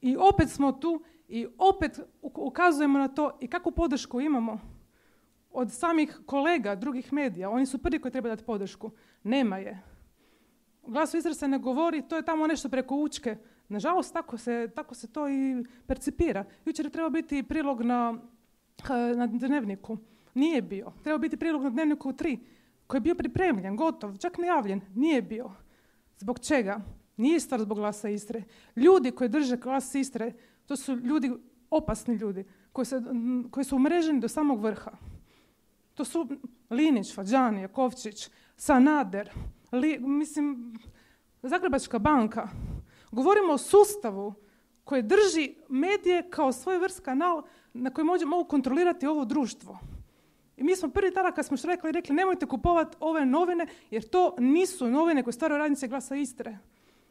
I opet smo tu i opet ukazujemo na to i kakvu podršku imamo od samih kolega drugih medija. Oni su prvi koji treba dati podršku. Nema je. U Glasu Istre se ne govori, to je tamo nešto preko Učke. Nažalost, tako se, tako se to i percipira. Jučer je trebao biti prilog na, na Dnevniku. Nije bio. Trebao biti prilog na Dnevniku u tri, koji je bio pripremljen, gotov, čak najavljen. Nije bio. Zbog čega? Nije stvar zbog Glasa Istre. Ljudi koji drže Glas Istre, to su ljudi, opasni ljudi, koji, se, koji su umreženi do samog vrha. To su Linić, Fađani, Jakovčić, Sanader, li, mislim, Zagrebačka banka. Govorimo o sustavu koji drži medije kao svoj vrst kanal na koji mogu, mogu kontrolirati ovo društvo. I mi smo prvi tada kad smo štrajkali rekli nemojte kupovati ove novine jer to nisu novine koje stvaraju radnice Glasa Istre.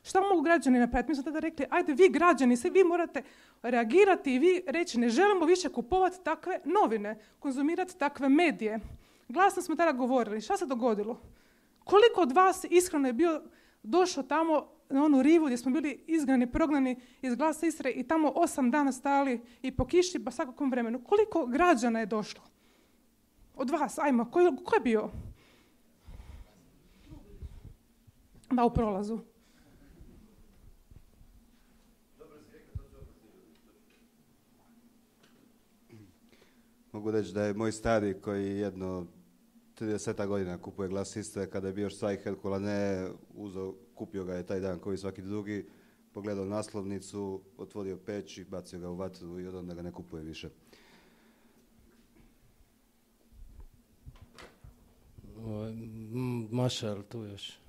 Šta mogu građani napraviti? Mi smo tada rekli, ajde vi građani, svi vi morate reagirati i vi reći ne želimo više kupovati takve novine, konzumirati takve medije. Glasno smo tada govorili, šta se dogodilo? Koliko od vas iskreno je bio došao tamo na onu rivu gdje smo bili izgnani, prognani iz Glasa Istre i tamo osam dana stajali i po kiši pa svakakvom vremenu. Koliko građana je došlo? Od vas, ajmo, ko je, ko je bio? Da, u prolazu. Mogu reći da je moj stari koji jedno trideset godina kupuje Glas Istre, kada je bio još Cvaj Herkula ne uzeo, kupio ga je taj dan koji svaki drugi, pogledao naslovnicu, otvorio peć i bacio ga u vatru i od onda ga ne kupuje više. Maša, ali tu još?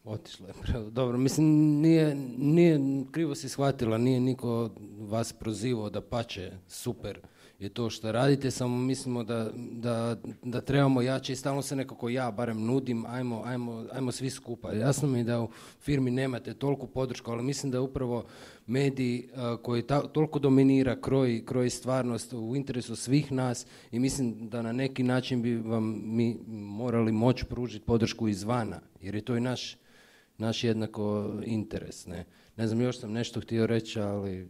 Otišla je. Dobro, mislim, nije, nije, krivo si shvatila, nije niko vas prozivao da pače, super je to što radite, samo mislimo da, da, da trebamo jače i stalno se nekako ja barem nudim, ajmo, ajmo, ajmo svi skupa. Jasno mi je da u firmi nemate toliko podršku, ali mislim da upravo mediji uh, koji ta, toliko dominira, kroji, kroji stvarnost u interesu svih nas i mislim da na neki način bi vam mi morali moći pružiti podršku izvana, jer je to i naš, naš jednako interes. Ne, ne znam, još sam nešto htio reći, ali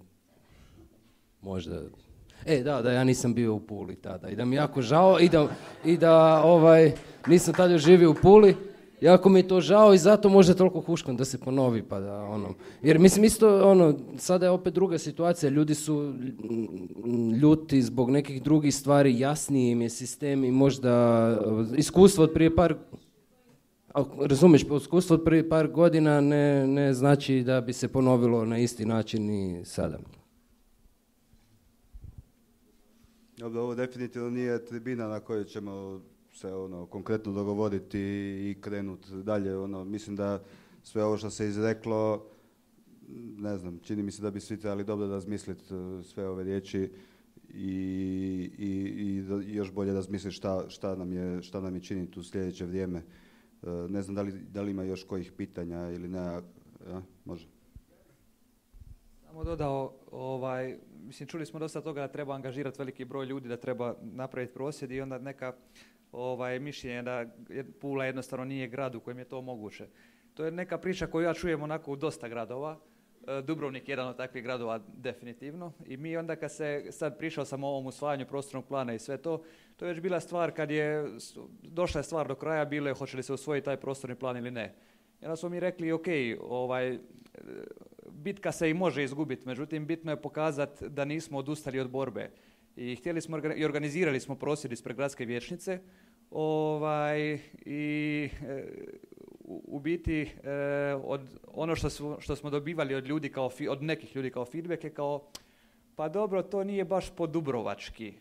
možda... E, da, da ja nisam bio u Puli tada i da mi je jako žao i da, i da ovaj, nisam tada živio u Puli. Jako mi je to žao i zato možda toliko huškam da se ponovi pa da ono. Jer mislim isto ono, sada je opet druga situacija, ljudi su ljuti zbog nekih drugih stvari, jasniji im je sistem i možda iskustvo od prije par, razumiješ, iskustvo od prije par godina ne, ne znači da bi se ponovilo na isti način i sada. Dobro, ovo definitivno nije tribina na kojoj ćemo se ono konkretno dogovoriti i krenuti dalje. Ono, mislim da sve ovo što se izreklo, ne znam, čini mi se da bi svi trebali dobro razmisliti sve ove riječi i, i, i još bolje razmisliti šta, šta, nam je, šta nam je činiti u sljedeće vrijeme. Ne znam da li, da li ima još kojih pitanja ili ne. Ja, može. Samo dodao, ovaj, mislim, čuli smo dosta toga da treba angažirati veliki broj ljudi, da treba napraviti prosvjed i onda neka ovaj, mišljenje da Pula jednostavno nije grad u kojem je to moguće. To je neka priča koju ja čujem onako u dosta gradova. Dubrovnik je jedan od takvih gradova definitivno i mi onda kad se sad pričao sam o ovom usvajanju prostornog plana i sve to, to je već bila stvar kad je došla je stvar do kraja, bilo je hoće li se usvojiti taj prostorni plan ili ne. I onda smo mi rekli ok, ovaj, bitka se i može izgubiti, međutim bitno je pokazati da nismo odustali od borbe. I htjeli smo i organizirali smo prosvjed ispred gradske vijećnice ovaj, i e, u, u biti e, od ono što, su, što smo dobivali od ljudi kao fi, od nekih ljudi kao feedback je kao pa dobro, to nije baš po dubrovački.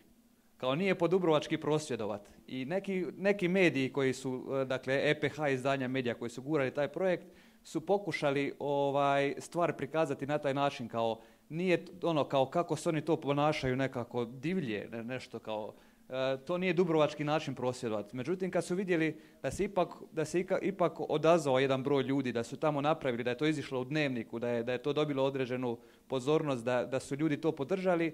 Kao nije po dubrovački prosvjedovat. I neki, neki mediji koji su, dakle E P H izdanja medija koji su gurali taj projekt su pokušali ovaj, stvar prikazati na taj način kao nije ono kao kako se oni to ponašaju nekako divlje, ne, nešto kao e, to nije dubrovački način prosvjedovati. Međutim, kad su vidjeli da se ipak, da se ika, ipak odazvao jedan broj ljudi, da su tamo napravili, da je to izišlo u dnevniku, da je, da je to dobilo određenu pozornost, da, da su ljudi to podržali, e,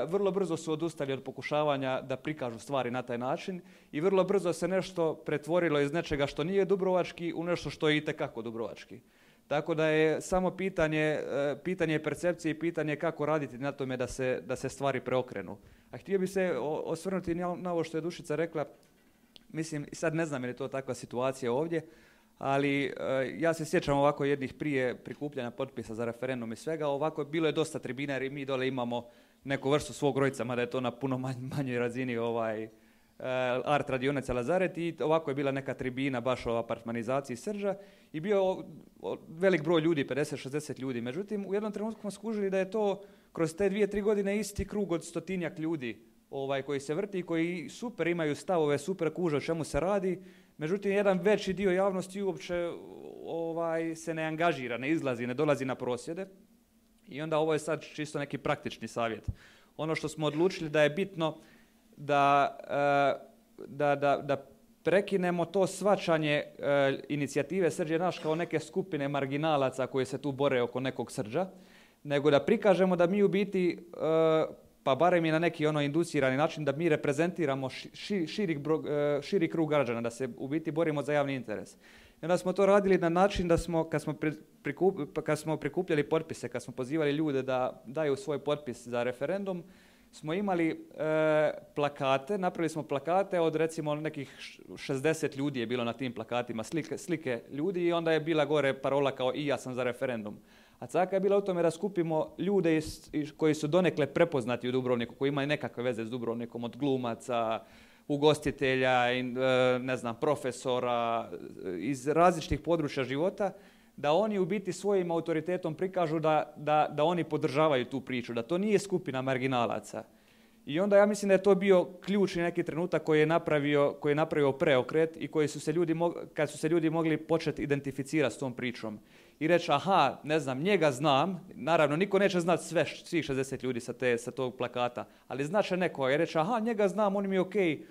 vrlo brzo su odustali od pokušavanja da prikažu stvari na taj način i vrlo brzo se nešto pretvorilo iz nečega što nije dubrovački u nešto što je itekako dubrovački. Tako da je samo pitanje, pitanje percepcije i pitanje kako raditi na tome da se, da se stvari preokrenu. A htio bi se osvrnuti na ovo što je Dušica rekla, mislim, sad ne znam je li to takva situacija ovdje, ali ja se sjećam ovako jednih prije prikupljanja potpisa za referendum i svega, ovako bilo je dosta tribina jer i mi dole imamo neku vrstu svog rojca, mada je to na puno manjoj razini ovaj, art radionica Lazaret i ovako je bila neka tribina baš o apartmanizaciji Srđa i bio velik broj ljudi, pedeset šezdeset ljudi. Međutim, u jednom trenutku smo skužili da je to kroz te dvije, tri godine isti krug od stotinjak ljudi ovaj, koji se vrti, koji super imaju stavove, super kuže o čemu se radi. Međutim, jedan veći dio javnosti uopće ovaj, se ne angažira, ne izlazi, ne dolazi na prosvjede. I onda ovo je sad čisto neki praktični savjet. Ono što smo odlučili da je bitno Da, da, da, da prekinemo to shvaćanje inicijative Srđ je naš kao neke skupine marginalaca koji se tu bore oko nekog Srđa, nego da prikažemo da mi u biti, pa barem i na neki ono inducirani način, da mi reprezentiramo ši, širi, širi krug građana, da se u biti borimo za javni interes. I onda smo to radili na način da smo, kad smo, prikup, kad smo prikupljali potpise, kad smo pozivali ljude da daju svoj potpis za referendum, smo imali e, plakate, napravili smo plakate od recimo nekih šezdeset ljudi je bilo na tim plakatima, slike, slike ljudi i onda je bila gore parola kao i ja sam za referendum. A caka je bila u tome da skupimo ljude iz, iz, koji su donekle prepoznati u Dubrovniku, koji imaju nekakve veze s Dubrovnikom, od glumaca, ugostitelja, in, e, ne znam, profesora, iz različitih područja života, da oni u biti svojim autoritetom prikažu da, da, da oni podržavaju tu priču, da to nije skupina marginalaca. I onda ja mislim da je to bio ključni neki trenutak koji je napravio, koji je napravio preokret i koji su se ljudi, kad su se ljudi mogli početi identificirati s tom pričom. I reći, aha, ne znam, njega znam, naravno niko neće znati sve, svih šezdeset ljudi sa, te, sa tog plakata, ali znače neko i reći, aha, njega znam, on mi je okej,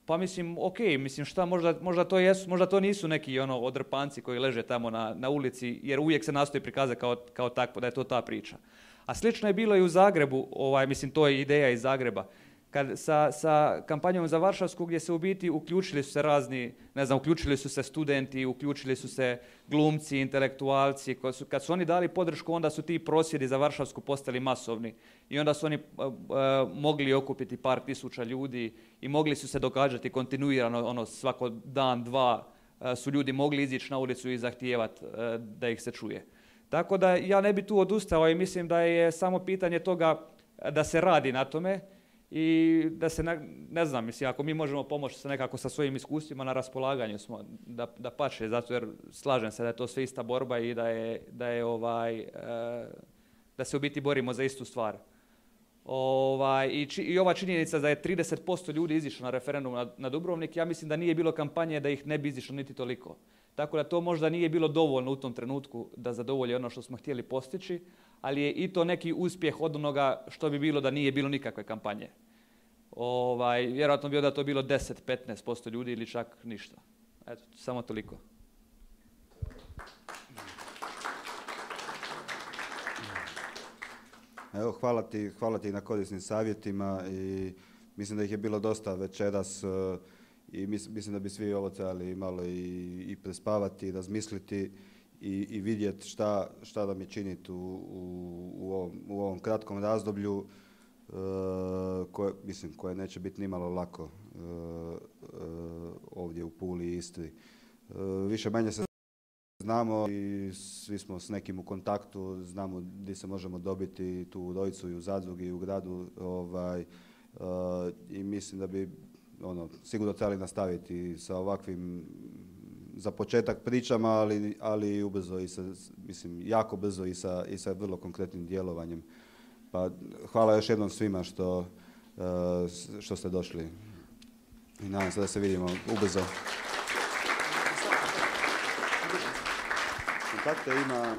pa mislim, ok, mislim šta, možda, možda, to jesu, možda to nisu neki ono odrpanci koji leže tamo na, na ulici, jer uvijek se nastoji prikazati kao, kao takvo, da je to ta priča. A slično je bilo i u Zagrebu, ovaj, mislim, to je ideja iz Zagreba. kad sa, sa kampanjom za Varšavsku gdje se u biti uključili su se razni, ne znam, uključili su se studenti, uključili su se glumci, intelektualci, kad su, kad su oni dali podršku, onda su ti prosvjedi za Varšavsku postali masovni i onda su oni uh, uh, mogli okupiti par tisuća ljudi i mogli su se događati kontinuirano, ono, svako dan, dva uh, su ljudi mogli izići na ulicu i zahtijevati uh, da ih se čuje. Tako da ja ne bi tu odustao i mislim da je samo pitanje toga da se radi na tome i da se, ne, ne znam, mislim, ako mi možemo pomoći se nekako sa svojim iskustvima, na raspolaganju smo, da, da pače, zato jer slažem se da je to sve ista borba i da je, da je ovaj, e, da se u biti borimo za istu stvar. Ovaj, i, či, I ova činjenica da je trideset posto ljudi izišlo na referendum na, na Dubrovnik, ja mislim da nije bilo kampanje da ih ne bi izišlo niti toliko. Tako da to možda nije bilo dovoljno u tom trenutku da zadovolji ono što smo htjeli postići, ali je i to neki uspjeh od onoga što bi bilo da nije bilo nikakve kampanje. Ovaj, vjerojatno bi onda to bilo deset do petnaest posto ljudi ili čak ništa. Eto, samo toliko. Evo, hvala ti, hvala ti na korisnim savjetima i mislim da ih je bilo dosta večeras i mislim da bi svi ovo trebali malo i, i prespavati, razmisliti i, i vidjeti šta, šta da mi činiti u, u, u, ovom, u ovom kratkom razdoblju uh, koje, mislim, koje neće biti nimalo lako uh, uh, ovdje u Puli i Istri. Uh, više manje se znamo i svi smo s nekim u kontaktu, znamo gdje se možemo dobiti tu u Rojcu i u Zadrugi i u gradu ovaj, uh, i mislim da bi ono, sigurno trebali nastaviti sa ovakvim za početak pričama, ali, ali ubrzo i sa, mislim, jako brzo i sa, i sa vrlo konkretnim djelovanjem. Pa hvala još jednom svima što, uh, što ste došli i nadam se da se vidimo ubrzo. Kontakte ima...